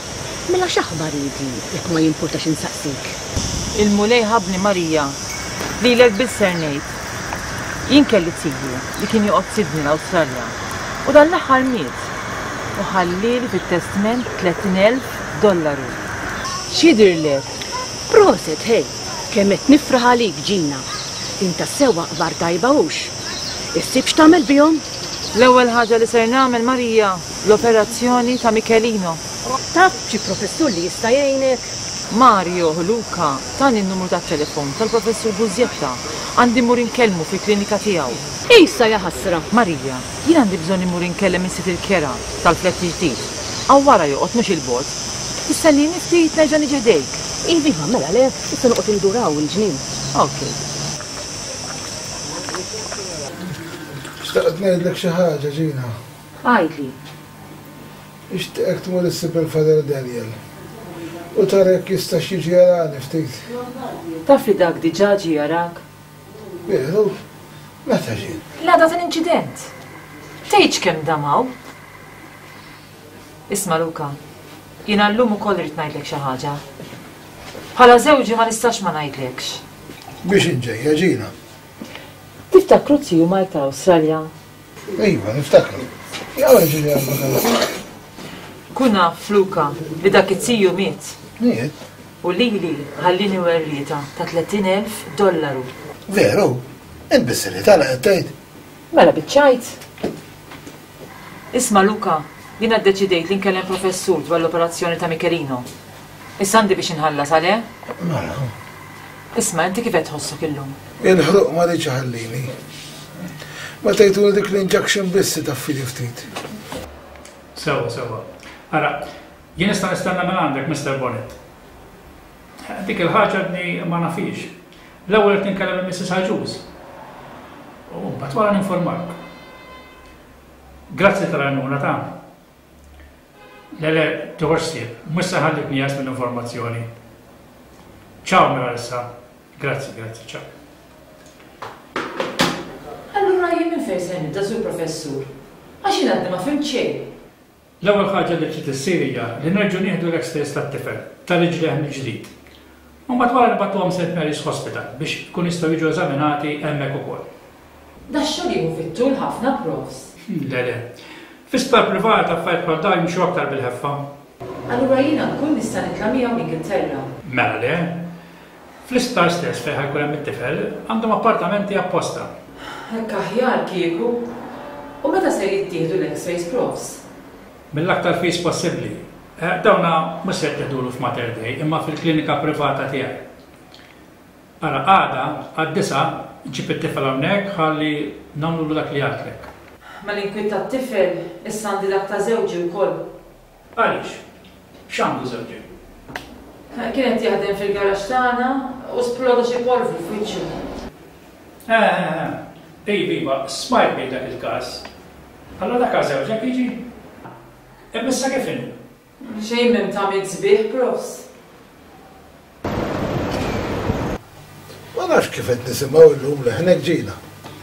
Speaker 15: Mela x'aħbar hi din, jekk ma jimpurtax insaqsik?
Speaker 3: Il-Mulej ħabbni Marija, lilek biss ser ngħid. Jien kelli tiju li kien joqgħod Sydney l-Awstralja u dan l-aħħar miet u ħallieli fit-testment tletin elf dollaru. X'jidhirlek?
Speaker 15: Proset, ħej! Kemm qed nifraħ għalik, Ġina! Din tassew aħbar tajba hux? Issib x'tagħmel bihom?
Speaker 3: L-ewwel ħaġa li ser nagħmel, Marija, l-operazzjoni ta' Michelino.
Speaker 15: Taf xi professur li jista' jgħinek?
Speaker 3: Mario Luca tani n-numru tat-telefon tal-professur Bużjetta. Għandi mmur inkellmu fil-klinika tiegħu.
Speaker 15: Issa ja ħasra.
Speaker 3: Marija, jien għandi bżonn immur inkellem is-sid il-kera tal-flett il-ġdid. Hawn wara joqgħod mhux 'il bogħod. Tistennini ftit nerġa' niġi ħdejk.
Speaker 15: Iva, iva, mela le, issa noqgħod indur hawn il-ġnien.
Speaker 3: Ok.
Speaker 1: Xtaqt ngħidlek xi ħaġa, Ġina.
Speaker 3: Għidli.
Speaker 1: Nixtieqek tmur issib il-Father Daniel u tara jekk jistax jiġi jarani ftit.
Speaker 3: Taf li dak diġà ġie jarak?
Speaker 1: Veru? Meta ġie?
Speaker 3: L-għada tal-inċident. Tgħidx kemm dam hawn. Isma' Luca, jiena llum ukoll irrid ngħidlek xi ħaġa. Bħala żewġi ma nistax ma ngħidlekx.
Speaker 1: Biex inġejja, Ġina?
Speaker 3: Tiftakru tiju Mike tal-Awstralja?
Speaker 1: Iva, niftakru. Jew ġieli għal-vakanzi.
Speaker 3: Kun naf, Luca, li dak it-tiju miet.
Speaker 1: Miet?
Speaker 3: U lili ħallini werrieta ta' tletin elf dollaru.
Speaker 1: Veru? Int bis-serjetà li qed tgħid?
Speaker 3: Mela biċ-ċajt. Isma' Luca, jiena ddeċidejt li nkellem professur dwar l-operazzjoni ta' Michelino. Issa għandi biex inħallas għaleh?
Speaker 1: Mela.
Speaker 3: Isma', inti kif qed tħossok illum?
Speaker 1: Il-ħruq ma rridx iħallini. Ma tgħiduli dik l-injection biss taffili ftit.
Speaker 14: Sewa, sewa. Ara, jien nista' nistenna minn għandek, Mister Bonett. Dik il-ħaġa għadni ma nafix. L-ewwel qed ninkellem lil Missus Agius. U mbagħad wara ninformak. Grazzi tal-għajnuna ta'. Le, le, tiħux ħsieb, mhux se nħallik nieqes mill-informazzjoni. Ciao mela issa. Grazzi, grazzi, ciao.
Speaker 3: Allura jien minn fejn se nibda, Sur Professur? Għax jien għadni ma fhimt xejn.
Speaker 14: L-ewwel ħaġa li trid issir hija li nerġgħu nieħdu l-X-rays tat-tifel, ta' riġlejh mill-ġdid. U mbagħad wara nibgħatuhom Saint Mary's Hospital biex ikun jistgħu jiġu eżaminati hemmhekk ukoll.
Speaker 3: Dax-xogħol jieħu fit-tul ħafna, Profs.
Speaker 14: Le, le. Fi sptar privat affarijiet bħal dawn jimxu aktar bil-ħeffa.
Speaker 3: Allura jiena nkun nista' nitla' miegħu l-Ingilterra?
Speaker 14: Mela le. Fl-isptar stess fejn ħa jkun hemm it-tifel għandhom appartamenti apposta.
Speaker 3: Hekk aħjar kieku. U meta ser jittieħdu l-X-rays, Profs?
Speaker 14: Mill-aktar fis possibbli. Dawna mhux se jitteħdulu f'Mater Dei imma fil-klinika privata tiegħi. Ara għada għad-disgħa ġib it-tifel hawnhekk ħalli nagħmlulu dak li għedtlek.
Speaker 3: Mal-inkwiet tat-tifel issa għandi dak ta' żewġi wkoll.
Speaker 14: Għaliex? X'għandu żewġek?
Speaker 3: Kien qed jaħdem fil-garaxx tagħna u sploda xi polvru f'wiċċu.
Speaker 14: Eh, eh, eh. Iva, iva, smajt bih dak il-każ. Allura dak għal żewġek jiġi? Imma issa kif inhu?
Speaker 3: Xejn m'hemm tagħmil sbieħ, Profs.
Speaker 1: Ma nafx kif qed nisimgħu llum leħnek, Ġina.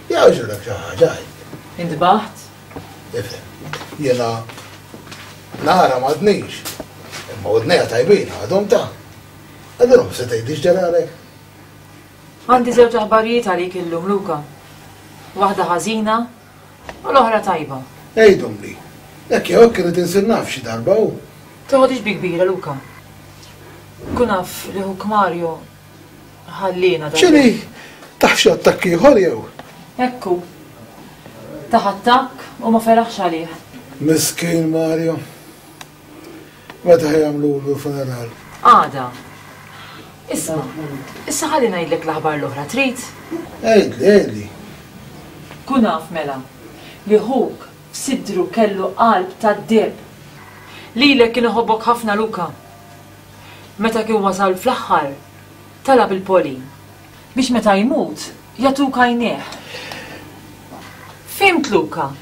Speaker 1: Jgħaġġlek xi ħaġa, għid.
Speaker 3: Intbaħt?
Speaker 1: Ifhem, jiena nara m'għadnix, imma widnejja tajbin għadhom ta'. Allura se tgħidli x'ġaralek?
Speaker 3: Għandi żewġ aħbarijiet għalik illum, Luca. Waħda ħażina u l-oħra tajba.
Speaker 1: Għidhomli. Hekk jew hekk irid insir naf xi darba hu.
Speaker 3: Toħodix bi kbira, Luca. Kun naf li ħuk Mario ħallina dan.
Speaker 1: X'inhi? Taħ xi attakk ieħor jew?
Speaker 3: Ekku. Taħ attakk u ma feraħx għalih.
Speaker 1: Miskin Mario. Meta ħajamlulu l-funeral?
Speaker 3: Għada. Isma', issa ħalli ngħidlek l-aħbar l-oħra, trid?
Speaker 1: Għidli, għidli.
Speaker 3: Kun naf mela li ħuk f'sidru kellu qalb tad-deheb. Lilek kien iħobbok ħafna, Luca. Meta kien wasal fl-aħħar, talab il-Polin biex meta jmut jagħtuk għajnejh. Fhimt, Luca,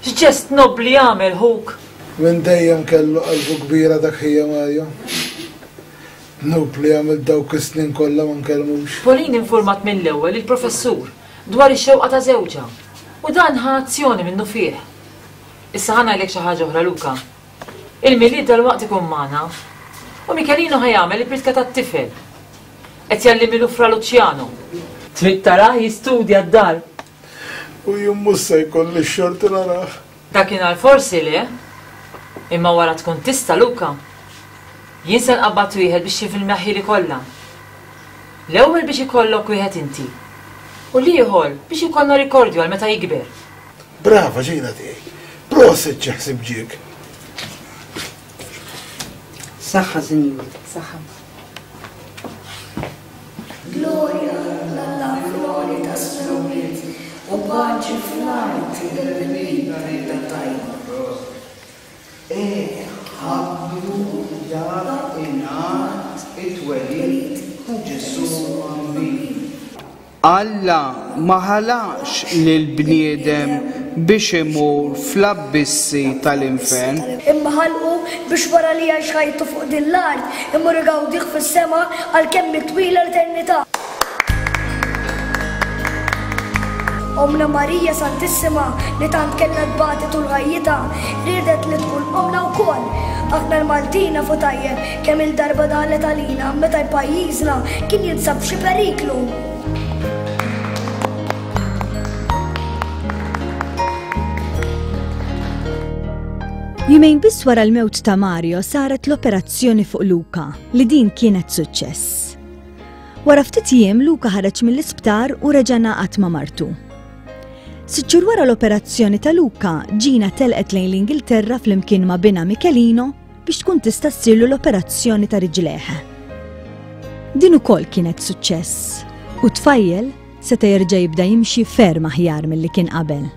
Speaker 3: x'ġest nobli għamel ħuk?
Speaker 1: Minn dejjem kellu qalbu kbira dak ħija Mario. Dnub li għamil dawk is-snin kollha ma nkellmux.
Speaker 3: Pauline informat mill-ewwel il-professur dwar ix-xewqa ta' żewġha u dan ħa azzjoni minnu fih. Issa ħa ngħidlek xi ħaġa oħra Luka. Il-Milied dalwaqt ikun magħna. U Michelino ħa jagħmel il-pritka tat-tifel. Qed jgħallimilu Fra Luciano. Trid tarah jistudja d-dar.
Speaker 1: U jien mhux se jkolli x-xorti narah.
Speaker 3: Dakinhar forsi le. Imma wara tkun tista' Luka. Jien se nqabbad wieħed biex jifilmjaħħili kollha. L-ewwel biex ikollok wieħed inti. U l-ieħor biex ikollna rikordju għal meta jikber.
Speaker 1: Brava Ġina tiegħi. Prosit xi ħsieb ġiek.
Speaker 17: Saħħa, sinjur.
Speaker 3: Saħħa.
Speaker 10: Gloria l-Alla fl-għoli tas-smewwiet u paċi fl-art lil rieda tajba.
Speaker 17: Eh, ħabbru dak ingħad it-twelid ta' Ġesù Bambin.
Speaker 19: Alla ma ħalaqx lill-bniedem biex imur fl-abbissi tal-infern.
Speaker 10: Imma ħalqu biex wara li jgħix ħajtu fuq din l-art imur igawdih fis-sema għal kemm twila l-eternità. Omna Marija Santissima li tant kellha tbati tul ħajjitha, riedet li tkun omna wkoll. Aħna l-Maltin nafu tajjeb kemm il-darba daħlet għalina meta pajjiżna kien jinsab f'xi periklu.
Speaker 21: Jumejn biss wara l-mewt ta' Mario saret l-operazzjoni fuq Luka, li din kienet suċċess. Wara ftit jiem Luka ħareġ mill-isptar u reġa' ngħaqad ma' martu. Sitt xhur wara l-operazzjoni ta' Luka, Gina telqet lejn l-Ingilterra flimkien ma' binha Michelino biex tkun tista' ssirlu l-operazzjoni ta' riġlejh. Din ukoll kienet suċċess u tfajjel seta' jerġa' jibda jimxi ferm aħjar milli kien qabel.